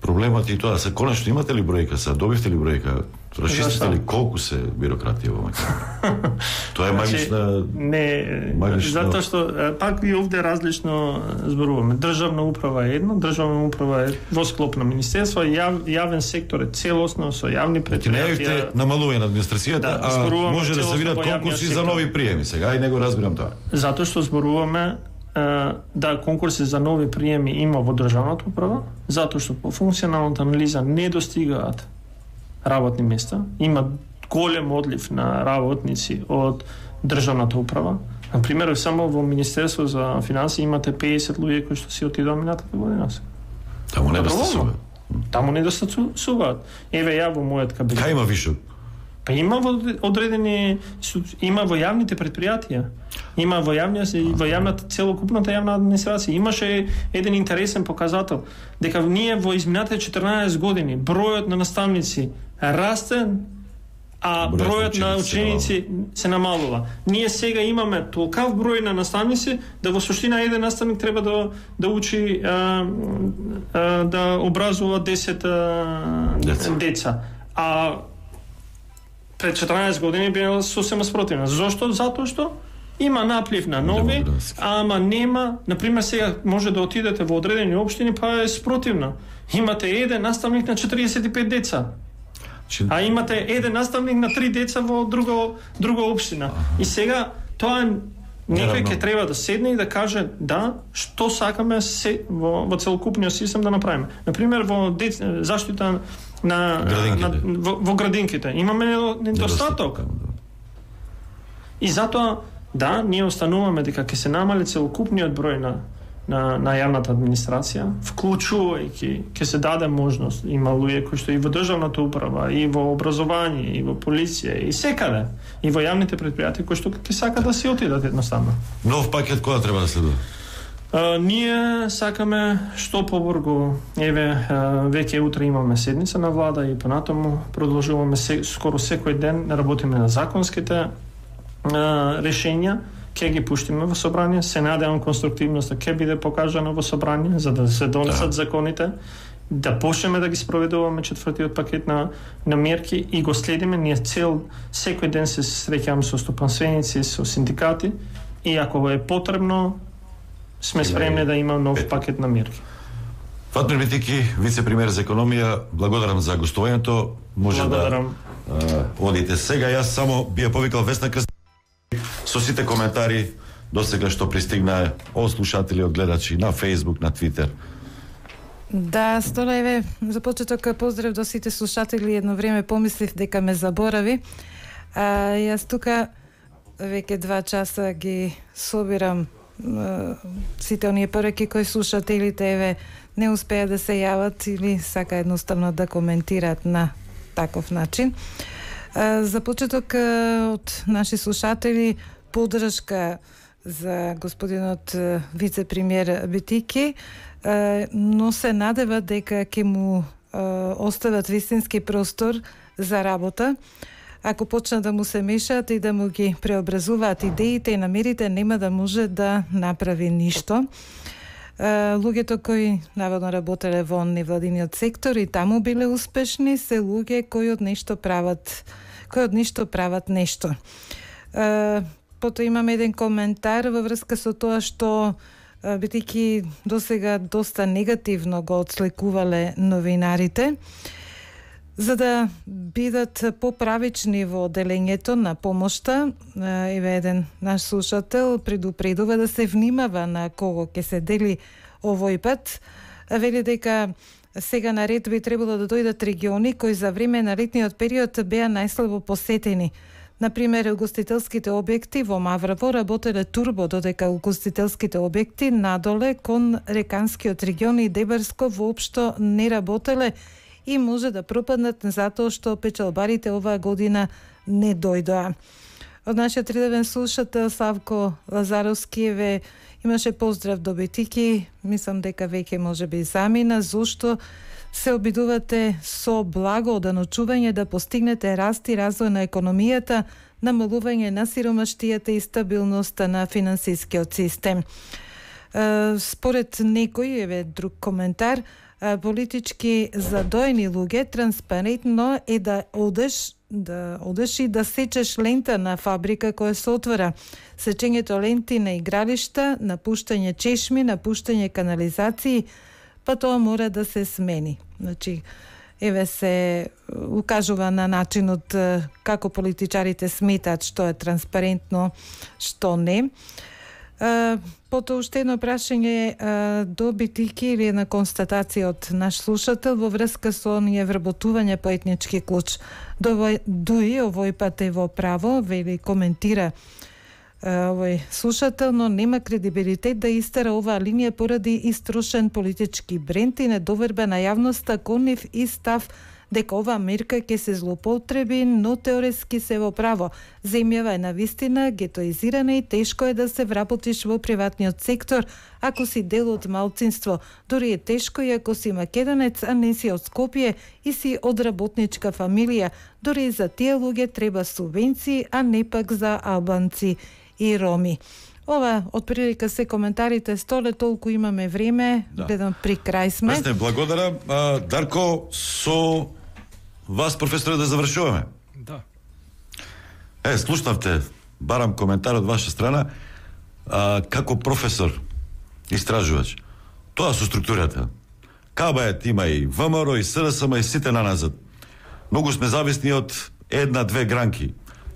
Проблемот е тоа, се конечно имате ли бројка, се добивте ли бројка? Расчистите ли колку се бирократија во Македонија? Тоа е магична... Не, магична... затоа што пак и овде различно зборуваме. Државна управа е едно, државна управа е во склоп на министерство, јав, јавен сектор е целосно со јавни предпријатија. Не е намалување на администрацијата, да, а може да се видат конкурси за нови приеми сега, и не го разбирам тоа. Затоа што зборуваме да конкурси за нови приеми има во државната управа, затоа што по функционалната анализа не достигаат работни места, има голем одлив на работници од државната управа. Например, само во Министерство за финансии имате педесет луѓе кои што си отидоа минатата година. Таму не достасуваат. Таму не достасуваат. Еве ја во мојот кабинет. Кај има вишок? Па има во одредени, има во јавните предпријатија, има во јавниот, во јавната целокупната јавна администрација. Имаше еден интересен показател дека ние во изминатите четрнаесет години бројот на наставници расте, а бројот на ученици се намалува. Ние сега имаме толкав број на наставници да во суштина еден наставник треба да да учи а, а, да образува десет а, деца. деца. А пред четрнаесет години била сосема спротивна. Зошто? Затоа што има наплив на нови, ама нема, например сега може да отидете во одредени општини па е спротивна. Имате еден наставник на четиридесет и пет деца. А имате еден наставник на три деца во друга друга општина. И сега тоа некој ќе треба да седне и да каже да, што сакаме се, во, во целокупниот систем да направиме. Например во дец, заштита на, на во, во градинките имаме недостаток. И затоа да, ние остануваме дека ќе се намали целокупниот број на на, на јавната администрација, вклучувајќи, ќе се даде можност, има луѓе кои што и во државната управа, и во образование, и во полиција, и секаде, и во јавните предпријатија кои што ќе сакат да си отидат едноставно. Нов пакет кога треба да следува? Uh, ние сакаме што побрзо, еве, uh, веќе утре имаме седница на влада и понатаму продолжуваме се, скоро секој ден работиме на законските uh, решења, ќе ги пуштиме во собрание, се надевам конструктивноста ќе биде покажана во собрание за да се донесат да. законите, да почнеме да ги спроведуваме четвртиот пакет на на мерки и го следиме. Ние цел секој ден се среќаваме со стопанственици, со синдикати и ако е потребно сме спремни да има нов пакет на мерки. Фатмир Битики, вице-премиер за економија, благодарам за гостувањето. Може благодарам. да а, одите сега. Јас само би ја повикал Весна Крст со сите коментари досега што пристигна од слушатели, од гледачи на Facebook, на Twitter. Да, Столеве, за почеток поздрав до сите слушатели. Едно време помислив дека ме заборави. А, јас тука веќе два часа ги собирам сите оние пораки кои слушателите еве не успеа да се јават или сака едноставно да коментираат на таков начин. За почеток од наши слушатели поддршка за господинот вице-премиер Битики, но се надева дека ќе му остават вистински простор за работа. Ако почнат да му се мешаат и да му ги преобразуваат идеите и намерите, нема да може да направи ништо. Луѓето кои наводно работеле во невладиниот сектор и таму биле успешни, се луѓе кои од нешто прават, кои од ништо прават нешто. Потоа имаме еден коментар во врска со тоа што Битики досега доста негативно го отсликувале новинарите. За да бидат поправични во делењето на помошта, еве еден наш слушател предупредува да се внимава на кого ќе се дели овој пат. Вели дека сега на ред би требало да дојдат региони кои за време на летниот период беа најслабо посетени. Например, угостителските објекти во Маврово работеле турбо, додека угостителските објекти надоле кон Реканскиот регион и Дебарско воопшто не работеле и може да пропаднат затоа што печалбарите оваа година не дојдоа. Од нашиот редовен слушател Савко Лазаровски еве имаше поздрав до Битики, мислам дека веќе може би замина, зошто се обидувате со благооденочување да постигнете раст и развој на економијата, намалување на сиромаштијата и стабилноста на финансискиот систем. Според некој, еве друг коментар, политички задоени луѓе транспарентно е да одеш да одеш и да сечеш лента на фабрика која се отвора. Сечењето ленти на игралишта, напуштање чешми, напуштање канализации, па тоа мора да се смени. Значи, еве се укажува на начинот како политичарите сметаат што е транспарентно, што не. Потоа уште едно прашање до Битики или една констатација од наш слушател во врска со оние вработување по етнички клуч. Дуи овој пат е во право, вели коментира овој слушател, но нема кредибилитет да истера оваа линија поради истрошен политички бренд и недоверба на јавноста кон нив и став дека оваа мерка ќе се злоупотреби, но теоретски се во право. Земјава е навистина гетоизирана и тешко е да се вработиш во приватниот сектор ако си дел од малцинство. Дори е тешко и ако си македонец, а не си од Скопје и си од работничка фамилија. Дори за тие луѓе треба субвенции, а не пак за албанци и роми. Ова, од прилика се коментарите, Столе, толку имаме време, да. Гледам при крај сме. Весне, благодарам. А, Дарко, со вас, професоре, да завршуваме. Да. Е, слушнавте, барам коментар од ваша страна, а, како професор, истражувач. Тоа со структурата. Кабајет има и ВМРО, и СДСМ, и сите наназад. Многу сме зависни од една-две гранки.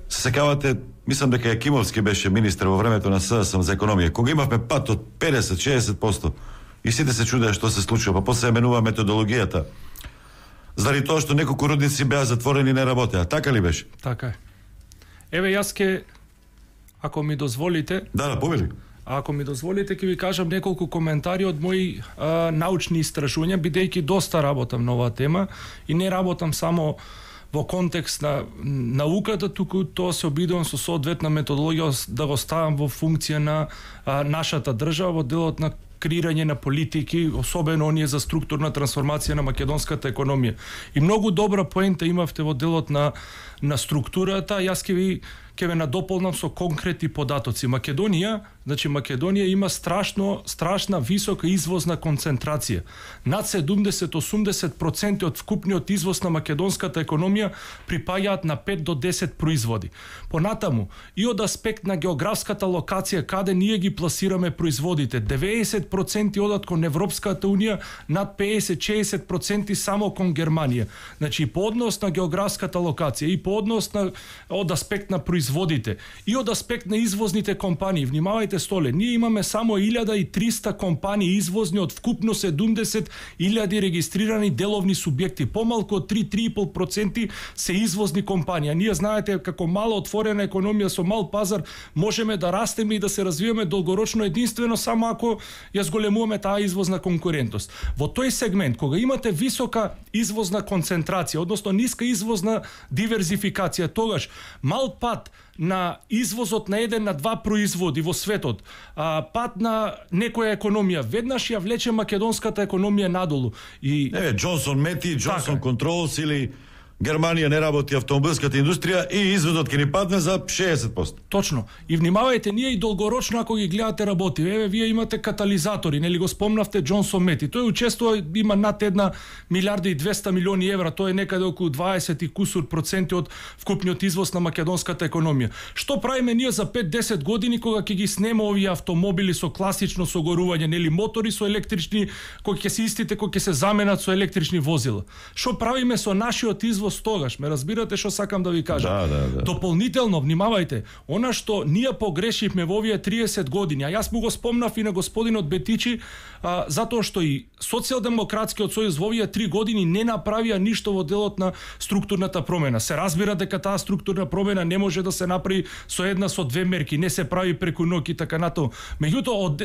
Се секавате, мислам дека Јакимовски беше министер во времето на СДСМ за економија, кога имавме пат од педесет до шеесет проценти и сите се чудеа што се случува, па после менува методологијата. Заради тоа што неколку рудници беа затворени и не работеа. Така ли беше? Така е. Еве јас ке, ако ми дозволите, да, да, повели. А ако ми дозволите, ќе ви кажам неколку коментари од мои а, научни истражувања, бидејќи доста работам на оваа тема и не работам само во контекст на науката, туку тоа се обидувам со соодветна методологија да го ставам во функција на а, нашата држава во делот на креирање на политики, особено оние за структурна трансформација на македонската економија. И многу добра поента имавте во делот на на структурата. Јас ќе ви ќе ве надополнам со конкретни податоци. Македонија, значи Македонија има страшно страшна висока извозна концентрација. Над седумдесет до осумдесет проценти од вкупниот извоз на македонската економија припаѓаат на пет до десет производи. Понатаму, и од аспект на географската локација каде ние ги пласираме производите, деветдесет проценти одат кон Европската унија, над педесет до шеесет проценти само кон Германија. Значи и по однос на географската локација, и по однос на од аспект на производите, и од аспект на извозните компании. Внимавајте, Столе, ние имаме само илјада и триста компании извозни од вкупно седумдесет илјади регистрирани деловни субјекти. Помалку од три до три и пол проценти се извозни компании. Ние знаете како мала отворена економија со мал пазар можеме да растеме и да се развиваме долгорочно единствено само ако ја зголемуваме таа извозна конкурентност. Во тој сегмент, кога имате висока извозна концентрација, односно ниска извозна диверзификација, тогаш мал пат на извозот на еден на два производи во светот, а, пат на некоја економија, веднаш ја влече македонската економија надолу. И Еве Джонсон Мети, Джонсон Контролс или Германија не работи автомобилската индустрија и извозот ќе ни падне за шеесет проценти. Точно. И внимавајте, ние и долгорочно ако ги гледате работи. Еве вие имате катализатори, нели го спомнавте Джонсон Мети. Тој учествува, има над една милиарда и двеста милиони евра, тоа е некаде околу дваесет и кусур проценти од вкупниот извоз на македонската економија. Што правиме ние за пет до десет години кога ќе ги снеме овие автомобили со класично согорување, нели мотори со електрични, кои ќе се истите, кои ќе се заменат со електрични возила? Што правиме со нашиот извоз тогаш? Ме разбирате што сакам да ви кажам? Да, да, да. Дополнително, внимавајте, она што ние погрешивме во овие триесет години, а јас му го спомнав и на господинот Бетичи, а, затоа што и Социјалдемократскиот сојуз во овие три години не направија ништо во делот на структурната промена. Се разбира дека таа структурна промена не може да се направи со една, со две мерки, не се прави преку ноќ и така натаму. Меѓутоа, од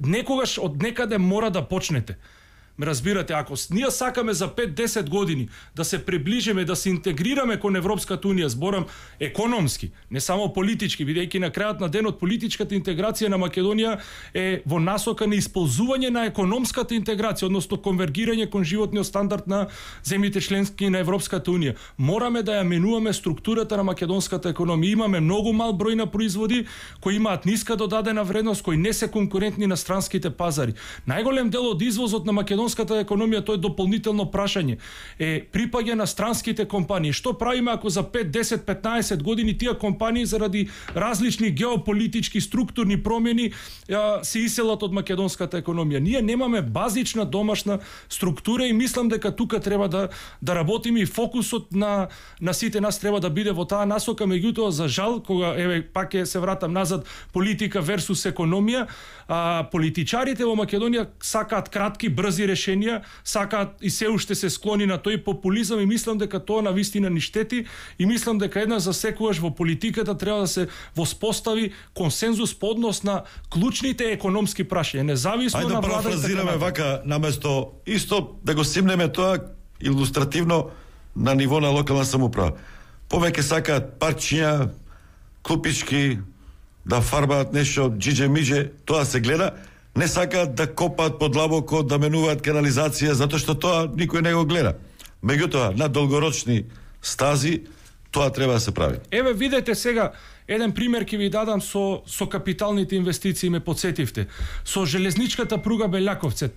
некогаш од некаде мора да почнете. Ме разбирате, ако ние сакаме за пет до десет години да се приближиме, да се интегрираме кон Европската унија, зборам економски, не само политички, бидејќи на крајот на денот политичката интеграција на Македонија е во насока на исползување на економската интеграција, односно конвергирање кон животниот стандард на земјите членски на Европската унија. Мораме да ја менуваме структурата на македонската економија. Имаме многу мал број на производи кои имаат ниска додадена вредност, кои не се конкурентни на странските пазари. Најголем дел од извозот на Македонија македонската економија, тоа е дополнително прашање, е припаѓа на странските компании. Што правиме ако за пет, десет, петнаесет години тие компании заради различни геополитички структурни промени ја, се иселат од македонската економија? Ние немаме базична домашна структура и мислам дека тука треба да да работиме и фокусот на на сите нас треба да биде во таа насока. Меѓутоа, за жал, кога еве пак е се вратам назад, политика версус економија, а, политичарите во Македонија сакаат кратки, брзи решенија, сакаат и се уште се склони на тој популизам и мислам дека тоа на вистина ни штети и мислам дека една за секогаш во политиката треба да се воспостави консензус по однос на клучните економски прашања, независно Ајде на да влада. парафразираме вака, наместо исто да го симнеме тоа илустративно на ниво на локална самоуправа. Повеќе сакаат парчиња, клупички, да фарбаат нешто џиџе-миџе, тоа се гледа, не сакаат да копаат подлабоко, да менуваат канализација, затоа што тоа никој не го гледа. Меѓутоа, на долгорочни стази, тоа треба да се прави. Еве видете сега, еден пример ќе ви дадам со со капиталните инвестиции, ме подсетивте. Со железничката пруга Белјаковце,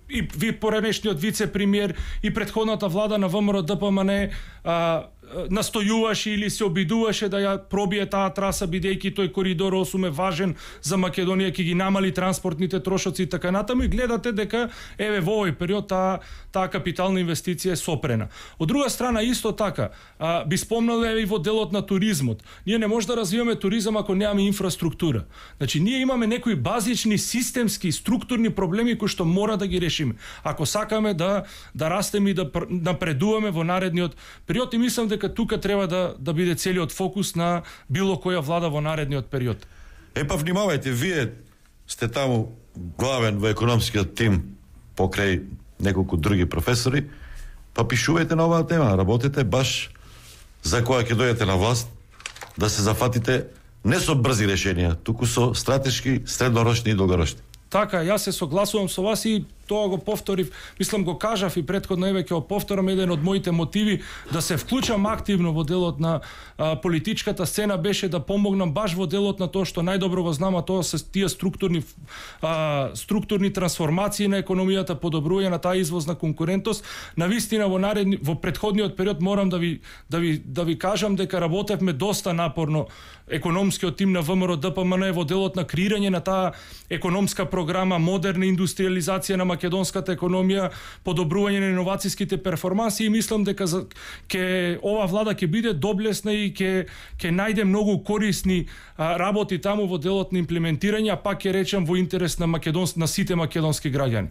и ви поранешниот вице-премиер и претходната влада на ВМРО Д П М Н а, настојуваше или се обидуваше да ја пробие таа траса, бидејќи тој коридор осум е важен за Македонија, ќе ги намали транспортните трошоци и така натаму, и гледате дека еве во овој период таа таа капитална инвестиција е сопрена. Од друга страна исто така, а, би спомнал еве и во делот на туризмот. Ние не може да развиваме туризам ако немаме инфраструктура. Значи ние имаме некои базични системски структурни проблеми кои што мора да ги решиме. Ако сакаме да да растеме и да напредуваме во наредниот период, и мислам дека тука треба да да биде целиот фокус на било која влада во наредниот период. Е па внимавајте, вие сте таму главен во економскиот тим покрај неколку други професори, па пишувајте на оваа тема, работете баш за која ќе дојдете на власт, да се зафатите не со брзи решенија, туку со стратешки, среднорочни и долгорочни. Така, јас се согласувам со вас и тоа го повторив, мислам го кажав и претходно, еве ќе го повторам, еден од моите мотиви да се вклучам активно во делот на а, политичката сцена беше да помогнам баш во делот на тоа што најдобро го знам, а тоа се тие структурни а, структурни трансформации на економијата, подобрување на таа извозна конкурентност. Навистина во наредни во претходниот период морам да ви да ви да ви кажам дека работевме доста напорно, економскиот тим на ВМРО Д П М Н во делот на креирање на таа економска програма, модерна индустриализација на македонската економија, подобрување на иновацијските перформанси и мислам дека ќе ова влада ќе биде доблесна и ќе ќе најде многу корисни а, работи таму во делот на имплементирање, а пак ќе речам во интерес на македонс на сите македонски граѓани.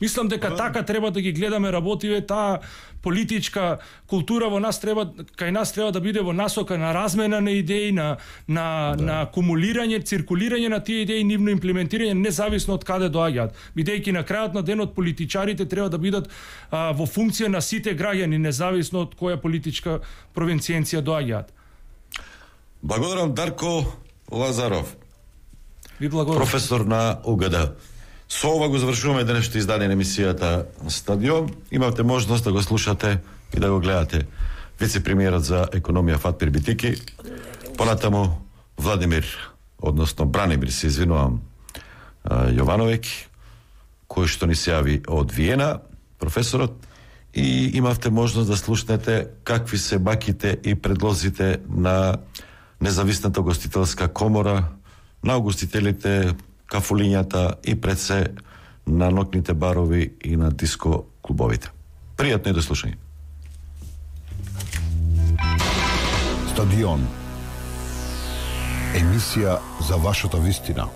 Мислам дека така треба да ги гледаме работиве, таа политичка култура во нас треба, кај нас треба да биде во насока на размена на идеи, на на да. на кумулирање, циркулирање на тие идеи, нивно имплементирање независно од каде доаѓаат. Бидејќи на крајот на денот политичарите треба да бидат а, во функција на сите граѓани, независно од која политичка провинцијенција доаѓаат. Благодарам Дарко Лазаров. Ви благодарам. Професор на У Г Д. Со ова го завршуваме денешното издание на емисијата Стадион. Имавте можност да го слушате и да го гледате вице-премиерот за економија Фатмир Битики, понатаму Владимир, односно Бранимир, се извинувам, Јовановиќ, кој што ни се јави од Виена, професорот, и имавте можност да слушнете какви се баките и предлозите на независната гостителска комора, на угостителите, кафулињата и пред се на ноќните барови и на диско клубовите. Пријатно и до слушање. Стадион. Емисија за вашата вистина.